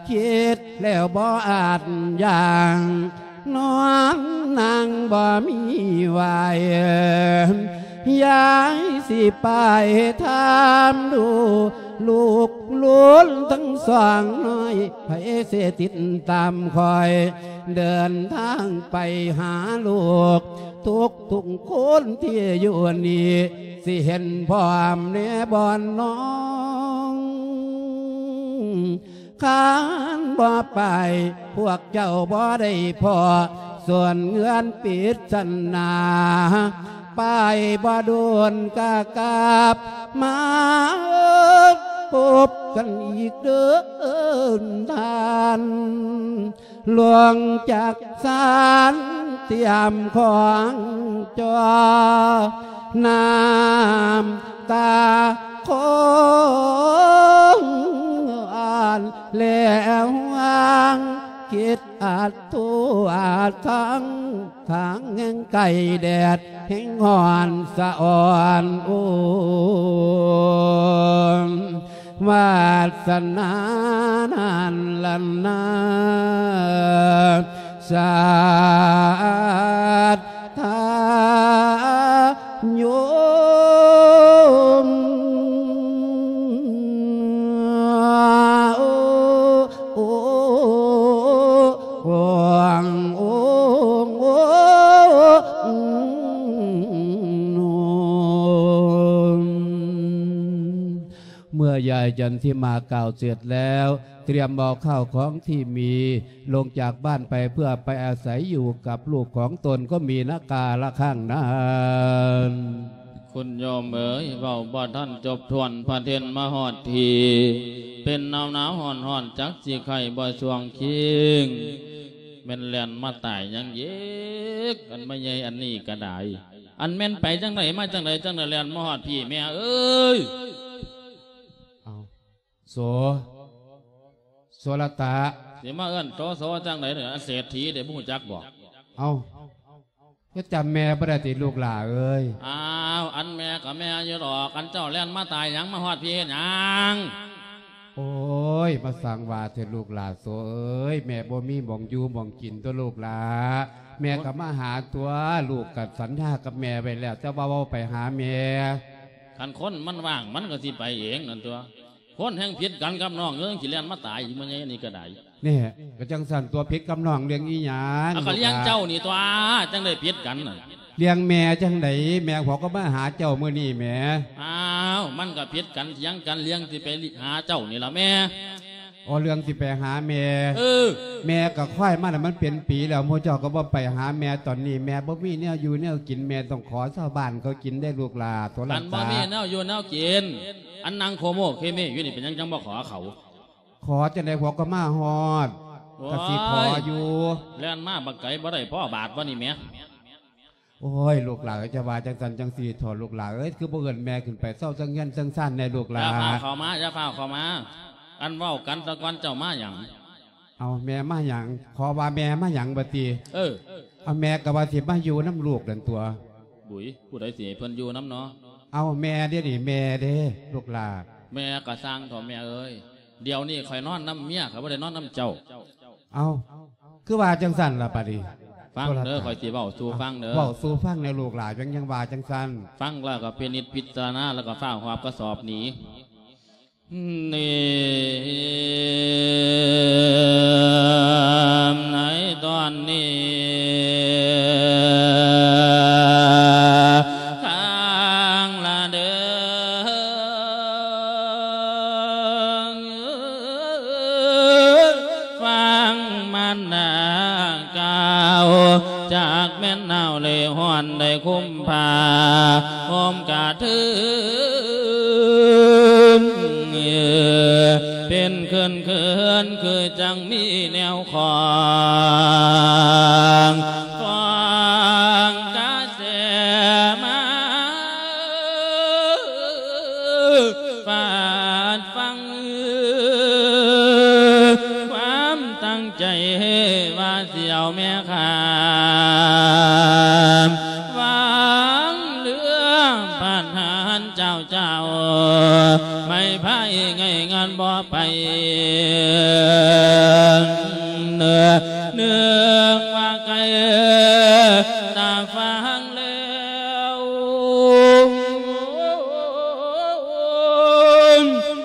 ຄິດແລ້ວບໍ່ອາດຢັ້ງ ນອນນັ່ງບໍ່ມີໄຫວ ຍາຍຊິໄປຖາມດູ ລູກຫຼານທັງສອງນ້ອຍ ໃຜຊິຕິດຕາມຂ້ອຍ ເດີນທາງໄປຫາລູກ ທຸກໆຄົນທີ່ຢູ່ນີ້ ຊິເຫັນພ້ອມແນ່ບ່ອນນ້ອງ ຄັນບໍ່ໄປ ພວກເຈົ້າບໍ່ໄດ້ພໍ້ ສ່ວນເຮືອນປິດສັນນາ ໄປບໍ່ດົນກະກັບມາ ພົບກັນອີກເດີທ່ານ ລວງຈັກສານຕຽມຂອງຈ່ອ ນ້ຳຕາຄອງອ່ານແລຫວ່າງ ຄິດອາດໂທອາດທັງ ທາງແຫ່ງໄກແດດແຫ່ງຮ້ອນສະອອນ ໂອ້ ວາສະໜານັ້ນລະນາ ສາທາໂຍມ ໂອ ໂອ ໂອ ໂອ ໂອ ເມື່ອຍາຍຈັນທິມາກ່າວເສັດແລ້ວ ຕຽມເອົາຂ້າວຂອງທີ່ມີລົງຈາກບ້ານໄປ ເພື່ອໄປອາໄສຢູ່ກັບລູກຂອງຕົນ ກໍມີນະກາລະຄັ້ງນັ້ນ. ຄຸນໂຍມເອີຍ ເວົ້າບໍ່ທັນຈົບຖ້ວນ ພະເທັນມາຮອດທີ່ ເປັນໜາວໆຮ້ອນໆ ຈັກຊິໄຂ້ບໍ່ຊ່ວງຄີງ ແມ່ນແລ່ນມາຕາຍຫຍັງອີກ ອັນມາໃຫຍ່ອັນນີ້ກະດາຍ ອັນແມ່ນໄປຈັ່ງໃດມາຈັ່ງໃດ ຈັ່ງໄດ້ແລ່ນມາຮອດພີ້ ແມ່ເອີຍ. ເອົາ ໂສ ໂສລະຕະ ຊິມາເອີ້ນໂຕໂສຈັ່ງໃດເດ ອັນເສດຖີເດ ບໍ່ຮູ້ຈັກບໍ? ເອົາ ຈະຈຳແມ່ບໍ່ໄດ້ຕິລູກຫຼ້າເອີຍ? ອ້າວ ອັນແມ່ກະແມ່ຢູ່ດອກ ອັນເຈົ້າແລ່ນມາຕາຍຫຍັງ ມາຮອດພີ້ເຮັດຫຍັງ? ໂອ້ຍ ມາສ້າງວ່າແທ້ລູກຫຼ້າໂສເອີຍ ແມ່ບໍ່ມີໝ່ອງຢູ່ໝ່ອງກິນຕົວະລູກຫຼ້າ ແມ່ກະມາຫາຕົວະ ລູກກະສັນຍາກັບແມ່ໄວ້ແລ້ວ ແຕ່ວ່າເວົ້າໄປຫາແມ່. ຄັນຄົນມັນວ່າງມັນກະຊິໄປເອງນັ້ນຕົວະ ຄົນແຮ່ງຜິດກັນກັບນ້ອງເອີຍ ຊິແລ່ນມາຕາຍຢູ່ມື້ໃຫຍ່ນີ້ກະໄດ້. ແນ່ ກະຈັ່ງຊັ້ນຕົວະ ຜິດກັບນ້ອງເລື່ອງອີ່ຫຍັງ? ເອົາ ກະລ້ຽງເຈົ້ານີ້ຕົວະ ຈັ່ງໄດ້ຜິດກັນນະ. ລ້ຽງແມ່ຈັ່ງໃດ ແມ່ເຂົາກະມາຫາເຈົ້າມື້ນີ້ແໝ. ອ້າວ ມັນກະຜິດກັນຖຽງກັນ ລ້ຽງຊິໄປຫາເຈົ້ານີ້ລະແມ່. ອໍ ເລື່ອງຊິໄປຫາແມ່. ເອີ ແມ່ກໍຄອຍມາແລ້ວ ມັນເປັນປີແລ້ວ ໝູ່ເຈົ້າກໍບໍ່ໄປຫາແມ່. ຕອນນີ້ແມ່ບໍ່ມີແນວຢູ່ແນວກິນ ແມ່ຕ້ອງຂໍຊາວບ້ານເຂົາກິນເດ້ລູກຫຼ້າ ໂທລະສັບ. ຄັນບໍ່ມີແນວຢູ່ແນວກິນ ອັນນັ່ງໂຄໂມເຄເມຢູ່ນີ້ ເປັນຫຍັງຈັ່ງບໍ່ຂໍເຂົາ? ຂໍຈັ່ງໃດ ພວກກໍມາຮອດ ໂອ້ຍ ກໍຊິຂໍຢູ່. ແລ່ນມາບັກໄກບໍ່ໄດ້ພໍບາດບໍ່ນີ້ແໝ? ໂອ້ຍ ລູກຫຼ້າເອີຍ ຈະວ່າຈັ່ງຊັ້ນຈັ່ງຊີ້ເຖາະ ລູກຫຼ້າເອີຍ ຄືບໍ່ເອີ້ນແມ່ຂຶ້ນໄປເຊົາເທິງເຮືອນເທິງຊານແດ່ລູກຫຼ້າ? ຢ່າຟ້າວເຂົ້າມາ ຢ່າຟ້າວເຂົ້າມາ ອັນເວົ້າກັນສາກ່ອນ ເຈົ້າມາຫຍັງ? ເອົາ ແມ່ມາຫຍັງ? ຂໍວ່າແມ່ມາຫຍັງບັດນີ້? ເອີ ເອົາ ແມ່ກໍວ່າຊິມາຢູ່ນຳລູກນັ້ນຕົວະ. ບຸຍ ຜູ້ໃດຊິໃຫ້ເພິ່ນຢູ່ນຳເນາະ? ເອົາ ແມ່ເດ້ນີ້ ແມ່ເດ້ລູກຫຼ້າ. ແມ່ກໍຊ່າງເຖາະແມ່ເອີຍ ດຽວນີ້ຂ້ອຍນອນນຳເມຍ ຂ້ອຍບໍ່ໄດ້ນອນນຳເຈົ້າ. ເອົ້າ ຄືວ່າຈັ່ງຊັ້ນລະບາດນີ້? ຟັງເດີ ຂ້ອຍຊິເວົ້າສູ່ຟັງເດີ. ເວົ້າສູ່ຟັງແດ່ລູກຫຼ້າ ຍັງ ຍັງວ່າຈັ່ງຊັ້ນ. ຟັງແລ້ວກໍພິນິດພິຈາລະນາ ແລ້ວກໍຟ້າວຫອບກະສອບໜີ. ນີ້ ໃນຕອນນີ້ ຂ້າງລະເດີ ຟັງມານດາກ່າວ ຈັກແມ່ນໜາວ ຫຼື ຮ້ອນ ໄດ້ຄຸມຜ້າຫົ່ມກະເທີນ ເປັນເຂີນໆ ຄືຈັ່ງມີແນວຂອງ ຂອງກະແສມາ ຟາດຟັງ ຄວາມຕັ້ງໃຈວ່າຊິເອົາແມ່ຂ້າມ ຫວັງເຫຼືອປາດຫານເຈົ້າ ເຈົ້າໄມ່ພາຍໄງງານບໍ່ໄປ ເນ ເນື່ອງວ່າໄກຕາຟັງແລ້ວ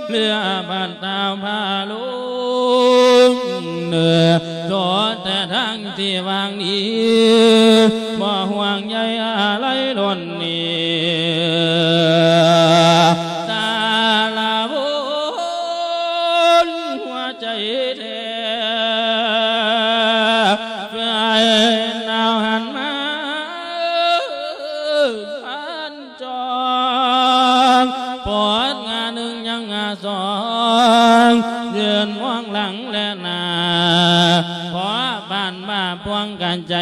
ເຫຼືອບາດຕາພາລົງ ເນ ໂຕແຕ່ທາງທີ່ຫວັງດີ ບໍ່ຫ່ວງໃຍອາໄລລົນນີ້ ສາລະວົນຫົວໃຈແທ້ ເພື່ອໃຫ້ໜາວຫັນມາ ພັນຈອງ ປອດງາໜຶ່ງຍັງງາສອງ ຢືນມອງຫຼັງແລະໜ້າ ພໍປານວ່າພວງກັນໃຈ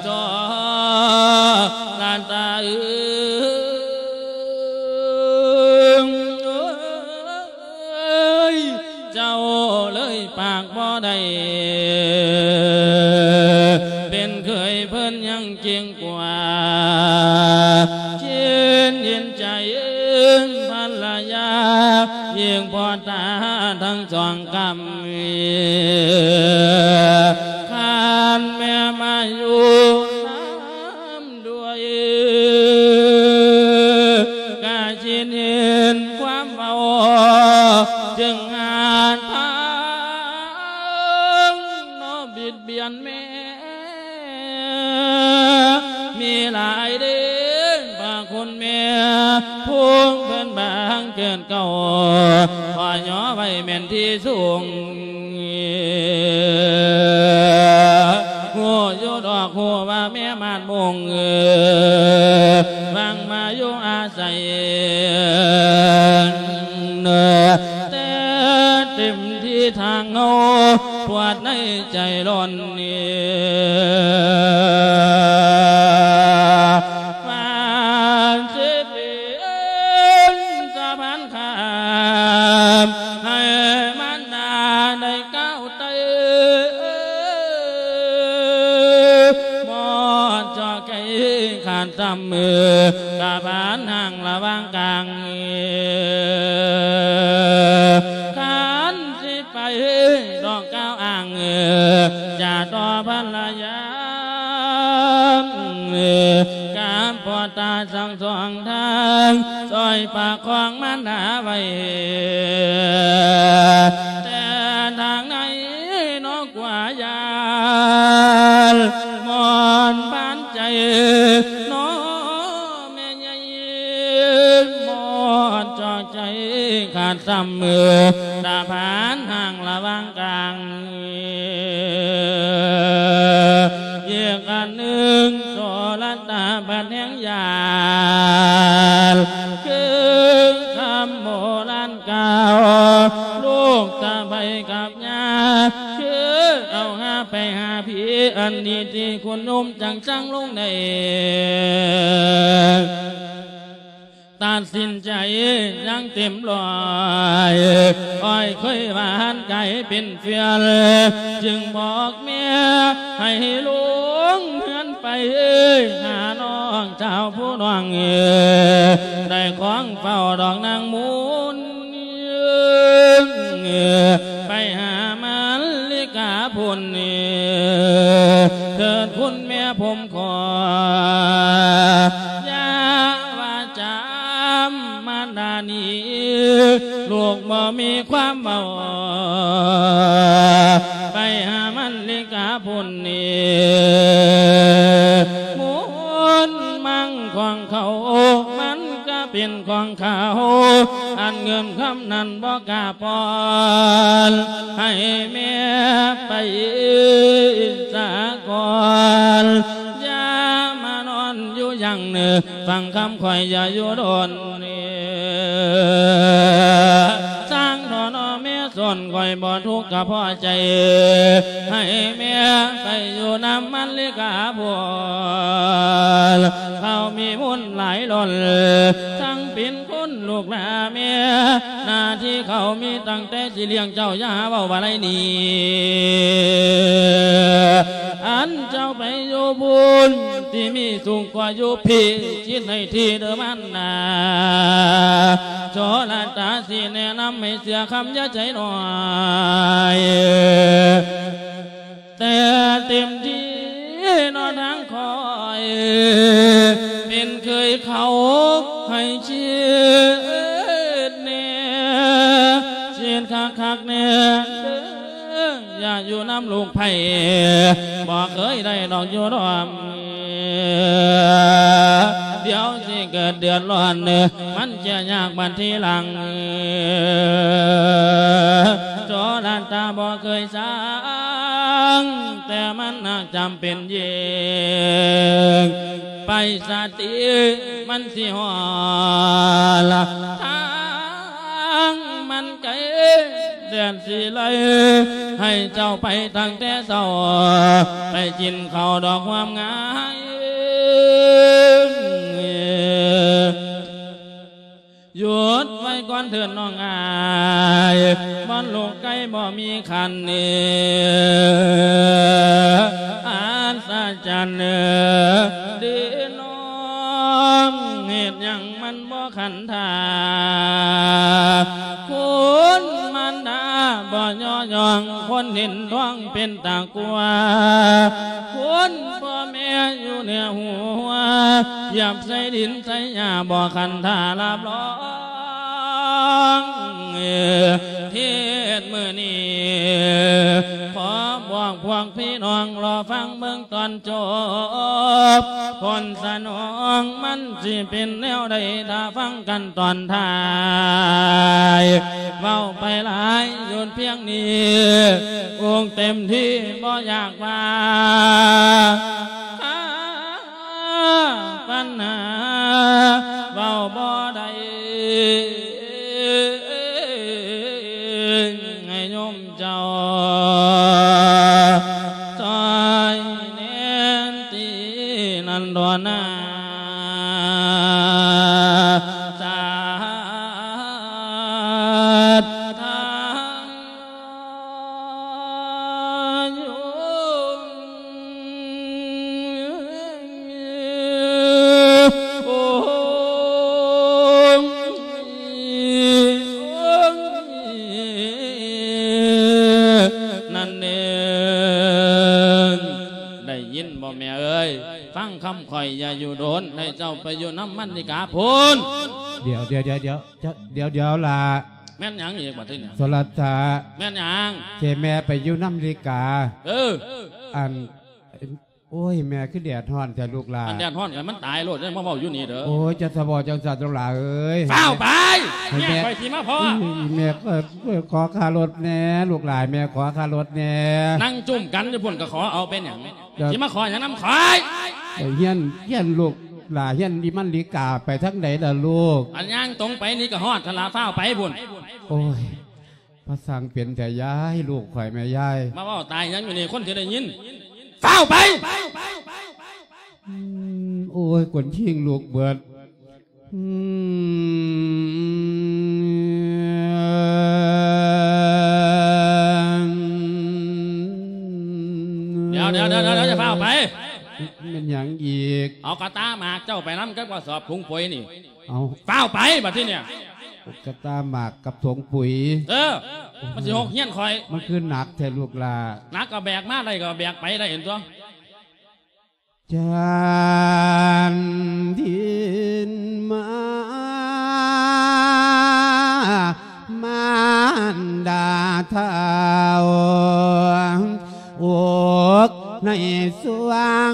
ຈອງລະຕາເອີຍ ເຈົ້າເລີຍປາກບໍ່ໄດ້ ເປັນເຂີຍເພິ່ນຍັງເກັ່ງກວ່າ ເຢັນເຢັນໃຈພັນລະຍາ ຍິ່ງພໍຕາທັງສອງກຳ ຄັນແມ່ມາຢູ່ນຳ ດ້ວຍ ກະຊິເຫັນຄວາມເວົ້າ ຈຶ່ງອາດພັງເນາະ ບິດບຽນແມ່ ມີຫຼາຍເດ້ພະຄຸນແມ່ ພູມເພິ່ນບາງເກີດເກົ່າ ຂໍຍໍໄວ້ແມ່ນທີ່ສູງ ຮູ້ຢູ່ດອກ ຮູ້ວ່າແມ່ມາດມຸງ ຫວັງມາຢູ່ອາໄສ ແຕ່ເຕັມທີ່ທາງເຮົາ ປວດໃນໃຈລ້ນ ວ່າຊິເປັນສະພານຂ້າມ ໃຫ້ມານດາໄດ້ກ້າວໄຕ່ ໝົດຈອກໃຈຂາດຊ້ຳ ກະບານຫ່າງລະຫວ່າງກາງ ຄັນຊິໄປດອກກ່າວອ້າງ ຈະຕໍ່ພັນລະຍາ ກາບພໍ່ຕາທັງສອງທາງ ຊ່ອຍປະຄອງມານດາໄວ້ ແຕ່ທາງໃນນອກ ກວ່າຢ້ານໝອນບານໃຈ ນ້ອງແມ່ໃຫຍ່ ໝອດຈອກໃຈ ຂາດຊ້ຳມື ຕາຜານຫ່າງລະຫວ່າງກາງ. ອີກອັນໜຶ່ງ ໂສລະຕາບັດແຫ່ງຍານ ຄືຄຳໂບລານກ່າວ ລູກຕາໄປກັບຍາ ຄືເອົາຫາໄປຫາຜີ ອັນນີ້ທີ່ຄຸນໂຍມຈັງສັງລົງໄດ້ ຕັດສິນໃຈຢ່າງເຕັມຮ້ອຍ ອ້ອຍເຄີຍຫວານກາຍເປັນເຟືອນ ຈຶ່ງບອກແມ່ໃຫ້ລົງເຮືອນໄປ ຫານ້ອງສາວຜູ້ນ້ອງ ໄດ້ຂອງເຝົ້າດອກນາງໝູນ ໄປຫາມາລິກາພຸ້ນ ເທີດຄຸນແມ່ຜົມຂໍ ຢ່າວ່າຈຳມານດານີ້ ລູກບໍ່ມີຄວາມເວົ້າ ໄປຫາມາລິກາພຸ້ນ ໝູນມັງຂອງເຂົາ ມັນກະເປັນຂອງເຂົາ ອັນເງິນຄຳນັ້ນບໍ່ກະ ປອນໃຫ້ແມ່ໄປສາກ່ອນ ຢ່າມານອນຢູ່ຢ່າງນີ້ ຟັງຄຳຂ້ອຍຢ່າຢູ່ດົນ ຊ່າງເຖາະເນາະແມ່ ສ່ວນຂ້ອຍບໍ່ທຸກກະພໍໃຈ ໃຫ້ແມ່ໄປຢູ່ນຳມາລິກາພຸ້ນ ເຂົາມີບຸນຫຼາຍລ້ນ ທັງເປັນ ຄຸນລູກຫຼາແມ່ ໜ້າທີ່ເຂົາມີຕັ້ງແຕ່ຊິລ້ຽງເຈົ້າ ຢ່າເວົ້າວ່າໄລໜີ ອັນເຈົ້າໄປຢູ່ພຸ້ນ ທີ່ມີສຸກກວ່າຢູ່ພີ້ ຄິດໃຫ້ຖີ່ເດີມານດາ ໂສລະຕາຊິແນະນຳໃຫ້ເຊື່ອຄຳ ຢ່າໃຈນ້ອຍ ແຕ່ເຕັມທີ່ເນາະທາງຂ້ອຍ ເປັນເຄີຍເຂົາໃຫ້ເຊັດແນ່ ເຊັດຄັກໆແນ່ເດີ ຢ່າຢູ່ນຳລູກໃຜ ບໍ່ເຄີຍໄດ້ດອກຢູ່ດອມ ດຽວຊິເກີດເດືອດຮ້ອນ ມັນຈະຍາກບັດທີຫຼັງ ໂສລະຕາບໍ່ເຄີຍ ຊ່າງ ແຕ່ມັນໜັກຈຳເປັນຍິ່ງ ໄປສະຕິມັນຊິຮອດ ທາງມັນໄກແສນສີໄລ ໃຫ້ເຈົ້າໄປຕັ້ງແຕ່ເຊົ້າ ໄປກິນເຂົ້າດອກຫວາມງາຍ. ຢຸດໄວ້ກ່ອນເທີນນ້ອງອ້າຍ ບ່ອນລູກໄກ່ບໍ່ມີຂັນ ອັດສະຈັນເດີນ້ອງ ເຮັດຫຍັງມັນບໍ່ຂັນທ່າ ຄຸນມານດາບໍ່ຍໍຍ້ອງ ຄົນເຫັນທ້ອງເປັນຕາກົວ ຄົນພໍ່ແມ່ຢູ່ເໜືອຫົວ ຢາບໃສ່ດິນໃສ່ຫຍ້າ ບໍ່ຂັນທ່າຮັບຮອງ ເທດມື້ນີ້ ຂໍບອກພວກພີ່ນ້ອງ ລໍຟັງເບິ່ງຕອນຈົບ ຜົນສະໜອງມັນຊິເປັນແນວໃດ ຖ້າຟັງກັນຕອນທ້າຍ ເວົ້າໄປຫຼາຍ ຢຸດພຽງນີ້ ອົງເຕັມທີ່ບໍ່ຢາກວ່າ ຫາປັນຫາເວົ້າບໍ່ໄດ້ ໃຫ້ໂຍມເຈົ້າຊ່ອຍແນມຕີນັ້ນດອນນາ ສາທາ ນັ້ນເດ້ ໄດ້ຍິນບໍ່ແມ່ເອີຍ? ຟັງຄຳຂ້ອຍຢ່າຢູ່ດົນ ໃຫ້ເຈົ້າໄປຢູ່ນຳມັນດີກາພຸ້ນ. ດຽວ ດຽວ ດຽວ ດຽວ ດຽວ ດຽວ ດຽວລະ ແມ່ນຫຍັງອີກບັດນີ້? ໂສລະຕາ ແມ່ນຫຍັງ? ເຈແມ່ໄປຢູ່ນຳລີກາ. ເອີ ອັນ ໂອ້ຍ ແມ່ຄືແດດຮ້ອນແທ້ລູກຫຼ້າ. ອັນແດດຮ້ອນກໍໃຫ້ມັນຕາຍໂລດ ຢ່າມາເວົ້າຢູ່ນີ້ເດີ້. ໂອ້ຍ ຈະສະບອກຈັ່ງຊັ້ນລູກຫຼ້າເອີຍ. ຟ້າວໄປ ແມ່ຂ້ອຍຊິມາພໍ້. ແມ່ ເອີ ຂໍຄ່າລົດແດ່ລູກຫຼ້າ ແມ່ຂໍຄ່າລົດແດ່. ນັ່ງຈຸ້ມກັນຢູ່ພຸ້ນກໍຂໍເອົາເປັນຫຍັງ? ຊິມາຂໍຫຍັງນຳຂ້ອຍ? ຮຽນ ຮຽນລູກຫຼ້າ ຮຽນອີ່ມັນລີກາໄປທາງໃດລະລູກ? ອັນຍ່າງຕົງໄປນີ້ກໍຮອດຫັ້ນລະ ຟ້າວໄປພຸ້ນ. ໂອ້ຍ ພາສັງເປັນແທ້ຍາຍ ລູກຂ້ອຍແມ່ຍາຍ. ມາເວົ້າຕາຍຫຍັງຢູ່ນີ້ ຄົນຊິໄດ້ຍິນ. ຟ້າວໄປ! ອືມ ໂອ້ຍ ຄົນຄີງລູກເບິດ. ອືມ ດຽວໆໆໆ ຢ່າຟ້າວໄປ. ແມ່ນຫຍັງອີກ? ເອົາກະຕາໝາກເຈົ້າໄປນຳກັບກະສອບຖົງປຸ໋ຍນີ້. ເອົາ ຟ້າວໄປບັດທີນີ້. ກະຕາໝາກກັບຖົງປຸ໋ຍ. ເອີ ມັນຊິຫົກຮຽນຂ້ອຍ. ມັນຄືໜັກແທ້ລູກຫຼ້າ. ໜັກກໍແບກມາໄດ້ ກໍແບກໄປໄດ້ຫັ້ນຕົວະ. ຈານດິນມາ ມານດາເຖົ້າ ອົກໃນສວງ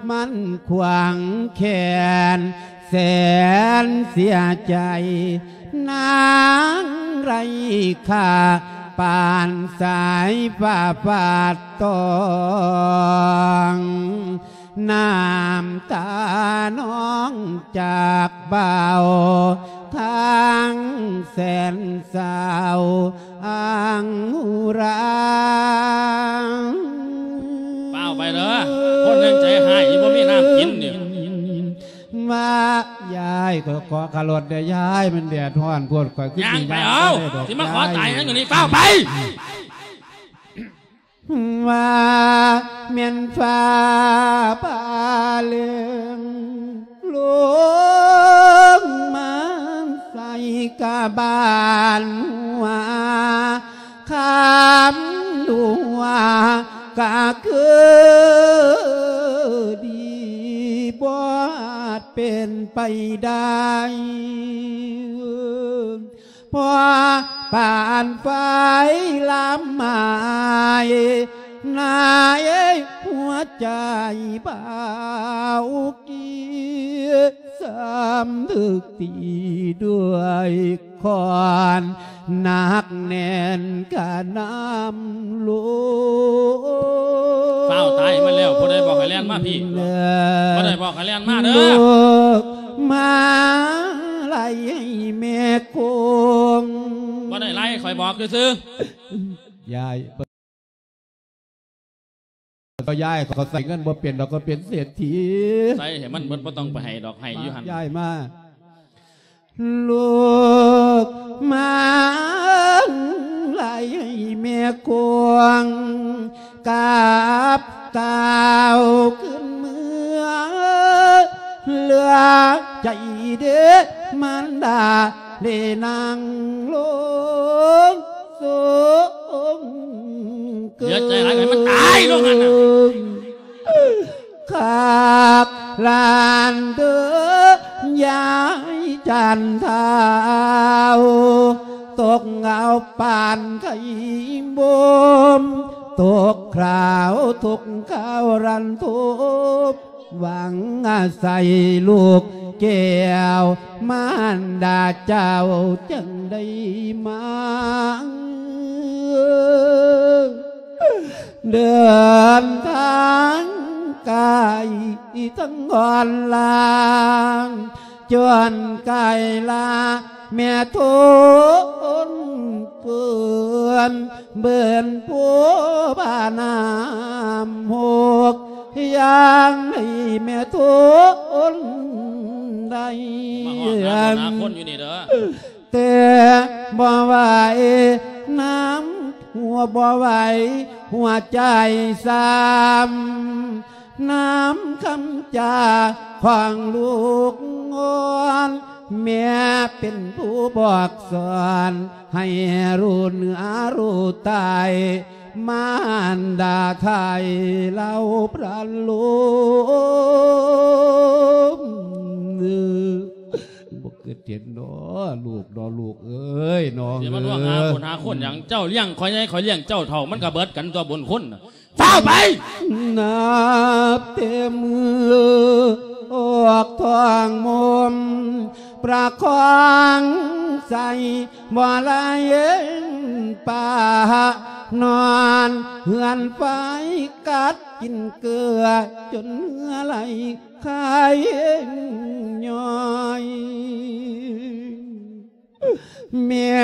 ມັນຂວາງແຂນແສນເສຍໃຈ ນາງໄຮ້ຄ່າປານສາຍຟ້າຟາດຕອງ ນ້ຳຕານອງຈາກເບົ້າ ທາງແສນເສົ້າ ອັງອຸຣາ. ຟ້າວໄປເດີ້ ຄົນຍັງໃຈຮ້າຍຢູ່ ບໍ່ມີນ້ຳກິນນີ້. ວ່າ ຍາຍ ຂໍຄ່າລົດແດ່ຍາຍ ມັນແດດຮ້ອນໂພດ ຂ້ອຍຄື ຍ່າງໄປເອົາ ຊິມາຂໍຕາຍຫຍັງຢູ່ນີ້ ຟ້າວໄປ. ວ່າແມ່ນຟ້າຟ້າເລື່ອງ ລົງມາໃສ່ກະບານຫົວ ຄຳດູວ່າກະຄືດີ ບໍ່ອາດເປັນໄປໄດ້ ເພາະປານໄຟລາມໝາຍ ໃນຫົວໃຈບ່າວກີ້ ສຳນຶກຕີດ້ວຍຄ້ອນ ໜັກແໜ້ນກະນຳລົງ. ຟ້າວຕາຍມັນແລ້ວ ຜູ້ໃດບອກໃຫ້ແລ່ນມາພີ້? ບໍ່ໄດ້ບອກໃຫ້ແລ່ນມາເດີ້ ມາໄລ່ໃຫ້ແມ່ໂກງ. ບໍ່ໄດ້ໄລ່ ຂ້ອຍບອກຊື່ໆ. ຍາຍ ຍາຍ ເຂົາໃຊ້ເງິນບໍ່ເປັນດອກ ເຂົາເປັນເສດຖີ. ໃສ່ໃຫ້ມັນເບິດ ບໍ່ຕ້ອງໄປໃຫ້ດອກ ໃຫ້ຢູ່ຫັ້ນ. ຍາຍມາ ລູກມາໄລ່ໃຫ້ແມ່ກວາງ ກັບເຕົ້າຂຶ້ນເມືອ ເຫຼືອໃຈເດ້ມານດາ ໄດ້ນັ່ງລົງ ສົງເກີນ ເສຍໃຈຫຼາຍ ໃຫ້ມັນຕາຍລົງຫັ້ນນະ ຄັກຫຼານເດີ ຍາຍຈັນເທົ້າ ຕົກເອົາປານໄຂ່ບົ່ມ ຕົກຄາວທຸກຄາວລັນທົບ ຫວັງອາໄສລູກແກ້ວ ມານດາເຈົ້າຈຶ່ງໄດ້ມາ ເດີນທາງໄກທັງອ່ອນລາ ຈົນກາຍລາແມ່ທົນເກີນ ເບິ່ນໂພບານ້ຳຫົກ ຢ່າງໃດແມ່ທົນໄດ້ ມາຮອດຫາຄົນ ຫາຄົນຢູ່ນີ້ເດີ ແຕ່ບໍ່ໄຫວນ້ຳຫົວ ບໍ່ໄຫວຫົວໃຈຊ້ຳ ນຳຄຳຈາຂອງລູກອ່ອນ ແມ່ເປັນຜູ້ບອກສອນ ໃຫ້ຮູ້ເນື້ອຮູ້ຕາຍ ມານດາໄທເລົ່າພະໂລມ. ບໍ່ຄິດເຫັນເນາະ ລູກເນາະ ລູກເອີຍ ນ້ອງເອີຍ ຊິມາລ່ວງຫາຄົນຫາຄົນຫຍັງ? ເຈົ້າລ້ຽງຂ້ອຍໃຫຍ່ ຂ້ອຍລ້ຽງເຈົ້າເຖົ້າ ມັນກໍເບິດກັນຕົວະບຸນຄຸນນະ. ຟ້าวไป ນັບແຕ່ມື້ອອກທ້ອງມົມ ປະຄອງໃສ່ບໍ່ໄດ້ ປານອນເຮືອນໄຟ ກັດກິນເກືອຈົນເຫື່ອໄຫຼ ຄາຍຍ້ອຍ ແມ່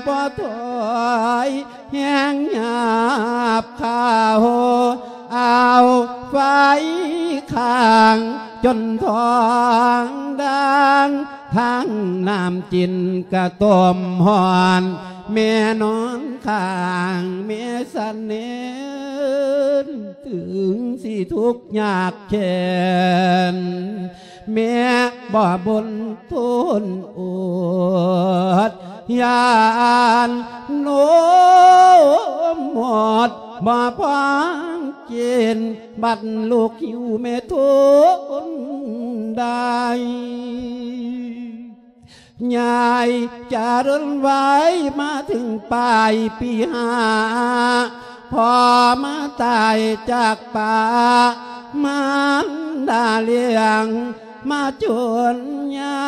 ບໍ່ຖອຍແຮງຫຍາບຂາວ ເອົາໄຟຄ້າງຈົນທ້ອງດ່າງ ທັງນ້ຳຈິນກະຕົ້ມຮ້ອນ ແມ່ນອນຂ້າງແມ່ສະເໜັນ ເຖິງຊິທຸກຍາກແຄ້ນ ແມ່ບໍ່ບົນທົນອົດ ຢ້ານນົມໝົດບໍ່ພ້ອງກິນ ບັດລູກຫິວແມ່ທົນໄດ້ ຍາຍຈະເດີນໄວມາເຖິງປາຍປີຫ້າ ພໍ່ມາຕາຍຈາກປ້າ ມານດາລ້ຽງມາຈົນໃຫຍ່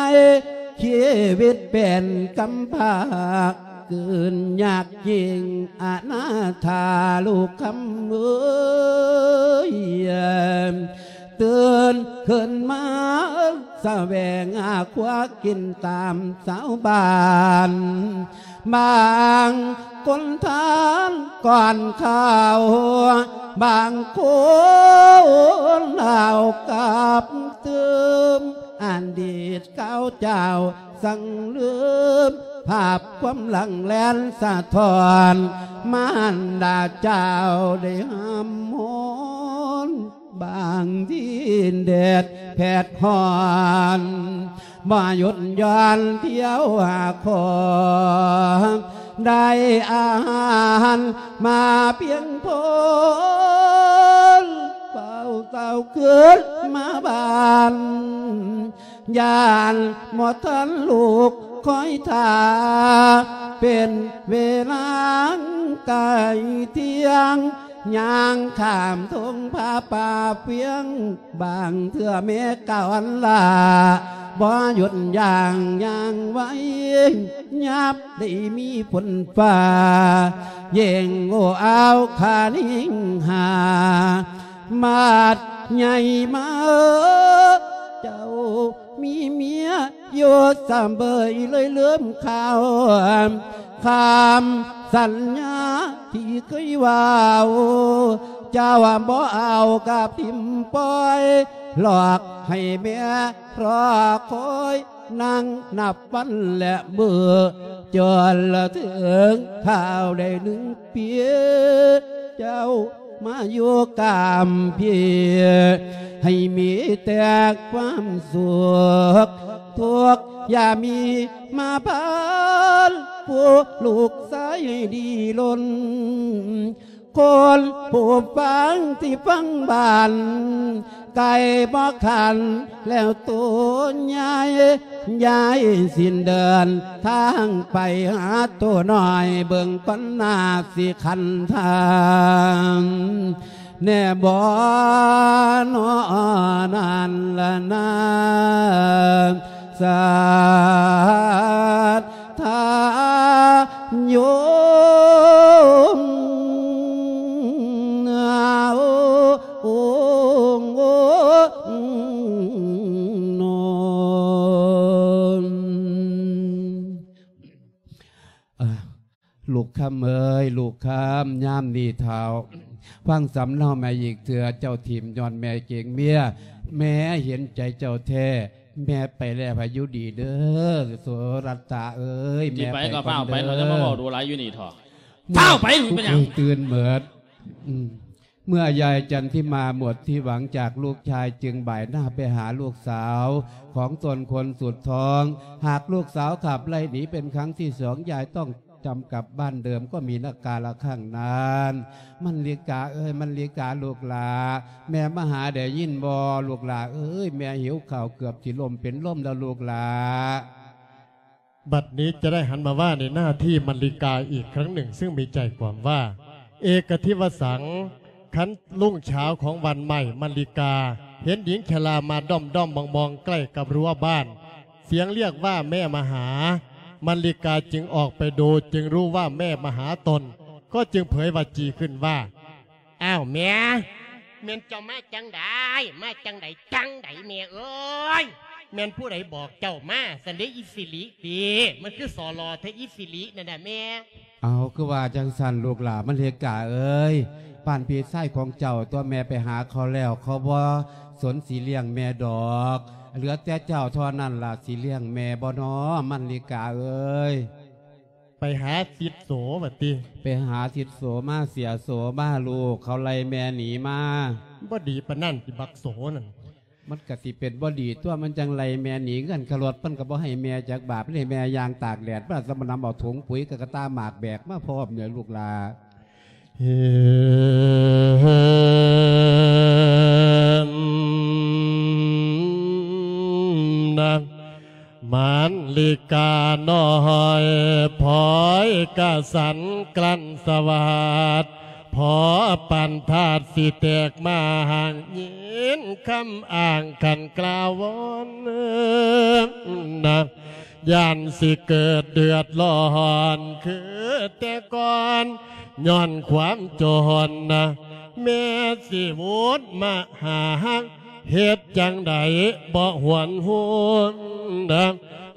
ຊີວິດເປັນກຳພ້າ ເກີນຍາກຍິ່ງອະນາຖາລູກຄຳເອີຍ ຕື່ນຂຶ້ນມາສະແຫວງຫາຄົວກິນຕາມຊາວບ້ານ ບາງຄົນທານກ່ອນເຂົ້າ ບາງຄົນເອົາກັບຕື່ມ ອະດີດເກົ່າເຈົ້າ ສັງລືມພາບຄວາມຫຼັງແລ່ນສະທ້ອນ ມານດາເຈົ້າໄດ້ຫ້ຳຮ້ອນ ບາງທີແດດແຜດຮ້ອນ ບໍ່ຢຸດຢ່ອນທ່ຽວຫາຂໍ ໄດ້ອາຫານມາພຽງພໍ ເຝົ້າເຕົ້າຄືນມາບ້ານ ຢ້ານບໍ່ທັນລູກຄອຍຖ້າ ເປັນເວລາໃກ້ທ່ຽງ ຍ່າງຂ້າມທົ່ງຜາປ່າພຽງ ບາງເທື່ອແມ່ກ້າວອັນຫຼ້າ ບໍ່ຢຸດຢ່າງຍ່າງໄວ ຍາມໄດ້ມີຝົນຟ້າ ເຢັງໂອ້ອາວຂານິງຫາ ມາດໃຫຍ່ມາ ເຈົ້າມີເມຍຢູ່ສະເບີຍ ເລີຍລືມຂ່າວ ຄຳສັນຍາທີ່ເຄີຍເວົ້າ ເຈົ້າບໍ່ເອົາກັບຖິ້ມປ່ອຍ ຫຼອກໃຫ້ແມ່ລໍຄອຍ ນັ່ງນັບວັນແລະມື້ ຈົນເຖິງຄາວໄດ້ໜຶ່ງປີ ເຈົ້າມາຢູ່ກາມພີ ໃຫ້ມີແຕ່ຄວາມສຸກ ທຸກຢ່າມີມາຜ່ານ ຜູ້ລູກຊາຍດີລົ້ນ ຄົນຜູ້ຟັງທີ່ຟັງບ້ານ ໄກ່ບໍ່ຂັນແລ້ວໂຕໃຫຍ່ ຍາຍສິ້ນເດີນທາງໄປຫາໂຕນ້ອຍ ເບິ່ງກ່ອນໜ້າຊິຂັນທາງ ແນ່ບໍ່ນໍນັ້ນລະນາ ສາທາໂຍມ ໂອ ໂອ ໂອ ໂນ ອ່າ ລູກຄຳເອີຍ ລູກຄຳ ຍາມນີ້ທ້າວ ຟັງສຳເນົາແມ່ອີກເທື່ອ ເຈົ້າຖິ້ມຍ້ອນແມ່ເກງເມຍ ແມ່ເຫັນໃຈເຈົ້າແທ້ ແມ່ໄປແລ້ວໃຫ້ຢູ່ດີເດີ ໂສລັດຕາເອີຍ ຊິໄປກໍຟ້າວໄປ ແມ່ໄປກ່ອນເດີ ເຮົາຈະມາເວົ້າດູຫຼາຍຢູ່ນີ້ເຖາະ ຟ້າວໄປ ເປັນຫຍັງ? ຕື່ນເໝິດ ອືມ ເມື່ອຍາຍຈັນທິມາໝົດທີ່ຫວັງຈາກລູກຊາຍ ຈຶ່ງບ່າຍໜ້າໄປຫາລູກສາວຂອງຕົນຄົນສຸດທ້ອງ. ຫາກລູກສາວຂັບໄລ່ໜີເປັນຄັ້ງທີສອງ ຍາຍຕ້ອງຈຳກັບບ້ານເດີມ ກໍມີນະກາລະຄັ້ງນັ້ນ. ມັນລິກາເອີຍ ມັນລິກາລູກຫຼ້າ ແມ່ມາຫາໄດ້ຍິນບໍ່? ລູກຫຼ້າເອີຍ ແມ່ຫິວເຂົ້າເກືອບຊິລົ້ມເປັນລົມແລ້ວລູກຫຼ້າ. ບັດນີ້ຈະໄດ້ຫັນມາວ່າໃນໜ້າທີ່ມັນລິກາອີກຄັ້ງໜຶ່ງ ຊຶ່ງມີໃຈຄວາມວ່າ ເອກະທິວະສັງ ຄັນລຸງເຊົ້າຂອງວັນໃໝ່ ມັນລິກາເຫັນຍິງຊະລາມາດ້ອມໆມອງໆໃກ້ກັບຮົ້ວບ້ານ ສຽງຮຽກວ່າແມ່ມາຫາ ມັນລິກາຈຶ່ງອອກໄປດູ ຈຶ່ງຮູ້ວ່າແມ່ມາຫາຕົນ ກໍຈຶ່ງເຜີຍວາຈີຂຶ້ນວ່າ ອ້າວແມ່ ແມ່ນເຈົ້າມາຈັ່ງໃດ ມາຈັ່ງໃດ ຈັ່ງໃດແມ່ເອີຍ ແມ່ນຜູ້ໃດບອກເຈົ້າມາຊັ້ນເດອີ່ສິລິຕິ ມັນຄືສໍ່ຫຼໍ່ແທ້ອີ່ສິລິນັ້ນນະແມ່. ເອົາ ຄືວ່າຈັ່ງຊັ້ນລູກຫຼານ ມັນລິກາເອີຍ ບ້ານພີ່ຊາຍຂອງເຈົ້າຕົວະແມ່ໄປຫາເຂົາແລ້ວ ເຂົາບໍ່ສົນຊິລ້ຽງແມ່ດອກ ເຫຼືອແຕ່ເຈົ້າເທົ່ານັ້ນລະຊິລ້ຽງແມ່ບໍ່ນໍ ມັນລິກາເອີຍ. ໄປຫາສິດໂສວ່າຕິ ໄປຫາສິດໂສມາ ເສຍໂສມາ ລູກເຂົາໄລ່ແມ່ໜີມາ. ບໍ່ດີປານນັ້ນຕິບັກໂສນັ້ນ. ມັນກະຊິເປັນບໍ່ດີຕົວະ ມັນຈັ່ງໄລ່ແມ່ໜີ ເງິນຄ່າລົດມັນກະບໍ່ໃຫ້ແມ່ຈັກບາດ ມັນໃຫ້ແມ່ຍ່າງຕາກແດດມາ ສຳມານຳເອົາຖົງປຸ໋ຍກະກະຕາໝາກແບກມາພ້ອມເນີລູກຫຼານ. ເຫັນນາງ ມັນລິການ້ອຍ ພອຍກະສັນກລັ້ນສະຫວັດ ພໍປານທາດຊິແຕກມາຫາງ ຍິນຄຳອ້າງຄັນກ່າວວອນນະ ຢ້ານຊິເກີດເດືອດຮ້ອນຄືແຕ່ກ່ອນ ຍ້ອນຄວາມຈົນນະ ແມ່ຊິວຸດມາຫາ ເຮັດຈັ່ງໃດບໍ່ຫວນຫູນນະ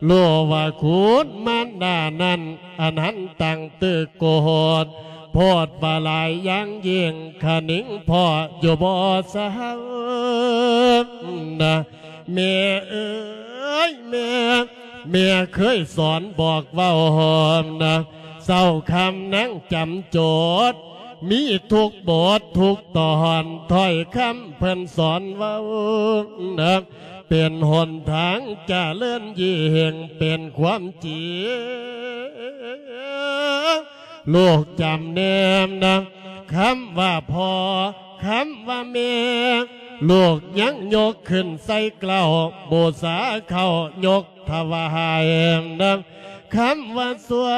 ຮູ້ວ່າຄຸນມານດານັ້ນ ອັນຫັ້ນຕັ້ງຕຶກໂກດ ໂພດວ່າຫຼາຍຢ່າງຍິ່ງ ຄະນິງພໍຢູ່ບໍ່ເຊົານະ ແມ່ເອີຍແມ່ ແມ່ເຄີຍສອນບອກເວົ້ານະ ເຊົ້າຄ່ຳນາງຈຳໂຈດ ມີທຸກບົດທຸກຕອນ ຖ້ອຍຄຳເພິ່ນສອນເວົ້ານະ ເປັນຫົນທາງຈະເລີນຍິ່ງ ເປັນຄວາມຈິງ ລູກຈຳແນມນະ ຄຳວ່າພໍ່ ຄຳວ່າແມ່ ລູກຍັງຍົກຂຶ້ນໃສ່ເກົ້າ ບູຊາເຂົ້າຍົກຖວາຍນະ ຄຳວ່າຊົ່ວ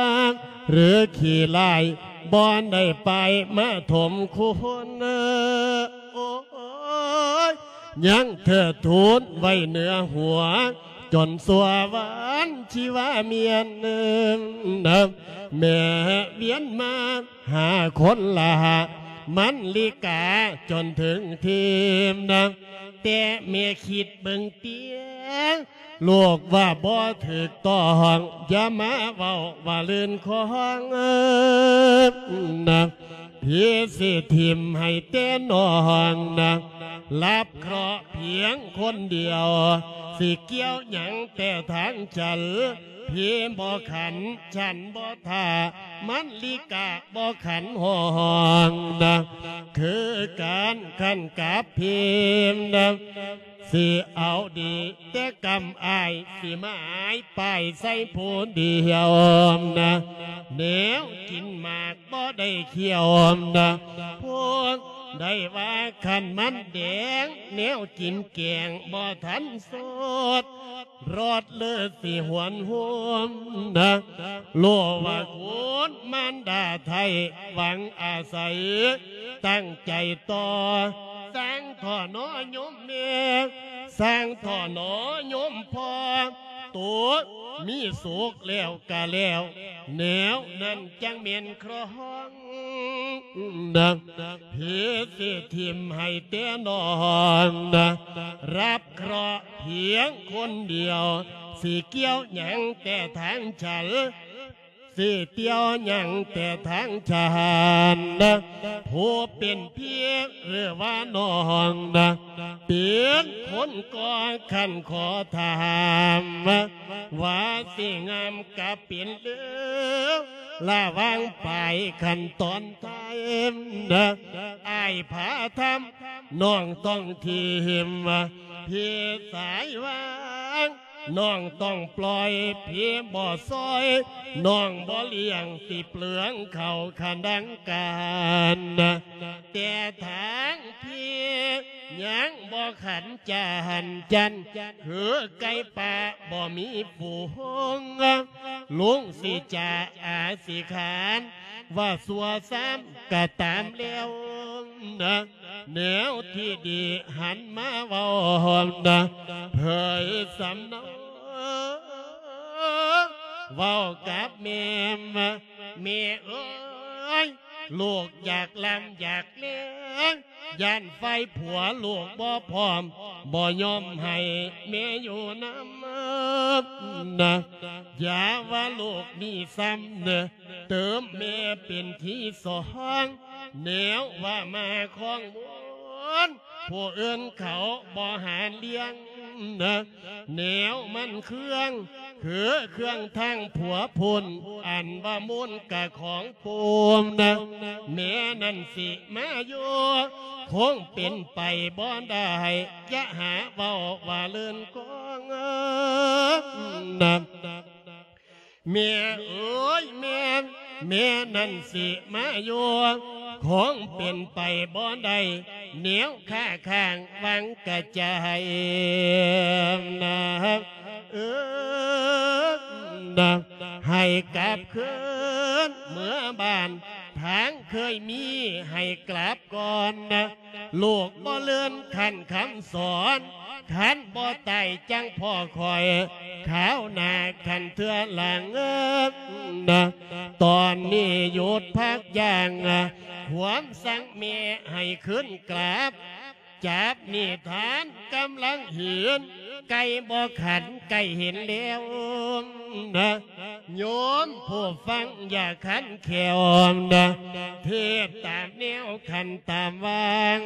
ຫຼືຂີ້ຮ້າຍ ບໍ່ໄດ້ປາຍມາຖົມຄຸນ ໂອ້ຍ ຍັງເທີດທູນໄວ້ເໜືອຫົວ ຈົນຊົ່ວວານຊີວາມຽນ ແມ່ວຽນມາຫາຄົນລະ ມັນລິກາຈົນເຖິງທີມນະ ແຕ່ແມ່ຄິດເບິ່ງເຕີຍ ລູກວ່າບໍ່ຖືກຕ້ອງ ຢ່າມາເວົ້າວ່າລື່ນຄອງນະ ພີ່ຊິຖິ້ມໃຫ້ແຕ່ນ້ອງນະ ຮັບເຄາະພຽງຄົນດຽວ ຊິກ່ຽວຫຍັງແຕ່ທາງສັນ ພີ່ບໍ່ຂັນ ສັນບໍ່ຖ້າ ມັນລິກາບໍ່ຂັນຫ້ອງນະ ຄືການຂັນກັບພີມນະ ຊິເອົາດີແຕ່ກຳອ້າຍ ຊິໝາຍປ້າຍໃສ່ຜູ້ດຽວນະ ແນວກິນໝາກບໍ່ໄດ້ຄ້ຽວນະ ຜູ້ໃດວ່າຄັນມັນແດງ ແນວກິນແກງບໍ່ທັນສົດ ລອດເລີດຊິຫວນໂຮມນະ ຮູ້ວ່າຄຸນມານດາໄທຫວັງອາໄສ ຕັ້ງໃຈຕໍ່ ສ້າງທໍ່ໜໍໂຍມແມ່ ສ້າງທໍ່ໜໍໂຍມພໍ່ ໂຕມີສຸກແລ້ວກະແລ້ວ ແນວນັ້ນຈັ່ງແມ່ນຄອງນະ ພີ່ຊິຖິ້ມໃຫ້ແຕ່ນ້ອງນະ ຮັບເຄາະພຽງຄົນດຽວ ຊິກ່ຽວຫຍັງແຕ່ທາງສັນ ຊິກ່ຽວຫຍັງແຕ່ທາງສັນນະ ຜູ້ເປັນພີ່ຫຼືວ່ານ້ອງນະ ເປັນຄົນກໍຂັນຂໍຖາມ ວ່າຊິງາມກະເປັນເລີ ລະຫວ່າງປາຍຂັ້ນຕອນທ້າຍນະ ອ້າຍພາທຳ ນ້ອງຕ້ອງຖິ້ມ ພີ່ສາຍຫວັງ ນ້ອງຕ້ອງປ່ອຍ ພີ່ບໍ່ຊ່ອຍ ນ້ອງບໍ່ລ້ຽງ ຊິເປືອງເຂົ້າຂະດັງການນະ ແຕ່ທາງພີ່ຍັງບໍ່ຂັນຈະຫັນຈັນ ຄືໄກ່ປ່າບໍ່ມີຝູງ ລຸງຊິຈາອາຊິຂານ ວ່າຊົ່ວຊ້ຳກະຕາມແລ້ວ ນະ ແນວທີ່ດີຫັນມາເວົ້ານະ ເຜີຍສຳເນົາ ເວົ້າກັບແມ່ ແມ່ເອີຍ ລູກຢາກລ່ຳຢາກແລງ ຢ້ານຝ່າຍຜົວລູກບໍ່ພ້ອມ ບໍ່ຍອມໃຫ້ແມ່ຢູ່ນຳນະ ຢ່າວ່າລູກມີຊ້ຳເດີ ເຕີມແມ່ເປັນທີສອງ ແນວວ່າມາຄອງມົນ ຜູ້ອື່ນເຂົາບໍ່ຫາລ້ຽງນະ ແນວມັນເຄືອງ ຄືເຄື່ອງທາງຜົວພຸ້ນ ອັນວ່າມູນກະຂອງປູນນະ ແມ່ນັ້ນຊິມາຢູ່ ຄົງເປັນໄປບໍ່ໄດ້ ຢ່າຫາເວົ້າວ່າເລື່ອນກອງນະ ແມ່ເອີຍແມ່ ແມ່ນັ້ນຊິມາຢູ່ ຄົງເປັນໄປບໍ່ໄດ້ ແນວຄ້າຄ້າງວາງກະຈາຍນະ ເອີ ນະ ໃຫ້ກັບຄືນເມືອບ້ານ ທາງເຄີຍມີໃຫ້ກັບກ່ອນນະ ລູກບໍ່ເລີນຄັນຄຳສອນ ຄັນບໍ່ຕາຍຈັ່ງພໍຂ້ອຍ ຄາວໜ້າຄັນເທື່ອຫຼັງນະ ຕອນນີ້ຢຸດພັກຢ່າງ ຄວາມສັງແມ່ໃຫ້ຄືນກັບ ຈັບນິທານກຳລັງເຫັນ ໄກ່ບໍ່ຂັນໄກ່ເຫັນແລ້ວນະ ໂຍມຜູ້ຟັງຢ່າຂັນແຂ້ວນະ ເທດຕາມແນວຂັນຕາມວາງ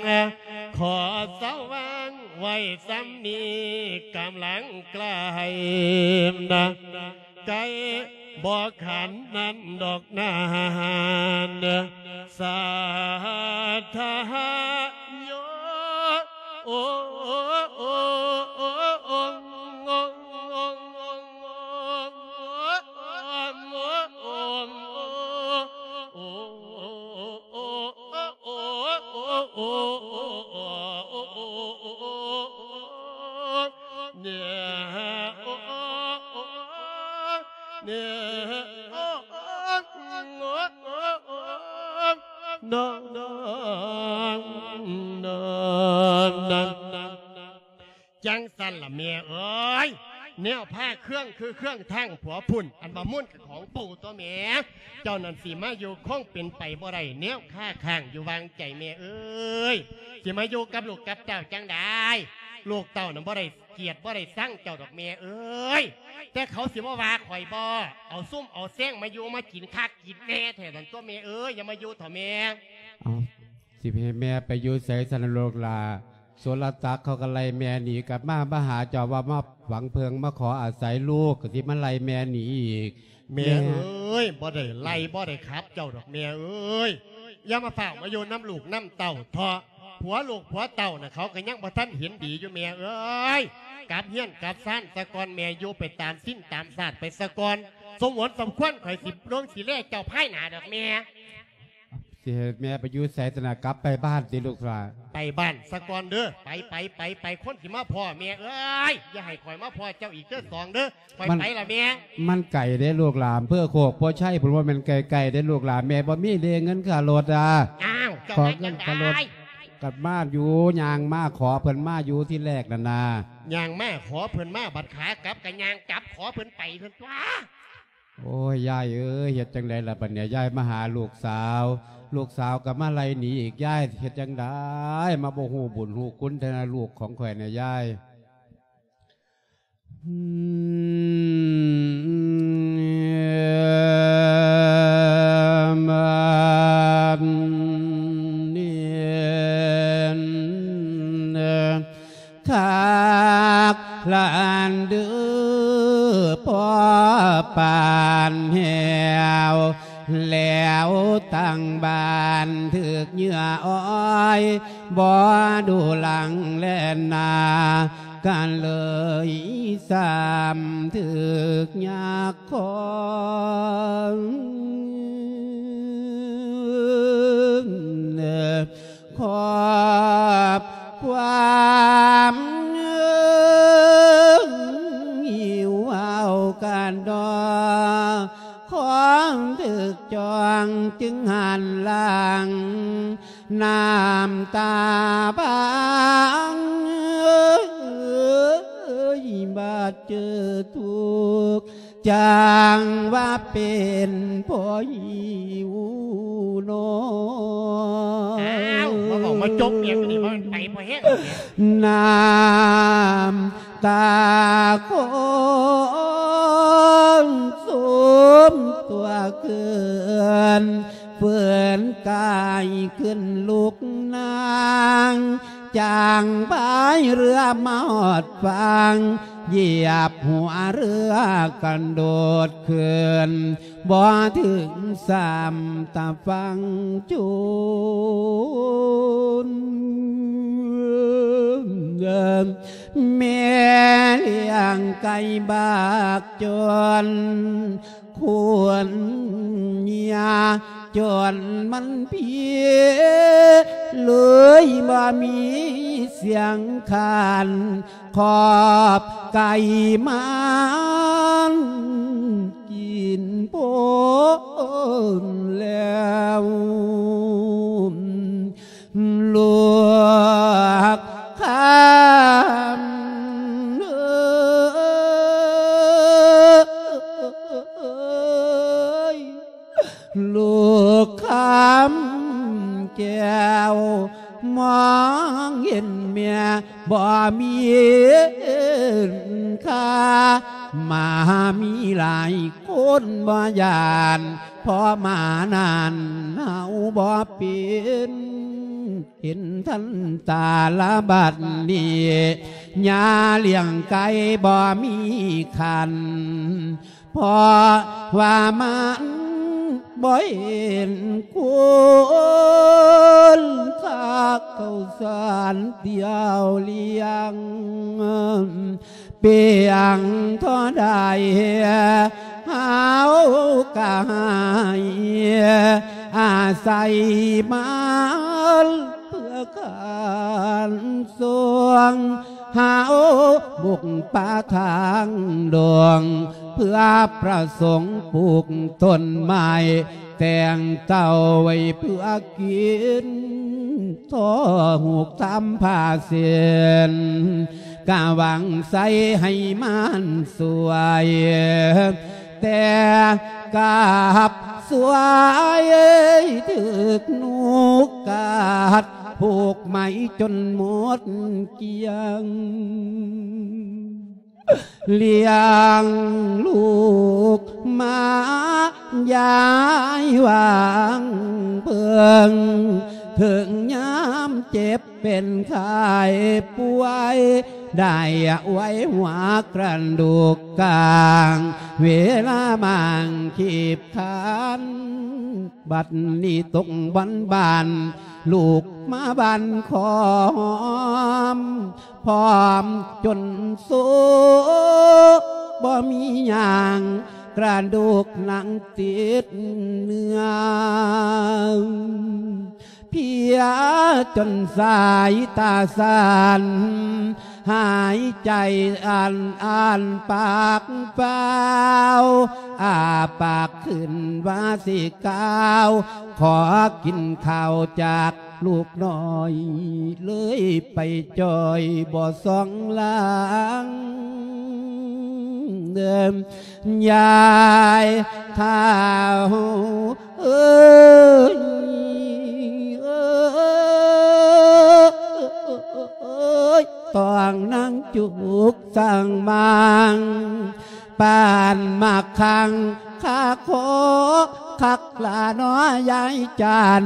ຂໍເຊົາວາງໄວ້ສ່ຳນີ້ ກຳລັງໃກ້ນະ ໄກ່ບໍ່ຂັນນັ້ນດອກນານ ສາທະໂຍ ໂອ ໂອ ໂອ ໂອ ຈັ່ງຊັ້ນລະແມ່ເອີຍ ແນວພາເຄື່ອງຄືເຄື່ອງທາງຜົວພຸ້ນ ອັນວ່າມົນກະຂອງປູຕົວະແມ່ ເຈົ້ານັ້ນຊິມາຢູ່ຄົງເປັນໄປບໍ່ໄດ້ ແນວຄາຄ້າງຢູ່ຫວ່າງໃຈແມ່ເອີຍ ຊິມາຢູ່ກັບລູກກັບເຕົ້າຈັ່ງໃດ ລູກເຕົ້ານັ້ນບໍ່ໄດ້ກຽດບໍ່ໄດ້ຊັງເຈົ້າດອກແມ່ເອີຍ ແຕ່ເຂົາຊິມາວ່າຂ້ອຍບໍ່ ເອົາຊຸມເອົາແຊງມາຢູ່ມາກິນຄັກກິນແນ່ແທ້ນັ້ນຕົວະແມ່ເອີຍ ຢ່າມາຢູ່ເຖາະແມ່ ເອົາ ຊິໃຫ້ແມ່ໄປຢູ່ໃສຊັ້ນລະລູກຫຼ້າ ສຸລະສັກເຂົາກໍໄລ່ແມ່ໜີກັບມາ ມາຫາເຈົ້າວ່າມາຫວັງເພິ່ງມາຂໍອາໄສລູກ ກໍຊິມາໄລ່ແມ່ໜີອີກ ແມ່ເອີຍ ບໍ່ໄດ້ໄລ່ບໍ່ໄດ້ຂັບເຈົ້າດອກແມ່ເອີຍ ຢ່າມາຟ້າວມາຢູ່ນຳລູກນຳເຕົ້າເຖາະ ຜົວລູກຜົວເຕົ້ານະ ເຂົາກໍຍັງບໍ່ທັນເຫັນດີຢູ່ແມ່ເອີຍ ກັບເຮືອນກັບຊານສາກ່ອນແມ່ ຢູ່ໄປຕາມສິນຕາມຊາດໄປສາກ່ອນ ສົມຄວນສົມຄວນຂ້ອຍຊິເບິ່ງຊິແລເຈົ້າພາຍໜ້າດອກແມ່. ຊິໃຫ້ແມ່ໄປຢູ່ໃສຊັ້ນນະ ກັບໄປບ້ານຕິລູກຫຼ້າ ໄປບ້ານສາກ່ອນເດີ ໄປ ໄປ ໄປ ໄປ ຄົນຊິມາພໍ້ແມ່ເອີຍ ຢ່າໃຫ້ຂ້ອຍມາພໍ້ເຈົ້າອີກເດີສອງເດີ ຂ້ອຍໄປລະແມ່ ມັນໄກເດ້ລູກຫຼ້າ ອຳເພີໂຄກໂພໄຊພຸ້ນ ບໍ່ແມ່ນໃກ້ໆເດ້ລູກຫຼ້າ ແມ່ບໍ່ມີເດ້ເງິນຄ່າລົດອາ ອ້າວ ເຈົ້າ ຂໍເງິນຄ່າລົດ ກັບມາຢູ່ ຍ່າງມາຂໍເພິ່ນມາຢູ່ທີແລກນັ້ນນາ ຍ່າງມາຂໍເພິ່ນມາ ບັດຂາກັບກໍຍ່າງກັບຂໍເພິ່ນໄປເພິ່ນຕົວະ. ໂອ້ຍ ຍາຍເອີຍ ເຮັດຈັ່ງໃດລະບັດນີ້ ຍາຍມາຫາລູກສາວ ລູກສາວກໍມາໄລ່ໜີອີກ ຍາຍເຮັດຈັ່ງໃດ ມາບໍ່ຮູ້ບຸນຮູ້ຄຸນແທ້ນະ ລູກຂອງຂ້ອຍນະຍາຍ. ຄັກລະອັນເດີ ພໍປານແຫ້ວ ແລ້ວຕັ້ງບ້ານຖືກເຫຍື່ອອ້ອຍ ບໍ່ດູຫຼັງແລ່ນໜ້າ ກໍເລີຍຊ້ຳຖືກຍາກຄອນ. ຂອບຄວາມເງິ້ງຫິວເອົາກັນດອກ ຂອງຖືກ ຈ່ອງຈຶ່ງຫັນຫຼັງ ນ້ຳຕາບາງເອີຍ ບາດເຈີທຸກ ຈັ່ງວ່າເປັນພໍ່ຫິວໜໍ. ອ້າວ ມາເວົ້າມາຈົບຫຍັງນີ້ ມັນໄປບໍ່ແຮງແທ້. ນ້ຳຕາຄົນໂສມຕົວເກີນ ເຟື່ອນກາຍຂຶ້ນລຸກນາງ ຈ້າງພາຍເຮືອມາຮອດຝັ່ງ ຢຽບຫົວເຮືອກະໂດດຂຶ້ນ ບໍ່ເຖິງຊ້ຳຕາຝັ່ງຈົນ ແມ່ລ້ຽງໄກ່ບາກຈົນ ຄົນຍາກຈົນມັນພີ ເລີຍບໍ່ມີສຽງຄັນ ຂອບໄກ່ມັນກິນພົ້ນແລ້ວ ລູກຄຳເອີຍ ລູກຄຳແກ້ວ ມອງເຫັນແມ່ບໍ່ມີຄ່າ ໝາມີຫຼາຍຄົນບໍ່ຢ້ານ ເພາະໝານັ້ນເຮົາບໍ່ເປັນ ເຫັນທັນຕາລະບັດນີ້ ຍາລ້ຽງໄກ່ບໍ່ມີຄັນ ເພາະວ່າມັນບໍ່ເຫັນຄຸນຄ່າເຂົ້າສານດຽວລ້ຽງ ປຽງທໍ່ໃດເຮົາກະໃຫ້ອາໄສມັນ ເພື່ອການຊ່ວງເຮົາບຸກປ່າທາງດົງ ເພື່ອປະສົງປູກຕົ້ນໄມ້ ແຕ່ງເຕົ້າໄວ້ເພື່ອກິນ ທໍ່ຫູກທຳຜ້າເສັ້ນ ກະຫວັງໃສ່ໃຫ້ມັນສວຍ ແຕ່ກັບສວຍຖືກນົກກັດ ຜູກໄໝຈົນໝົດກ້ຽງ ລ້ຽງລູກມາຍາຍຫວັງເພິ່ງ ເຖິງຍາມເຈັບເປັນໄຂ້ປ່ວຍ ໄດ້ອວຍຫົວກະດູກກາງ ເວລາບາງຄີບຄານ ບັດນີ້ຕົກບ່ອນບານ ລູກມາບ້ານຂອມ ພ້ອມຈົນໂຊ ບໍ່ມີຫຍັງ ກະດູກໜັງຕິດເນື້ອ ເພຍຈົນສາຍຕາສັ່ນ ຫາຍໃຈອັນອັນປາກເປົ່າ ອ້າປາກຂຶ້ນວ່າຊິກ່າວ ຂໍກິນເຂົ້າຈາກລູກນ້ອຍ ເລີຍໄປຈ່ອຍບໍ່ສ່ອງຫຼັງ ເດີມ ຍາຍເຖົ້າເອີຍ ເອີຍ ຕ້ອງນາງຈຸກສ້າງມາງ ປານໝາກຄັງຄາຄໍ ຄັກລະໜໍຍາຍຈານ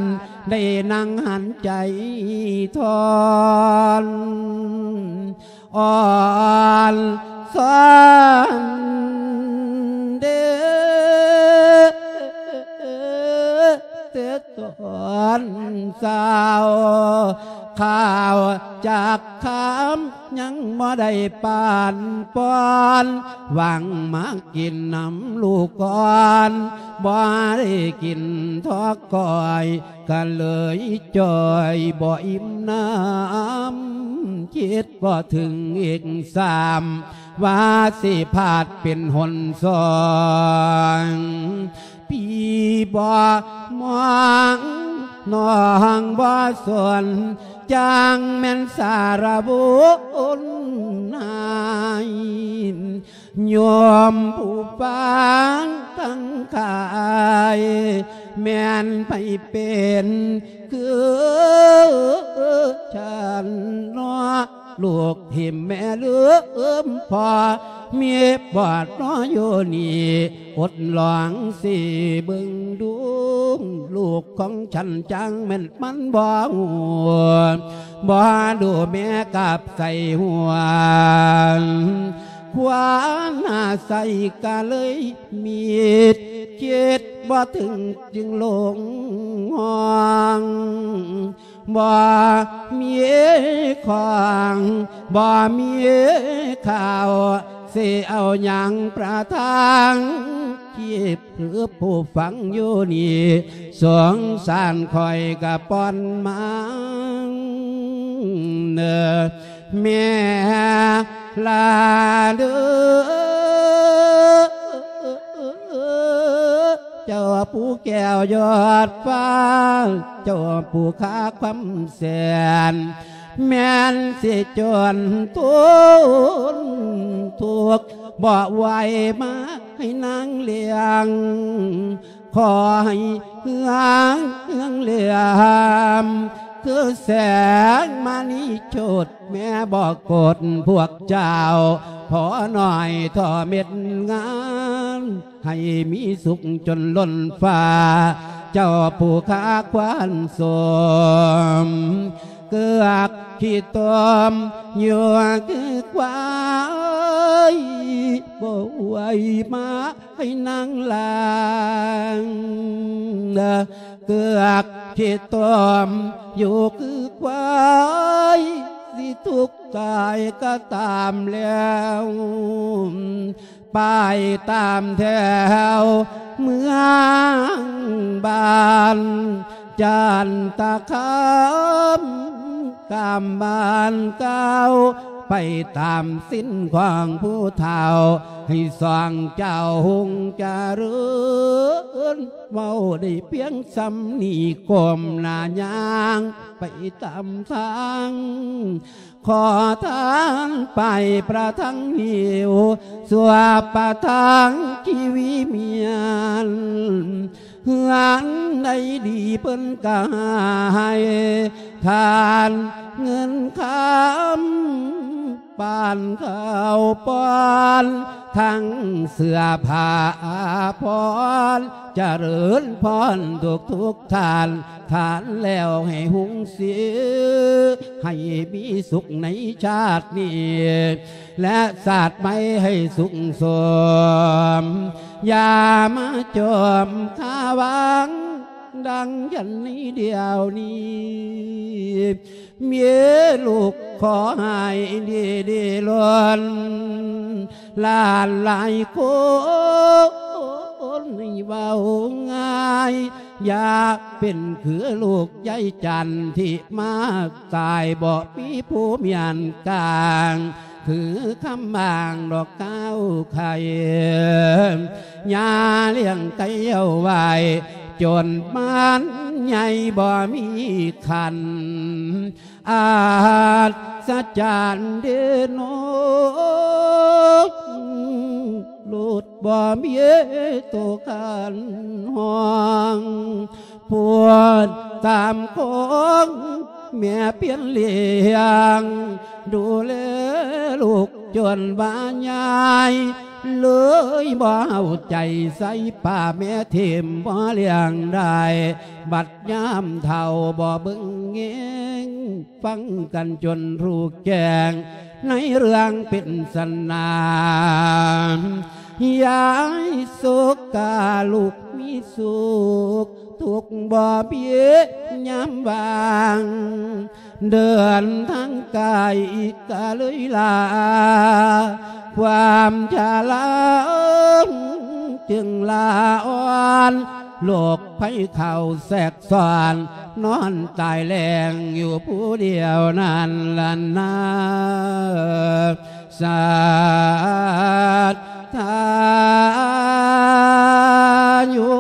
ໄດ້ນັ່ງຫັນໃຈທອນ ອ່ອນຊອນເດ ແຕ່ຕອນເຊົ້າ ຂ້າວຈັກຄຳຍັງບໍ່ໄດ້ປານປ່ອນ ຫວັງມາກິນນຳລູກກ່ອນ ບໍ່ໄດ້ກິນທອກກ້ອຍ ກະເລີຍຈ່ອຍບໍ່ອີ່ມນ້ຳ ຄິດບໍ່ເຖິງອີກຊ້ຳ ວ່າຊິພາດເປັນຫົນສອງ ພີ່ ບໍ່ມອງ ນ້ອງບໍ່ສົນ ຈັ່ງແມ່ນສາລະບຸນນາຍ. ໂຍມຜູ້ຟັງທັງຫຼາຍ ແມ່ນໃຜເປັນຄືສັນເນາະ ລູກຖິ້ມແມ່ລືມພໍ່ ມີບອດເນາະຢູ່ນີ້ ອົດລອງຊິເບິ່ງດູ ລູກຂອງສັນຈັ່ງແມ່ນມັນບໍ່ຮູ້ ບໍ່ຮູ້ແມ່ກັບໃສ່ຫົວ ຄວາມອາໄສກະເລີຍມິດ ຄິດບໍ່ເຖິງຈຶ່ງຫຼົງຫ້ອງ ບໍ່ມີຂອງ ບໍ່ມີເຂົ້າ ຊິເອົາຫຍັງປະທັງ ຄິດຄືຜູ້ຟັງຢູ່ນີ້ ສົງສານຂ້ອຍກະປ່ອນມາ ເນີ ແມ່ລາເດີ ເຈົ້າຜູ້ແກ້ວຍອດຟ້າ ເຈົ້າຜູ້ຄາຄວາມແສນ ແມ່ນຊິຈົນທົນທຸກ ບໍ່ໄຫວມາໃຫ້ນາງລ້ຽງ ຂໍໃຫ້ເຮືອງເຮືອງເຫຼືອມ ຄືແສງມະນີໂຈດ ແມ່ບໍ່ກົດພວກເຈົ້າ ພໍໜ້ອຍທໍ່ເມັດງານ ໃຫ້ມີສຸກຈົນລົ້ນຟ້າ ເຈົ້າຜູ້ຄາຄວານສົມ ເກືອກຂີ້ຕົມຢູ່ຄືຄວາຍ ບໍ່ໄຫວມາ ໃຫ້ນາງລ້າງ ເກືອກຂີ້ຕົມຢູ່ຄືຄວາຍ ຊິທຸກຕາຍກະຕາມແລ້ວ ໄປຕາມແຖວເມືອງບ້ານ ຈັນຕະຄາມ ກາມບ້ານເກົ່າ ໄປຕາມສິນຂອງຜູ້ເຖົ້າ ໃຫ້ສອງເຈົ້າຮຸ່ງຈະເລີນ ເວົ້າໄດ້ພຽງສ່ຳນີ້ ກົ້ມໜ້າຍ່າງໄປຕາມທາງ ຂໍທານໄປປະທັງຫິວ ສວບປະທັງຊີວິມຽນ ເຮືອນໃດດີເພິ່ນກະໃຫ້ທານເງິນຄຳ ປານເຂົ້າປອນ ທັງເສື້ອຜ້າອາພອນ ຈະເລີນພອນທຸກໆທ່ານ ທານແລ້ວໃຫ້ຮຸ່ງສີ ໃຫ້ມີສຸກໃນຊາດນີ້ ແລະຊາດໃໝ່ໃຫ້ສຸກສົມ ຢ່າມາຈົມຄາວັງ ດັ່ງຢ່າງໃນດຽວນີ້ ມີລູກຂໍໃຫ້ດີດີລົ້ນ ຫຼານຫຼາຍຄົນໃຫ້ເວົ້າງ່າຍ ຢ່າເປັນຄືລູກຍາຍຈັນ ທີ່ມາຕາຍບໍ່ມີຜູ້ມ້ຽນກາງ ຄືຄຳບາງດອກກ້າວໄຂ່ ຍ່າລ້ຽງໄກ່ເອົາໄວ້ ຈົນມັນໃຫຍ່ບໍ່ມີຄັນ ອັດສະຈັນເດເນາະ ໂລດບໍ່ມີໂຕຄັນຫ້ອງ ພວດຕາມຂອງແມ່ປ່ຽນລ້ຽງ ດູແລລູກຈົນວ່າໃຫຍ່ ເລີຍບໍ່ເອົາໃຈໃສ່ປ້າແມ່ຖິ້ມບໍ່ລ້ຽງໄດ້ ບັດຍາມເຖົ້າບໍ່ເບິ່ງແຍງ ຟັງກັນຈົນຮູ້ແຈ້ງ ໃນເລື່ອງເປັນສັນນາ ຍາຍສຸກກາລູກມີສຸກ ທຸກບໍ່ມີຍາມວ່າງ ເດີນທາງໄກກະເລີຍລາ ຄວາມຊະລາຈຶ່ງລາອ່ອນ ໂລກໄພເຂົ້າແຊກຊ້ອນ ນອນຕາຍແລ້ງຢູ່ຜູ້ດຽວນັ້ນລະນາ ສັດທາຢູ່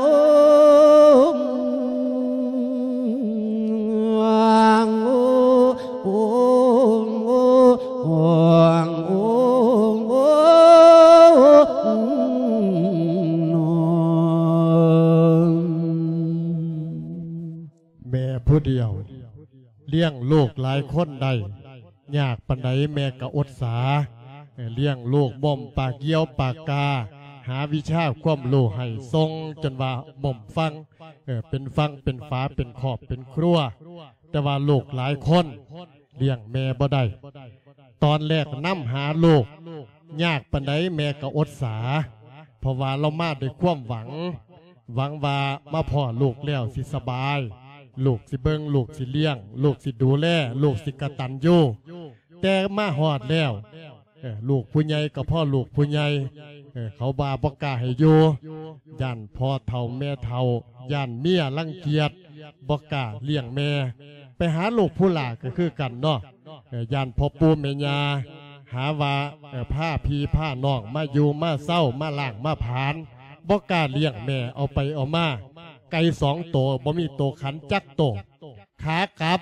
ແມ່ຜູ້ດຽວ ລ້ຽງລູກຫຼາຍຄົນໄດ້ ຍາກປານໃດແມ່ກໍອົດສາ. ເອີ ລ້ຽງລູກໝົມປາກຢຽວປາກກາ ຫາວິຊາຄວາມຮູ້ໃຫ້ສົ່ງ ຈົນວ່າໝົມຝັ່ງ ເອີ ເປັນຝັ່ງເປັນຝາ ເປັນຄອບເປັນຄົວ. ແຕ່ວ່າລູກຫຼາຍຄົນ ລ້ຽງແມ່ບໍ່ໄດ້. ຕອນແລກນຳຫາລູກ ຍາກປານໃດແມ່ກໍອົດສາ ເພາະວ່າລາວມາດ້ວຍຄວາມຫວັງ ຫວັງວ່າມາພໍ້ລູກແລ້ວຊິສະບາຍ ລູກຊິເບິ່ງ ລູກຊິລ້ຽງ ລູກຊິດູແລ ລູກຊິກະຕັນຍູ. ແຕ່ມາຮອດແລ້ວ ເອີ ລູກຜູ້ໃຫຍ່ກໍພໍ້ລູກຜູ້ໃຫຍ່ ເອີ ເຂົາວ່າບໍ່ກ້າໃຫ້ຢູ່ ຢ້ານພໍ່ເຖົ້າແມ່ເຖົ້າ ຢ້ານເມຍລັງກຽດ ບໍ່ກ້າລ້ຽງແມ່. ໄປຫາລູກຜູ້ຫຼ້າກໍຄືກັນເນາະ ເອີ ຢ້ານພໍ່ປູ່ແມ່ຍ່າ ຫາວ່າ ເອີ ພາພີ່ພານ້ອງມາຢູ່ມາເຊົາ ມາລ້າງມາຜານ ບໍ່ກ້າລ້ຽງແມ່. ເອົາໄປເອົາມາ ໄກ່ສອງໂຕ ບໍ່ມີໂຕຂັນຈັກໂຕ. ຂາກັບ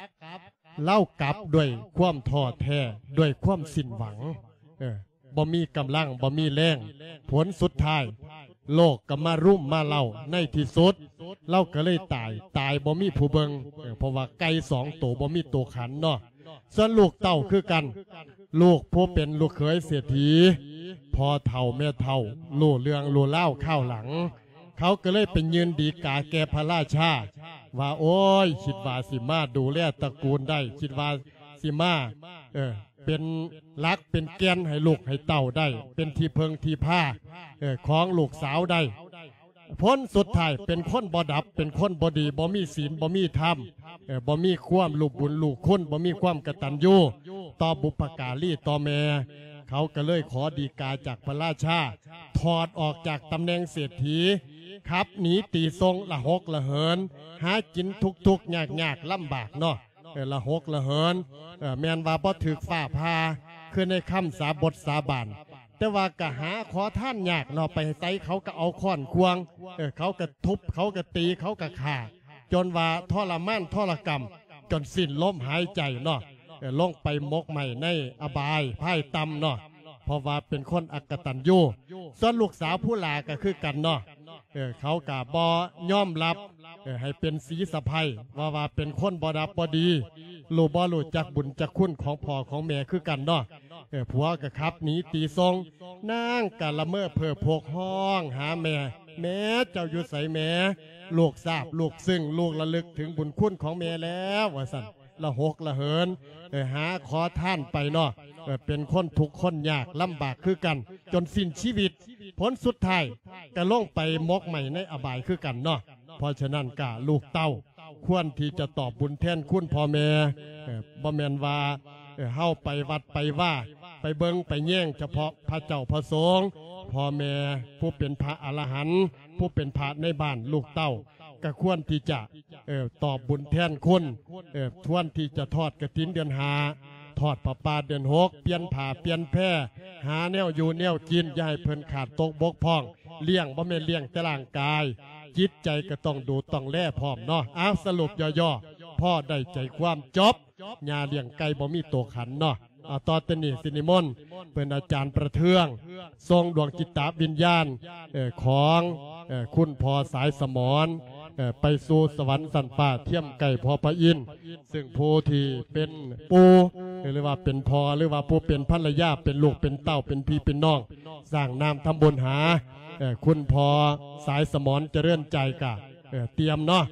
ລາວກັບດ້ວຍຄວາມທໍ້ແທ້ ດ້ວຍຄວາມສິ້ນຫວັງ ເອີ ບໍ່ມີກຳລັງ ບໍ່ມີແຮງ. ຜົນສຸດທ້າຍ ໂລກກໍມາລຸມມາເລົ້າ ໃນທີ່ສຸດລາວກໍເລີຍຕາຍ ຕາຍບໍ່ມີຜູ້ເບິ່ງ ເອີ ເພາະວ່າໄກ່ສອງໂຕບໍ່ມີໂຕຂັນເນາະ. ສ່ວນລູກເຕົ້າຄືກັນ ລູກຜູ້ເປັນລູກເຂີຍເສດຖີ ພໍ່ເຖົ້າແມ່ເຖົ້າ ຮູ້ເລື່ອງຮູ້ລາວຄາວຫຼັງ ເຂົາກໍເລີຍໄປຍື່ນດີກາແກ່ພະລາຊາ ວ່າ ໂອ້ຍ ຄິດວ່າຊິມາດູແລຕະກູນໄດ້ ຄິດວ່າຊິມາ ເອີ ເປັນຫຼັກເປັນແກ່ນໃຫ້ລູກໃຫ້ເຕົ້າໄດ້ ເປັນທີ່ເພິ່ງທີ່ພາ ເອີ ຂອງລູກສາວໄດ້. ຜົນສຸດທ້າຍເປັນຄົນບໍ່ດັບ ເປັນຄົນບໍ່ດີ ບໍ່ມີສິນ ບໍ່ມີທຳ ເອີ ບໍ່ມີຄວາມຮູ້ບຸນຮູ້ຄຸນ ບໍ່ມີຄວາມກະຕັນຍູຕໍ່ບຸບພະກາລີ ຕໍ່ແມ່. ເຂົາກໍເລີຍຂໍດີກາຈາກພະລາຊາ ຖອດອອກຈາກຕຳແໜ່ງເສດຖີ ຂັບໜີຕີຊົງ ລະຫົກລະເຫີນ ຫາກິນທຸກໆຍາກໆລຳບາກເນາະ ເອີ ລະຫົກລະເຫີນ ເອີ ແມ່ນວ່າບໍ່ຖືກຟ້າຜ່າ ຄືໃນຄຳສາບົດສາບານ ແຕ່ວ່າກໍຫາຂໍທານຍາກເນາະ ໄປໃສເຂົາກໍເອົາຄ້ອນຂວ້າງ ເອີ ເຂົາກໍທຸບ ເຂົາກໍຕີ ເຂົາກໍຂ້າ ຈົນວ່າທໍລະມານທໍລະກຳ ຈົນສິ້ນລົມຫາຍໃຈເນາະ ເອີ ລົງໄປໝົກໄໝ້ໃນອະບາຍພາຍຕ່ຳເນາະ ເພາະວ່າເປັນຄົນອະກະຕັນຍູ. ສ່ວນລູກສາວຜູ້ຫຼ້າກໍຄືກັນເນາະ ເອີ ເຂົາກໍບໍ່ຍອມຮັບ ເອີ ໃຫ້ເປັນສີສະໃພ້ ວ່າ ວ່າເປັນຄົນບໍ່ດັບບໍ່ດີ ຮູ້ ບໍ່ຮູ້ຈັກບຸນຈັກຄຸນຂອງພໍ່ຂອງແມ່ຄືກັນເນາະ. ເອີ ຜົວກໍຂັບໜີຕີຊົງ ນາງກໍລະເມີເພີ້ໂພກ ຮ້ອງຫາແມ່ ແມ່ເຈົ້າຢູ່ໃສແມ່ ລູກຊາບລູກຊຶ້ງ ລູກລະລຶກເຖິງບຸນຄຸນຂອງແມ່ແລ້ວ ວ່າຊັ້ນ ລະຫົກລະເຫີນ ເອີ ຫາຂໍທານໄປເນາະ ເອີ ເປັນຄົນທຸກຄົນຍາກລຳບາກຄືກັນ ຈົນສິ້ນຊີວິດ. ຜົນສຸດທ້າຍກໍລົງໄປໝົກໄໝ້ໃນອະບາຍຄືກັນເນາະ. ເພາະສະນັ້ນກະລູກເຕົ້າຄວນທີ່ຈະຕອບບຸນແທນຄຸນພໍ່ແມ່ ເອີ ບໍ່ແມ່ນວ່າ ເອີ ເຮົາໄປວັດໄປວາ ໄປເບິ່ງໄປແຍງສະເພາະພະເຈົ້າພະສົງ ພໍ່ແມ່ຜູ້ເປັນພະອະລະຫັນ ຜູ້ເປັນພະໃນບ້ານ ລູກເຕົ້າກະຄວນທີ່ຈະ ເອີ ຕອບບຸນແທນຄຸນ ເອີ ຄວນທີ່ຈະທອດກະຖິນເດືອນຫ້າ ທອດຜ້າປ່າເດືອນຫົກ ປ່ຽນຜ້າປ່ຽນແພ ຫາແນວຢູ່ແນວກິນ ຢ່າໃຫ້ເພິ່ນຂາດຕົກບົກຜ່ອງ. ລ້ຽງບໍ່ແມ່ນລ້ຽງແຕ່ຮ່າງກາຍ ຈິດໃຈກໍຕ້ອງດູຕ້ອງແລພ້ອມເນາະ. ເອົາ ສະຫຼຸບຍໍ່ໆ ພໍໄດ້ໃຈຄວາມ ຈົບ. ຍ່າລ້ຽງໄກ່ບໍ່ມີໂຕຂັນເນາະ. ເອົາ ຕໍ່ແຕ່ນີ້ຊິນິມົນເພິ່ນອາຈານປະເທືອງ ສົ່ງດວງຈິດຕະວິນຍານ ເອີ່ ຂອງ ເອີ່ ຄຸນພໍ່ສາຍສະໝອນ ເອີ່ ໄປສູ່ສະຫວັນຊັ້ນຟ້າ ທຽມໃກ້ພໍ່ພະອິນ ຊຶ່ງຜູ້ທີ່ເປັນປູ່ ຫຼືວ່າເປັນພໍ່ ຫຼືວ່າຜູ້ເປັນພັນລະຍາ ເປັນລູກເປັນເຕົ້າ ເປັນພີ່ເປັນນ້ອງ ສ້າງນາມທຳບຸນຫາ ເອີ່ ຄຸນພໍ່ສາຍສະໝອນຈະເລີນໃຈກະ ເອີ່ ຕຽມເນາະ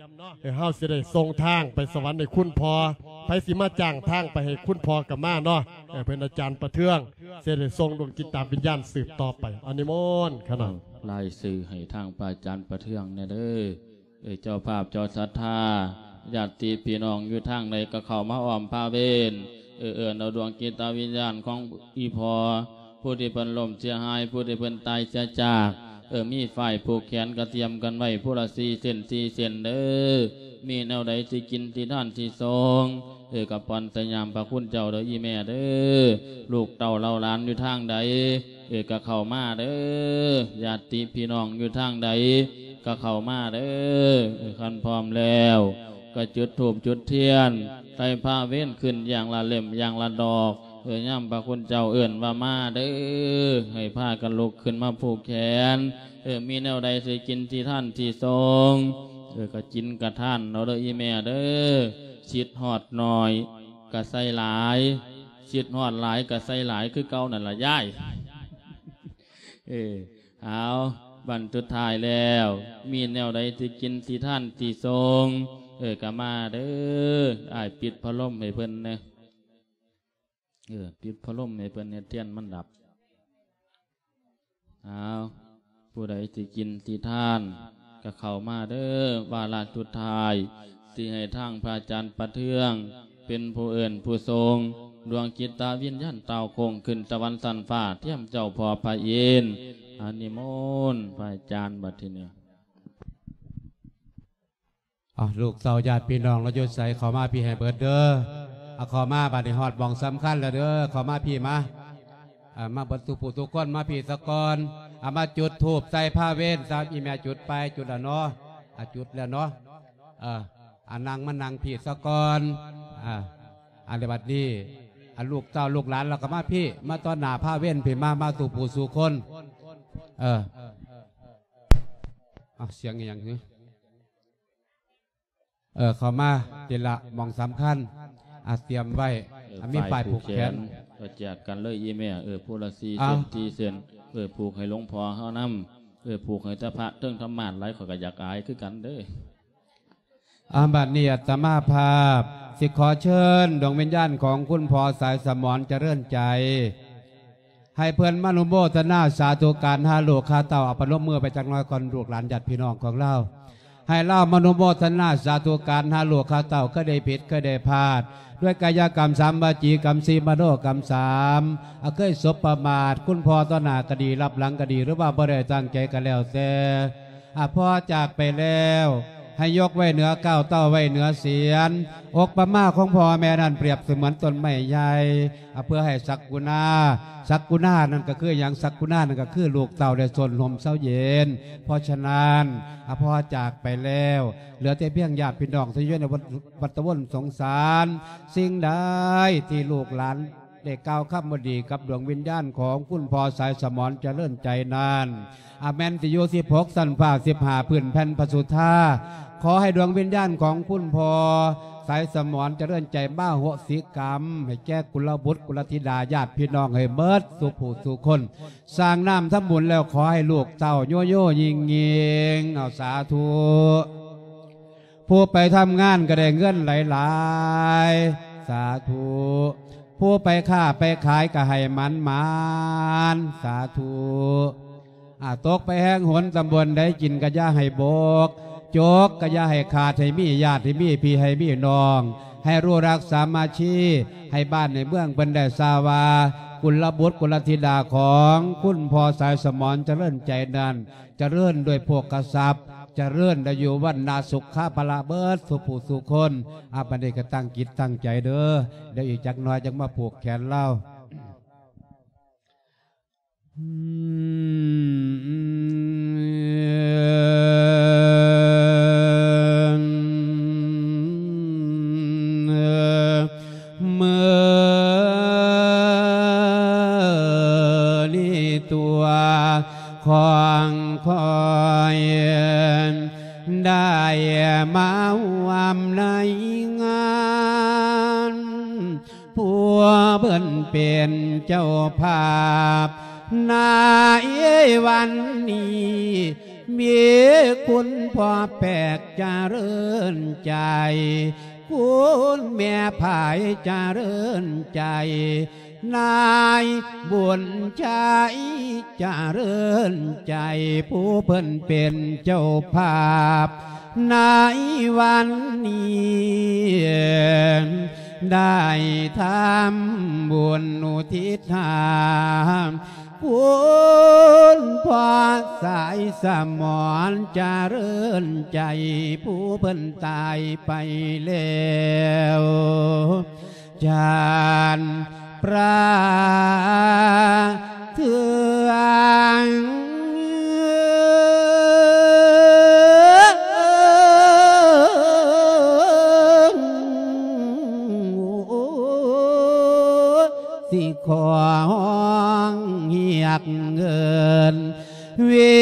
ເອີ່ ເຮົາຊິໄດ້ສົ່ງທາງໄປສະຫວັນໃຫ້ຄຸນພໍ່ ໃຜຊິມາຈ້າງທາງໄປໃຫ້ຄຸນພໍ່ກໍມາເນາະ ເອີ່ ເພິ່ນອາຈານປະເທືອງ ຊິໄດ້ສົ່ງດວງຈິດຕະວິນຍານສືບຕໍ່ໄປ. ອາ ນິມົນຂະໜະ ລາຍຊື່ໃຫ້ທາງພະອາຈານປະເທືອງແດ່ເດີ. ເອີ ເຈົ້າພາບເຈົ້າສັດທາ ຍາດຕິພີ່ນ້ອງຢູ່ທາງໃດກໍເຂົ້າມາອ້ອມພາເວນ ເອີ ເອີ້ນເອົາດວງຈິດຕະວິນຍານຂອງອີ່ພໍ່ ຜູ້ທີ່ເພິ່ນລົ້ມເສຍຫາຍ ຜູ້ທີ່ເພິ່ນຕາຍເສຍຈາກ ເອີ ມີຝ້າຍຜູກແຂນກະຕຽມກັນໄວ້ຜູ້ລະສີ່ເສັ້ນ ສີ່ເສັ້ນເດີ. ມີແນວໃດຊິກິນຊິທານຊິສອງ ເອີ ກະປ່ອນໃສ່ຍາມພະຄຸນເຈົ້າເດີ ອີ່ແມ່ເດີ. ລູກເຕົ້າເຫຼົ່າຫຼານຢູ່ທາງໃດ ເອີ ກະເຂົ້າມາເດີ. ຍາດຕິພີ່ນ້ອງຢູ່ທາງໃດ ກະເຂົ້າມາເດີ. ເອີ ຄັນພ້ອມແລ້ວ ກະຈຸດທູບຈຸດທຽນ ໃສ່ພາເວນຂຶ້ນຢ່າງລະເຫຼັ້ມຢ່າງລະດອກ. ເອີ ຍາມພະຄຸນເຈົ້າເອີ້ນວ່າມາເດີ ໃຫ້ພາກັນລຸກຂຶ້ນມາຜູກແຂນ. ເອີ ມີແນວໃດຊິກິນຊິທານຊິສອງ ເອີ ກໍກິນກະທານເອົາເດີອີ່ແມ່ເດີ. ຄິດຮອດໜ້ອຍກໍໃສ່ຫຼາຍ, ຄິດຮອດຫຼາຍກໍໃສ່ຫຼາຍຄືເກົ່ານັ້ນລະຍາຍ. ເອີ ເອົາ ບັດສຸດທ້າຍແລ້ວ ມີແນວໃດທີ່ກິນທີ່ທານທີ່ສົ່ງ ເອີ ກໍມາເດີ. ອ້າຍປິດພັດລົມໃຫ້ເພິ່ນແດ່. ເອີ ປິດພັດລົມໃຫ້ເພິ່ນ ເຮັດທຽນມັນດັບ. ເອົາ ຜູ້ໃດຊິກິນຊິທານ ກໍເຂົ້າມາເດີ. ວາລະສຸດທ້າຍ ຊິໃຫ້ທາງພະອາຈານປະເທືອງ ເປັນຜູ້ເອີ້ນຜູ້ສົ່ງ ດວງຈິດຕະວິນຍານຕ່າວໂຄ້ງຂຶ້ນສະຫວັນຊັ້ນຟ້າ ທຽມເຈົ້າພໍ່ພະອິນ. ອາ ນິມົນພະອາຈານບັດທີນີ້. ເອົາ ລູກເຕົ້າຍາດພີ່ນ້ອງລາວຢູ່ໃສ ເຂົ້າມາພີ້ໃຫ້ເບິດເດີ. ເອົາ ເຂົ້າມາ ບາດນີ້ຮອດໝ່ອງສຳຄັນແລ້ວເດີ. ເຂົ້າມາພີ້ມາ ເອົາ ມາເບິດທຸກຜູ້ທຸກຄົນ ມາພີ້ສາກ່ອນ. ເອົາ ມາຈຸດທູບໃສ່ພະເວັນຊະ. ອີ່ແມ່ຈຸດໄປ? ຈຸດແລ້ວເນາະ. ອາ ຈຸດແລ້ວເນາະ. ເອີ ອາ ນັ່ງ ມານັ່ງພີ້ສາກ່ອນ. ອາ ອັນນີ້ບັດນີ້ ອາ ລູກເຕົ້າລູກຫຼານລາວກໍມາພີ້ ມາຕໍ່ໜ້າພະເວັນພີ້ ມາ ມາທຸກຜູ້ສູ່ຄົນ. ເອີ ເອົາ ສຽງອີ່ຫຍັງຫື? ເອີ ເຂົ້າມາທີລະໝ່ອງສຳຄັນ ອາ ຕຽມໄວ້. ເອີ ອາ ມີຝ້າຍຜູກແຂນ ຝ້າຍຜູກແຂນ ກໍແຈກກັນເລີຍອີ່ແມ່. ເອີ ຜູ້ລະສີ່ເສັ້ນ ເອົາ ສີ່ເສັ້ນ. ເອີ ຜູກໃຫ້ຫຼວງພໍ່ເຮົານຳ. ເອີ ຜູກໃຫ້ແຕ່ພະເທິງທຳມາດຫຼາຍ ຂ້ອຍກໍຢາກອາຍຄືກັນເດີ. ອາ ບັດນີ້ອາດຕະມາພາບຊິຂໍເຊີນດວງວິນຍານຂອງຄຸນພໍ່ສາຍສະໝອນຈະເລີນໃຈ ໃຫ້ເພິ່ນມາອະນຸໂມທະນາສາທຸການຫາລູກຫາເຕົ້າ. ເອົາ ປະນົມມືໄປຈັກໜ້ອຍກ່ອນ ລູກຫຼານຍາດພີ່ນ້ອງຂອງລາວ ໃຫ້ລາວມາອະນຸໂມທະນາສາທຸການຫາລູກຫາເຕົ້າ ເຄີຍໄດ້ຜິດເຄີຍໄດ້ພາດ ດ້ວຍກາຍະກຳສາມ ວາຈີກຳສີ່ ມະໂນກຳສາມ ອາ ເຄີຍສົບປະມາດ ຄຸນພໍ່ຕໍ່ໜ້າກໍດີ ລັບຫຼັງກໍດີ ຫຼືວ່າບໍ່ໄດ້ຕັ້ງໃຈກໍແລ້ວແຕ່ ອາ ພໍ່ຈາກໄປແລ້ວ ໃຫ້ຍົກໄວ້ເໜືອກ້າວ ເຕົ້າໄວ້ເໜືອສຽນ. ອົບປະມາຂອງພໍ່ແມ່ນັ້ນປຽບສະເໝືອນຕົ້ນໄມ້ໃຫຍ່ ອາ ເພື່ອໃຫ້ສັກກຸນາ, ສັກກຸນານັ້ນກໍຄືຫຍັງ? ສັກກຸນານັ້ນກໍຄືລູກເຕົ້າໄດ້ຊົນຮົ່ມເຊົາເຢັນ. ເພາະສະນັ້ນ ອາ ພໍ່ຈາກໄປແລ້ວ ເຫຼືອແຕ່ພຽງຍາດພີ່ນ້ອງທີ່ຢູ່ໃນວັດ ວັດຕະວົນສົງສານ. ສິ່ງໃດທີ່ລູກຫຼານ ໄດ້ກ່າວຄຳບໍ່ດີກັບດວງວິນຍານຂອງຄຸນພໍ່ສາຍສະໝອນຈະເລີນໃຈນັ້ນ ອາ ແມ່ນຊິຢູ່ສິບຫົກຊັ້ນຟ້າ ສິບຫ້າພື້ນແຜ່ນພະສຸທາ ຂໍໃຫ້ດວງວິນຍານຂອງຄຸນພໍ່ສາຍສະໝອນຈະເລີນໃຈມາໂຫສິກຳໃຫ້ແກ່ກຸລະບຸດກຸລະທິດາຍາດພີ່ນ້ອງໃຫ້ເໝິດສູ່ຜູ້ສູ່ຄົນ ສ້າງນ້ຳທຳບຸນແລ້ວ ຂໍໃຫ້ລູກເຕົ້າໂຍໂຍຍິງໆ. ເອົາ ສາທຸ. ຜູ້ໄປທຳງານກໍໄດ້ເງິນຫຼາຍໆ ສາທຸ. ຜູ້ໄປຄ້າໄປຂາຍກໍໃຫ້ໝານໆ ສາທຸ. ອາ ຕົກໄປແຮງຫົນຕຳບົນໃດ ກິນກໍຢ່າໃຫ້ບົກ ຈົກກໍຢ່າໃຫ້ຂາດ ໃຫ້ມີຍາດ ໃຫ້ມີພີ່ ໃຫ້ມີນ້ອງ ໃຫ້ຮູ້ລັກສາມັກຄີ ໃຫ້ບ້ານໃຫ້ເມືອງເພິ່ນໄດ້ຊາວວ່າ ກຸລະບຸດກຸລະທິດາຂອງຄຸນພໍ່ສາຍສະໝອນຈະເລີນໃຈນັ້ນ ຈະເລີນດ້ວຍໂພຄະຊັບ ຈະເລີນໄດ້ຢູ່ວັນນະສຸຂະພະລະເບີດສູ່ຜູ້ສູ່ຄົນ. ອາ ບັດນີ້ກໍຕັ້ງຈິດຕັ້ງໃຈເດີ ດຽວອີກຈັກໜ້ອຍຈັ່ງມາຜູກແຂນລາວ. ມື້ນີ້ຕົວຂອງຂ້ອຍໄດ້ມາຮ່ວມໃນງານ ຜູ້ເພິ່ນເປັນເຈົ້າພາບໃນວັນນີ້ ມີຄຸນພໍ່ແປກຈະເລີນໃຈ ຄຸນແມ່ພາຍຈະເລີນໃຈ ນາຍບຸນໄຊຈະເລີນໃຈ ຜູ້ເພິ່ນເປັນເຈົ້າພາບໃນວັນນີ້ ໄດ້ທຳບຸນອຸທິດຫາ ຄຸນພໍ່ສາຍສະໝອນຈະເລີນໃຈ ຜູ້ເພິ່ນຕາຍໄປແລ້ວ ຈານປາເທືອງ ຊິຂໍຮ້ອງຮຽກເອີ້ນ ວິ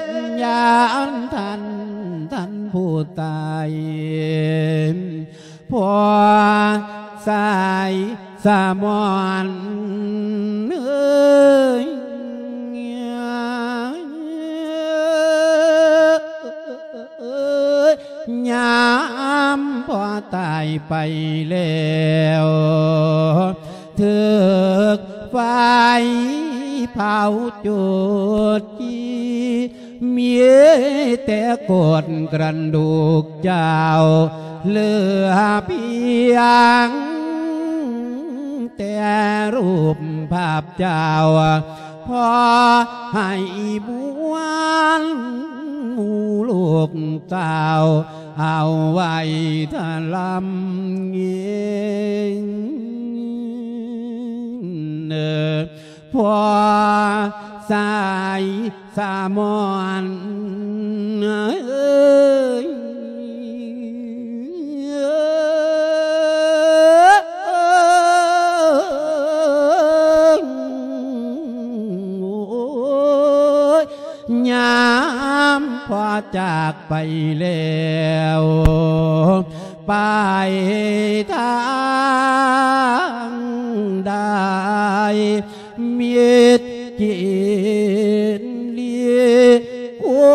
ນຍາ ຕາຍ ພໍ່ສາຍສະໝອນເອີຍ ຍາມພໍ່ຕາຍໄປແລ້ວ ຖືກໄຟເຜົາຈູດຈີ່ ມີແຕ່ໂກດກະດູກເຈົ້າ ເຫຼືອພຽງແຕ່ຮູບພາບເຈົ້າ ພໍໃຫ້ບວນໝູ່ລູກເຕົ້າ ເອົາໄວ້ທະລຳເງນ ພໍ່ສາຍສະໝອນເອີຍ ຍາມພໍ່ຈາກໄປແລ້ວ ໄປທາງໃດ ມິດກິນລີ ຄຸ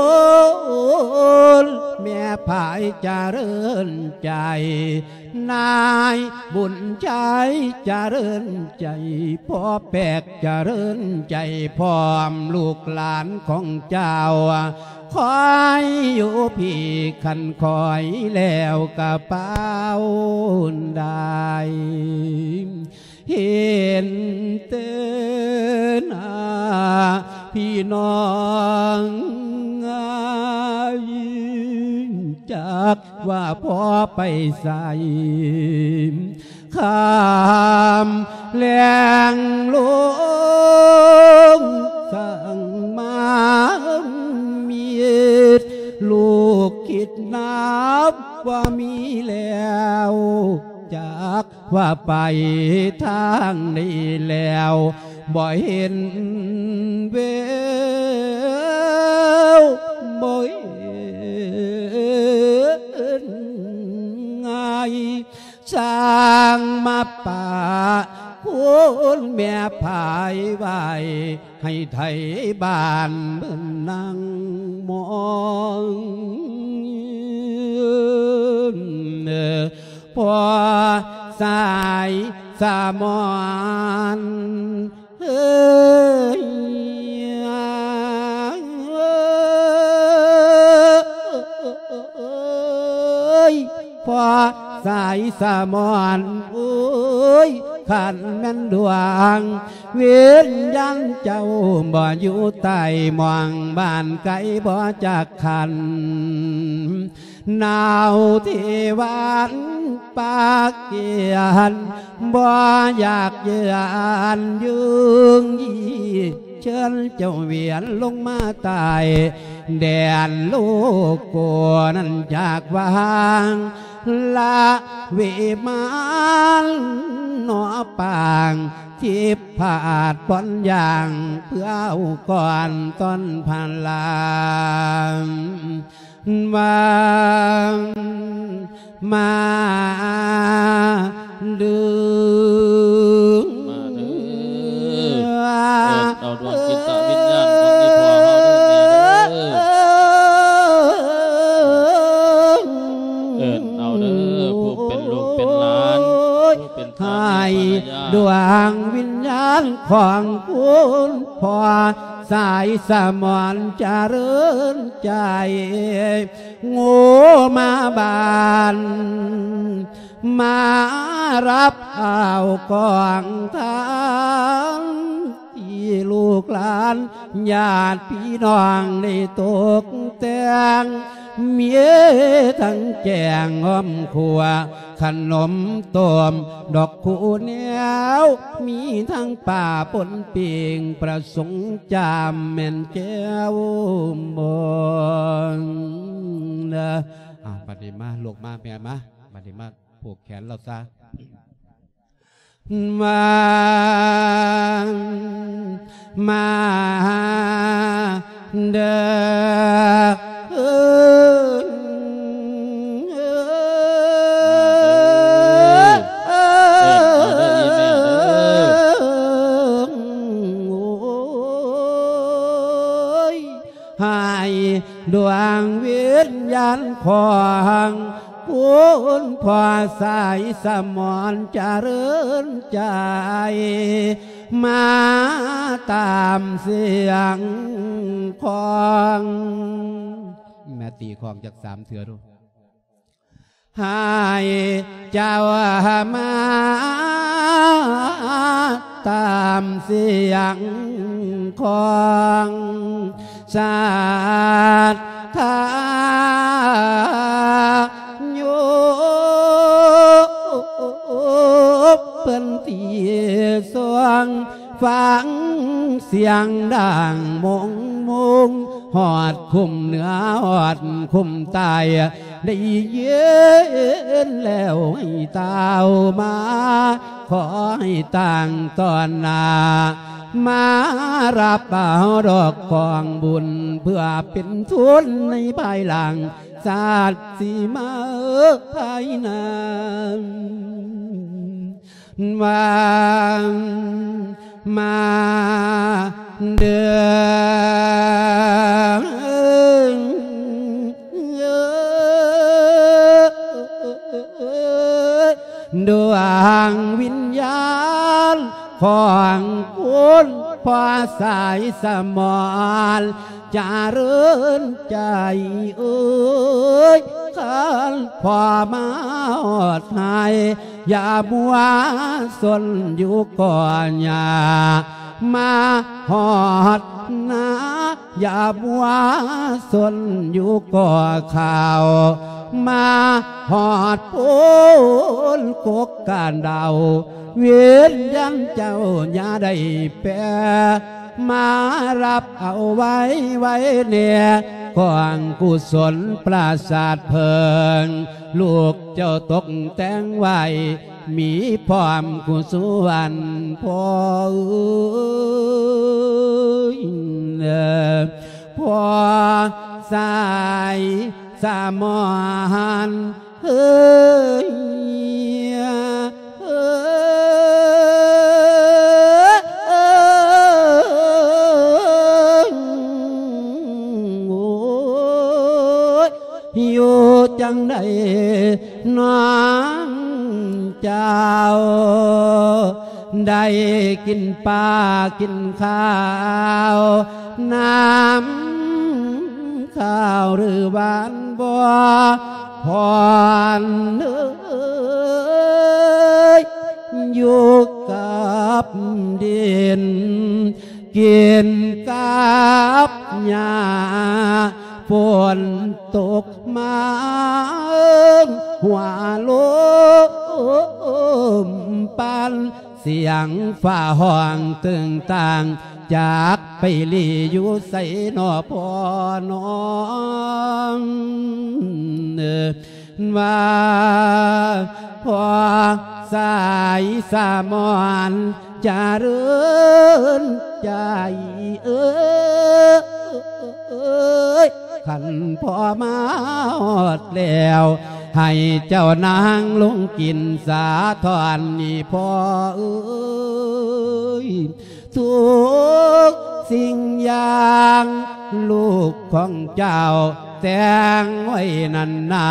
ນແມ່ພາຍຈະເລີນໃຈ ນາຍບຸນໄຊຈະເລີນໃຈ ພໍ່ແປກຈະເລີນໃຈ ພ້ອມລູກຫຼານຂອງເຈົ້າ ຄອຍຢູ່ພີ້ຄັນຄອຍແລ້ວກະປາວໄດ້ ເຫັນແຕ່ໜ້າພີ່ນ້ອງ ຈັກວ່າພໍ່ໄປໃສ ຄ່ຳແລງລົງສ້າງມາມິດ ລູກຄິດນັບວ່າມີແລ້ວ ຈັກວ່າໄປທາງໃດແລ້ວ ບໍ່ເຫັນແວວ ບໍ່ເຫັນໄງ ຊ່າງມາປະຄຸນແມ່ພາຍໄວ້ ໃຫ້ໄທບ້ານເພິ່ນນັ່ງມອງ ພໍ່ສາຍສະໝອນເອີຍ ພໍ່ສາຍສະໝອນເອີຍ ຄັນແມ່ນດວງວິນຍານເຈົ້າບໍ່ຢູ່ໃຕ້ໝ້ອງບ້ານໄກບໍ່ຈັກຄັນ ໜາວເທວັນປາກກຽນ ບໍ່ຢາກເຍືອນຍຸງຢີ ເຊີນເຈົ້າວຽນລົງມາໃຕ້ແດນໂລໂກນັ້ນ ຈາກວາງລະເວມານ ໜໍປາງທິບພາດບ່ອນຢ່າງ ເພື່ອເອົາກ່ອນຕ້ອນພະລາ ມາເດີ ມາເດີ ເອີ້ນເອົາດວງຈິດຕະວິນຍານຂອງອີ່ພໍ່ເຮົາເດີແມ່ເດີ ເອີ້ນເອົາເດີ ຜູ້ເປັນລູກເປັນຫຼານ ຜູ້ເປັນສາມີພັນລະຍາ ໃຫ້ດວງວິນຍານຂອງຄຸນພໍ່ ສາຍສະໝອນຈະເລີນໃຈ ໂງ່ມາບ້ານ ມາຮັບເອົາກອງທັນ ທີ່ລູກຫຼານຍາດພີ່ນ້ອງໄດ້ຕົກແຕ່ງ ມີທັງແກງອ້ອມຂົ້ວ ຂະໜົມຕົ້ມ ດອກຄູແນວ ມີທັງປາປົນປີ້ງ ປະສົງຈາມແມ່ນແຈ່ວບອງ ເດີ. ອ່າ ບັດນີ້ມາ ລູກມາ ແມ່ມາ ບັດນີ້ມາຜູກແຂນລາວຊະ ມາ ມາເດີ. ຂອງຄຸນພໍ່ສາຍສະໝອນຈະເລີນໃຈ ມາຕາມສຽງຂອງ ແມ່ຕີຂອງຈັກສາມເທື່ອດູ. ໃຫ້ເຈົ້າມາຕາມສຽງຂອງສັດທາໂຍມ ເພິ່ນທີ່ຊ່ວງ ຟັງສຽງດັງມົງມຸງ ຮອດຄຸ້ມເໜືອ ຮອດຄຸ້ມໃຕ້ ໄດ້ຍິນແລ້ວໃຫ້ຕ່າວມາ ຂໍໃຫ້ຕັ້ງຕໍ່ໜ້າ ມາຮັບເອົາດອກກອງບຸນ ເພື່ອເປັນທຶນໃນພາຍຫຼັງ ຊາດຊິມາພາຍໜ້າ. ມາ ມາເດີ ດວງວິນຍານຂອງຄຸນພໍ່ສາຍສະໝອນ ຈະເລີນໃຈເອີຍ ຄັນພໍ່ມາຮອດໃຫ້ ຢ່າມົວສົນຢູ່ກໍຫຍ້າ ມາຮອດນາ ຢ່າມົວສົນຢູ່ກໍເຂົ້າ ມາຮອດໂພນກົກການດາວ ວິນຍານເຈົ້າຢ່າໄດ້ແປ ມາຮັບເອົາໄວ້ ໄວ້ແດ່ ກອງກຸສົນປາສາດເພິ່ງ ລູກເຈົ້າຕົກແຕ່ງໄວ້ ມີພ້ອມຄູ່ສ່ວນພໍ່ເອີຍ ພໍ່ສາຍສະໝອນ ເອີຍ ເອີຍ ໂອ້ຍ ຢູ່ຈັ່ງໃດນ້ອງເຈົ້າ ໄດ້ກິນປາກິນຂ້າວ ນ້ຳ ຂ້າວຫຼືຫວານບໍ່ ພອນເອີຍ ຢູ່ກັບດິນ ກິນກັບຫຍ້າ ຝົນຕົກມາ ຫົວລົມປັ່ນ ສຽງຟ້າຮ້ອງຕຶງຕັງ ຈັກໄປຫຼີຢູ່ໃສນໍພໍ່ນ້ອງ ວ່າພໍ່ສາຍສະໝອນຈະເລີນໃຈເອີຍ ຄັນພໍ່ມາຮອດແລ້ວ ໃຫ້ເຈົ້ານາງລົງກິນສາທອນນີ້ພໍ່ເອີຍ ທຸກສິ່ງຢ່າງລູກຂອງເຈົ້າແຕ່ງໄວ້ນັ້ນນາ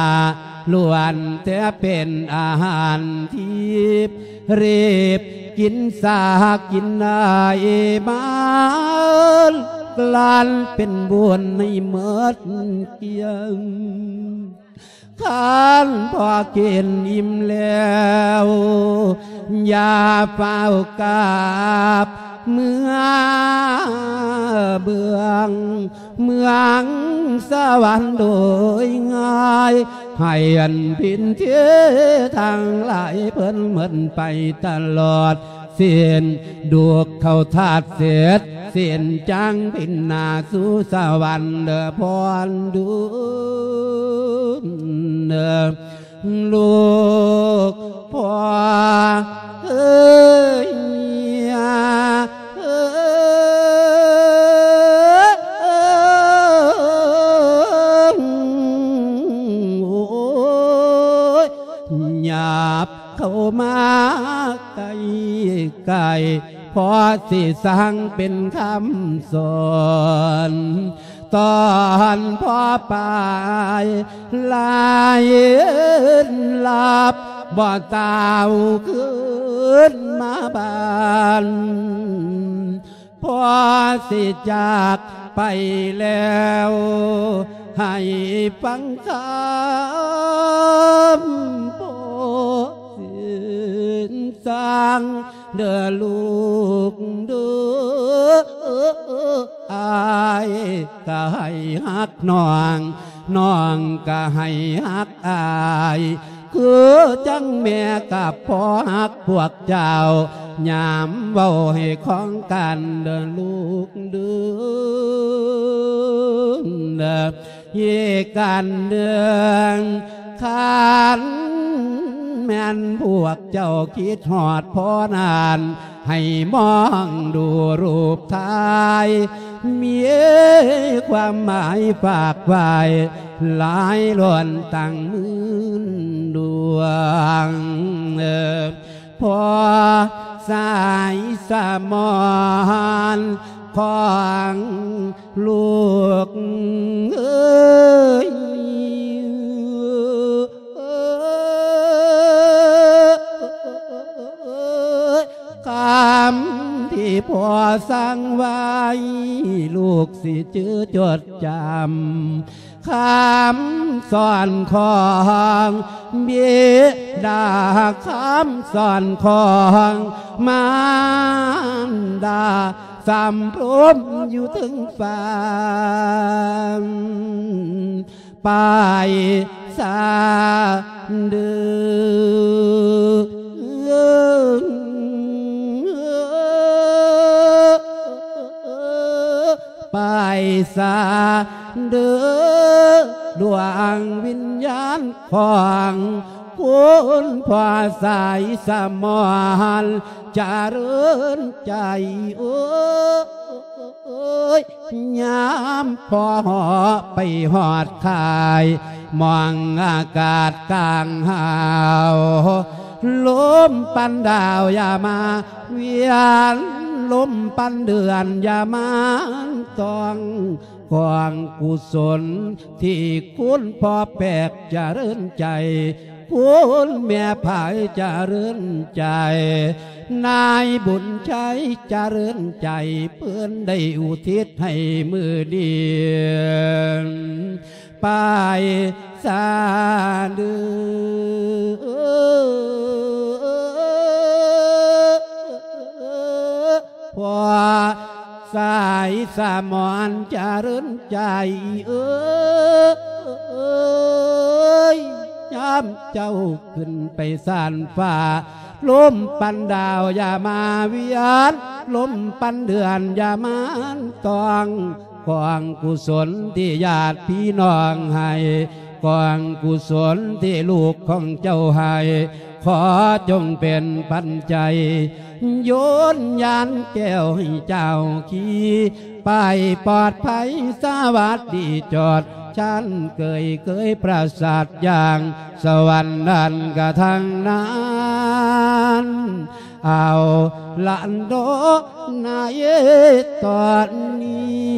ລ້ວນແຕ່ເປັນອາຫານທິບ ຮີບກິນສາກິນໄອມາ ກລັ້ນເປັນບຸນໃຫ້ໝົດກ້ຽງ ຄັນພໍ່ກິນອີ່ມແລ້ວ ຢ່າຟ້າວກັບເມືອເມືອງ ເມືອງສະຫວັນໂດຍງ່າຍ ໃຫ້ອັນພິນເທທັງຫຼາຍເພິ່ນໝົດໄປຕະຫຼອດ ສິ້ນດູກເຂົ້າທາດເສັດ ສິ້ນຈັງບິນໜ້າສູ່ສະຫວັນເດີພອນດຸນ ລູກພໍ່ເອີຍ ໂອ້ຍ ຫຍັບ ເຂົ້າມາໃກ້ໆ ພໍຊິສັ່ງເປັນຄຳສອນ ຕອນພໍ່ໄປລາຍລັບ ບໍ່ເຕົ້າຄືນມາບ້ານ ພໍ່ຊິຈາກໄປແລ້ວ ໃຫ້ຟັງຄຳພໍ່ສິນສັ່ງ ເດີລູກເດີ ອ້າຍກໍໃຫ້ຮັກນ້ອງ ນ້ອງກໍໃຫ້ຮັກອ້າຍ ຄືຈັ່ງແມ່ກັບພໍ່ຮັກພວກເຈົ້າ ຍາມເວົ້າໃຫ້ຂອງກັນເດີລູກເດີ. ອີກອັນໜຶ່ງ ຄັນແມ່ນພວກເຈົ້າຄິດຮອດພໍ່ນັ້ນ ໃຫ້ມອງດູຮູບຖ່າຍ ມີຄວາມໝາຍຝາກໄວ້ ຫຼາຍລ້ວນຕັ້ງໝື່ນດວງ. ພໍ່ສາຍສະໝອນຂອງລູກເອີຍ ຄຳທີ່ພໍ່ສັ່ງໄວ້ ລູກຊິຈື່ຈົດຈຳ ຄຳສອນຂອງບິດາ ຄຳສອນຂອງມານດາ ສຳລົມຢູ່ເທິງຟ້າ ໄປສາເດີ ໄປສາເດີ ດວງວິນຍານຂອງຄຸນພໍ່ສາຍສະໝອນ ຈະເລີນໃຈເອີຍ ຍາມພໍເຫາະໄປຮອດຄ້າຍ ມອງອາກາດກາງຫາວ ລົມປັນດາວຢ່າມາວຽນ ລົມປັນເດືອນຢ່າມາຕ້ອງ ກອງກຸສົນທີ່ຄຸນພໍ່ແປກຈະເລີນໃຈ ຄຸນແມ່ພາຍຈະເລີນໃຈ ນາຍບຸນໄຊຈະເລີນໃຈ ເພິ່ນໄດ້ອຸທິດໃຫ້ມື້ນີ້ ໄປສາເດີ ພໍ່ສາຍສະໝອນຈະເລີນໃຈເອີຍ ຍາມເຈົ້າຂຶ້ນໄປຊານຟ້າ ລົມປັນດາວຢ່າມາວຽນ ລົມປັນເດືອນຢ່າມາຕ້ອງ ກອງກຸສົນທີ່ຍາດພີ່ນ້ອງໃຫ້ ກອງກຸສົນທີ່ລູກຂອງເຈົ້າໃຫ້ ຂໍຈົ່ງເປັນປັນໄຈ ໂຍນຍານແກ້ວໃຫ້ເຈົ້າຂີ່ ໄປປອດໄພສະຫວັດດີຈອດ ຊັ້ນເກີຍເກີຍປາສາດຢ່າງ ສະຫວັນນັ້ນກະທາງນັ້ນ ເອົາລະເນາະ ໃນຕອນນີ້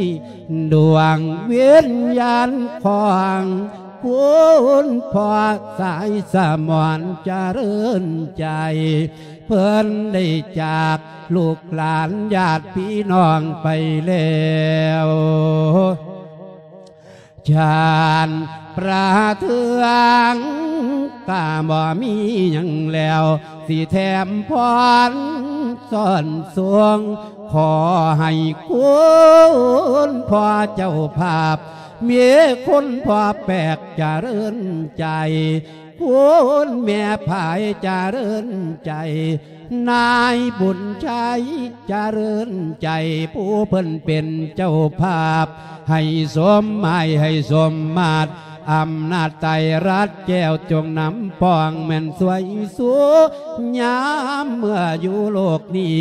ດວງວິນຍານຂອງຄຸນພໍ່ສາຍສະໝອນຈະເລີນໃຈ ເພິ່ນໄດ້ຈາກລູກຫຼານຍາດພີ່ນ້ອງໄປແລ້ວ ຊາດປະເທືອງກະບໍ່ມີຫຍັງແລ້ວ ຊິແຖມພອນຊ້ອນສົ່ງ ຂໍໃຫ້ຄຸນພໍ່ເຈົ້າພາບ ມີຄຸນພໍ່ແປກຈະເລີນໃຈ ຄຸນແມ່ພາຍຈະເລີນໃຈ ນາຍບຸນໄຊຈະເລີນໃຈ ຜູ້ເພິ່ນເປັນເຈົ້າພາບ ໃຫ້ສົມໝາຍໃຫ້ສົມມາດ ອຳນາດໄຕລັດແກ້ວຈົ່ງນຳປ້ອງແມ່ນຊ່ວຍຊູ ຍາມເມື່ອຢູ່ໂລກນີ້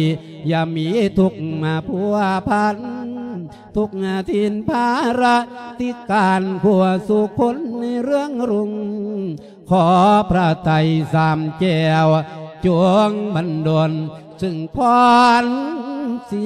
ຢ່າມີທຸກມາພົວພັນ ທຸກຖິ່ນພາລະຕິການ ຂົວສູ່ຄົນໃນເລື່ອງລຸ່ງ ຂໍພະໄຕສາມແກ້ວ ຈົ່ງບັນດົນຊຶ່ງພອນສີ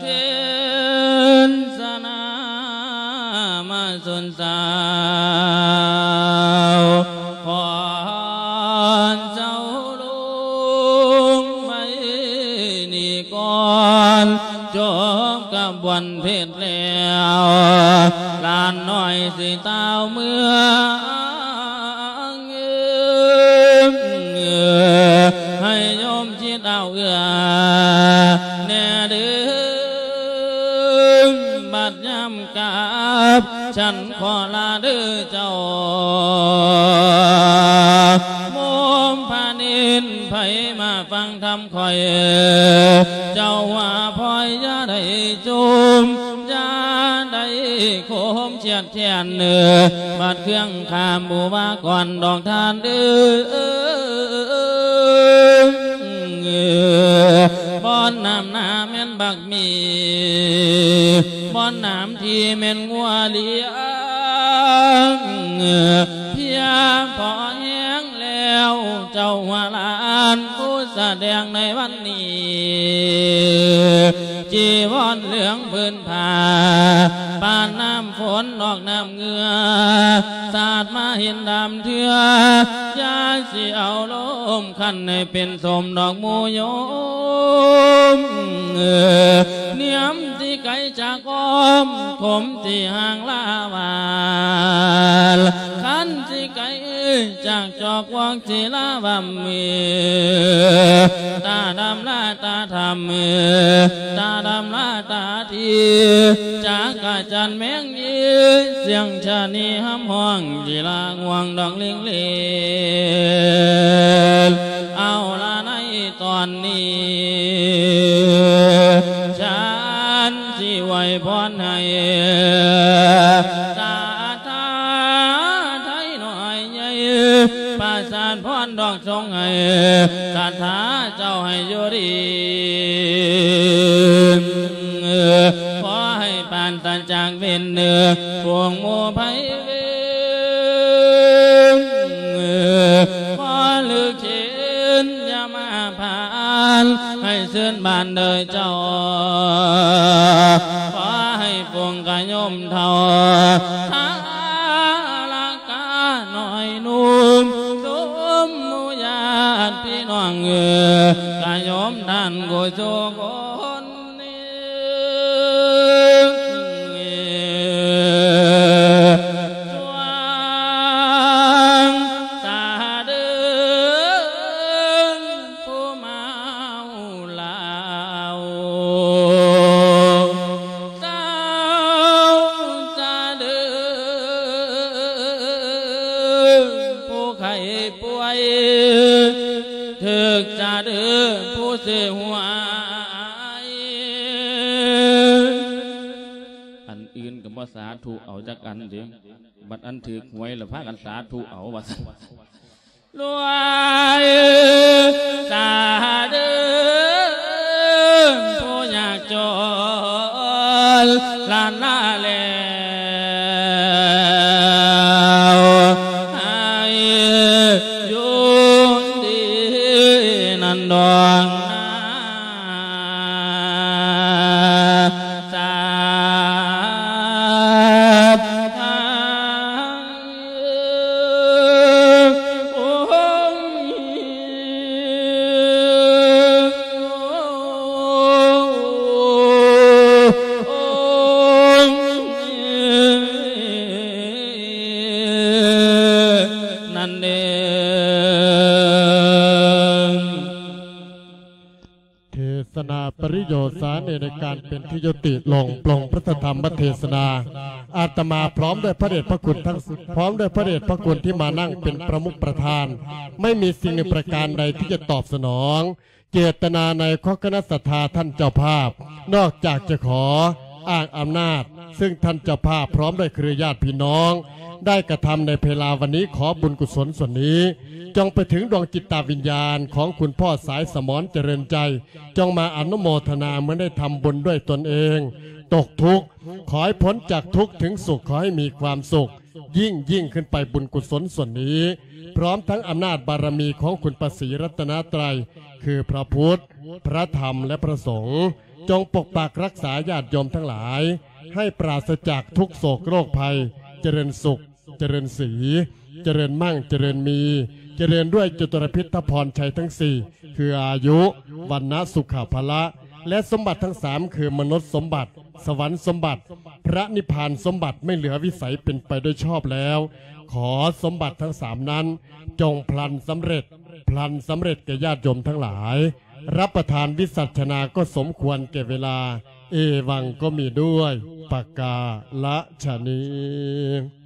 ເທດສະນາມາຊົນຊາວ ຂໍເຈົ້າລົງໄວ້ນີ້ກ່ອນ ຈົບຂະບວນເທດແລ້ວ ຫຼານນ້ອຍຊິຕ່າວເມືອງ ໃຫ້ໂຍມຊິດເອົາເອື້ອແດ່ເດີ້ ບັດຍາມ ກັບ ສັນຂໍລາເດີ້ເຈົ້າ ໂມມພະນິນ ໃຜມາຟັງທຳຂ້ອຍ ເຈົ້າວ່າພອຍຢ່າໄດ້ຈົ່ມ ຢ່າໄດ້ໂຄມ ຄຽດແຄ້ນເນີ ບັດເຄື່ອງຂ້າມບູບາກ່ອນດອກທ່ານເອີ ບ່ອນນ້ຳໜາແມ່ນບັກໝີ່ ບ່ອນນ້ຳທີ່ແມ່ນງົວລ້ຽງ ພຽງພໍແຮງແລ້ວ ເຈົ້າຫົວຫຼານຜູ້ສະແດງໃນວັນນີ້ ຈີວອນເຫຼືອງ ພື້ນຜ້າ ປານນ້ຳຝົນນອກນ້ຳເຫື່ອ ສາດມາເຫັນດຳເທື່ອ ຢ່າຊິເອົາລົມຄັນໃຫ້ເປັນສົມດອກໝູ່ໂຍມ ນຽມຊິໄກຈາກອ້ອມ ຂົມຊິຫ່າງລາວານ ຄັນຊິໄກຈາກຈອກວອກ ສີລາວັມເມ ຕາດຳລາຕາທຳເມ ຕາດຳລາຕາທີ ຈັກກະຈັນແມງຢີ ສຽງຊະນີຮຳຮ້ອງ ສີລາງ່ວງດອກລິງເລນ ເອົາລະໃນຕອນນີ້ ສັນຊິອວຍພອນໃຫ້ ສາທາໄທນ້ອຍໃຫຍ່ ປະສານພອນດອກ ສົ່ງໃຫ້ສັດທາເຈົ້າໃຫ້ຢູ່ດີ ຂໍໃຫ້ປານຕາຈາກເວນເໜືອ ພວກໝູ່ໄພເວນ ຂໍລຶກເຫັນຢ່າມາຜ່ານ ໃຫ້ຊື່ນບານເດີເຈົ້າ ຂໍໃຫ້ຝູງກະໂຍມເຖົ້າ ທາລະກະນ້ອຍໜຸ່ມ ຊຸມໝູ່ຍາດພີ່ນ້ອງເອີຍ ກະໂຍມທ່ານກູສູ່ຄົນນີ້ ສວງ ສາເດີ ຜູ້ເມົາເຫຼົ້າ ເຊົາສາເດີ ຜູ້ໄຂ້ປ່ວຍ ຖືກສາເດີ ຜູ້ເສຍຫວຍ ອັນອື່ນກໍບໍ່ສາທຸເອົາຈັກອັນເດ້ ບັດອັນຖືກຫວຍລະພາກັນສາທຸເອົາວ່າຊັ້ນ ລວຍສາເດີ ຜູ້ຍາກຈົນລ້ານລາແລ ສາທຸ ນັ້ນເອງ. ເທສະນາປະລິໂຍສາເນ ໃນການເປັນທີ່ຍຸຕິລົງ ປ່ອງພະທຳມະເທສະນາ ອາດຕະມາພ້ອມດ້ວຍພະເດດພະຄຸນທັງ ພ້ອມດ້ວຍພະເດດພະຄຸນທີ່ມານັ່ງເປັນປະມຸກປະທານ ໄມ່ມີສິ່ງໜຶ່ງປະການໃດທີ່ຈະຕອບສະໜອງ ເຈດຕະນາໃນຂອງຄະນະສັດທາທ່ານເຈົ້າພາບ ນອກຈາກຈະຂໍອ້າງອຳນາດ ຊຶ່ງທ່ານເຈົ້າພາບພ້ອມດ້ວຍເຄືອຍາດພີ່ນ້ອງ ໄດ້ກະທຳໃນເວລາວັນນີ້ ຂໍບຸນກຸສົນສ່ວນນີ້ ຈົ່ງໄປເຖິງດວງຈິດຕາວິນຍານຂອງຄຸນພໍ່ສາຍສະໝອນຈະເລີນໃຈ ຈົ່ງມາອະນຸໂມທະນາເມື່ອໄດ້ທຳບຸນດ້ວຍຕົນເອງ ຕົກທຸກ ຂໍໃຫ້ພົ້ນຈາກທຸກເຖິງສຸກ ຂໍໃຫ້ມີຄວາມສຸກ ຍິ່ງໆຂຶ້ນໄປບຸນກຸສົນສ່ວນນີ້ ພ້ອມທັງອຳນາດບາລະມີຂອງຄຸນພະສີລັດຕະນະໄຕ ຄືພະພຸດ ພະທຳ ແລະ ພະສົງ ຈົ່ງປົກປັກຮັກສາຍາດໂຍມທັງຫຼາຍ ໃຫ້ປາສະຈາກທຸກໂສກໂລກໄພ ຈະເລີນສຸກ ຈະເລີນສີ ຈະເລີນໝັ້ງ ຈະເລີນມີ ຈະເລີນດ້ວຍຈະຕຸລະພິດທະພອນໄຊທັງສີ່ ຄືອາຍຸ ວັນນະ ສຸຂະ ພະລະ ແລະ ສົມບັດທັງສາມ ຄືມະນຸດສົມບັດ ສະຫວັນສົມບັດ ພະນິບພານສົມບັດ ໄມ່ເຫຼືອວິໄສ ເປັນໄປໂດຍຊອບແລ້ວ ຂໍສົມບັດທັງສາມນັ້ນ ຈົ່ງພລັນສຳເລັດ ພລັນສຳເລັດແກ່ຍາດໂຍມທັງຫຼາຍ ຮັບປະທານວິສັດຊະນາກໍສົມຄວນແກ່ເວລາ ເອວັງກໍມີດ້ວຍປະກາລະຊະນີ.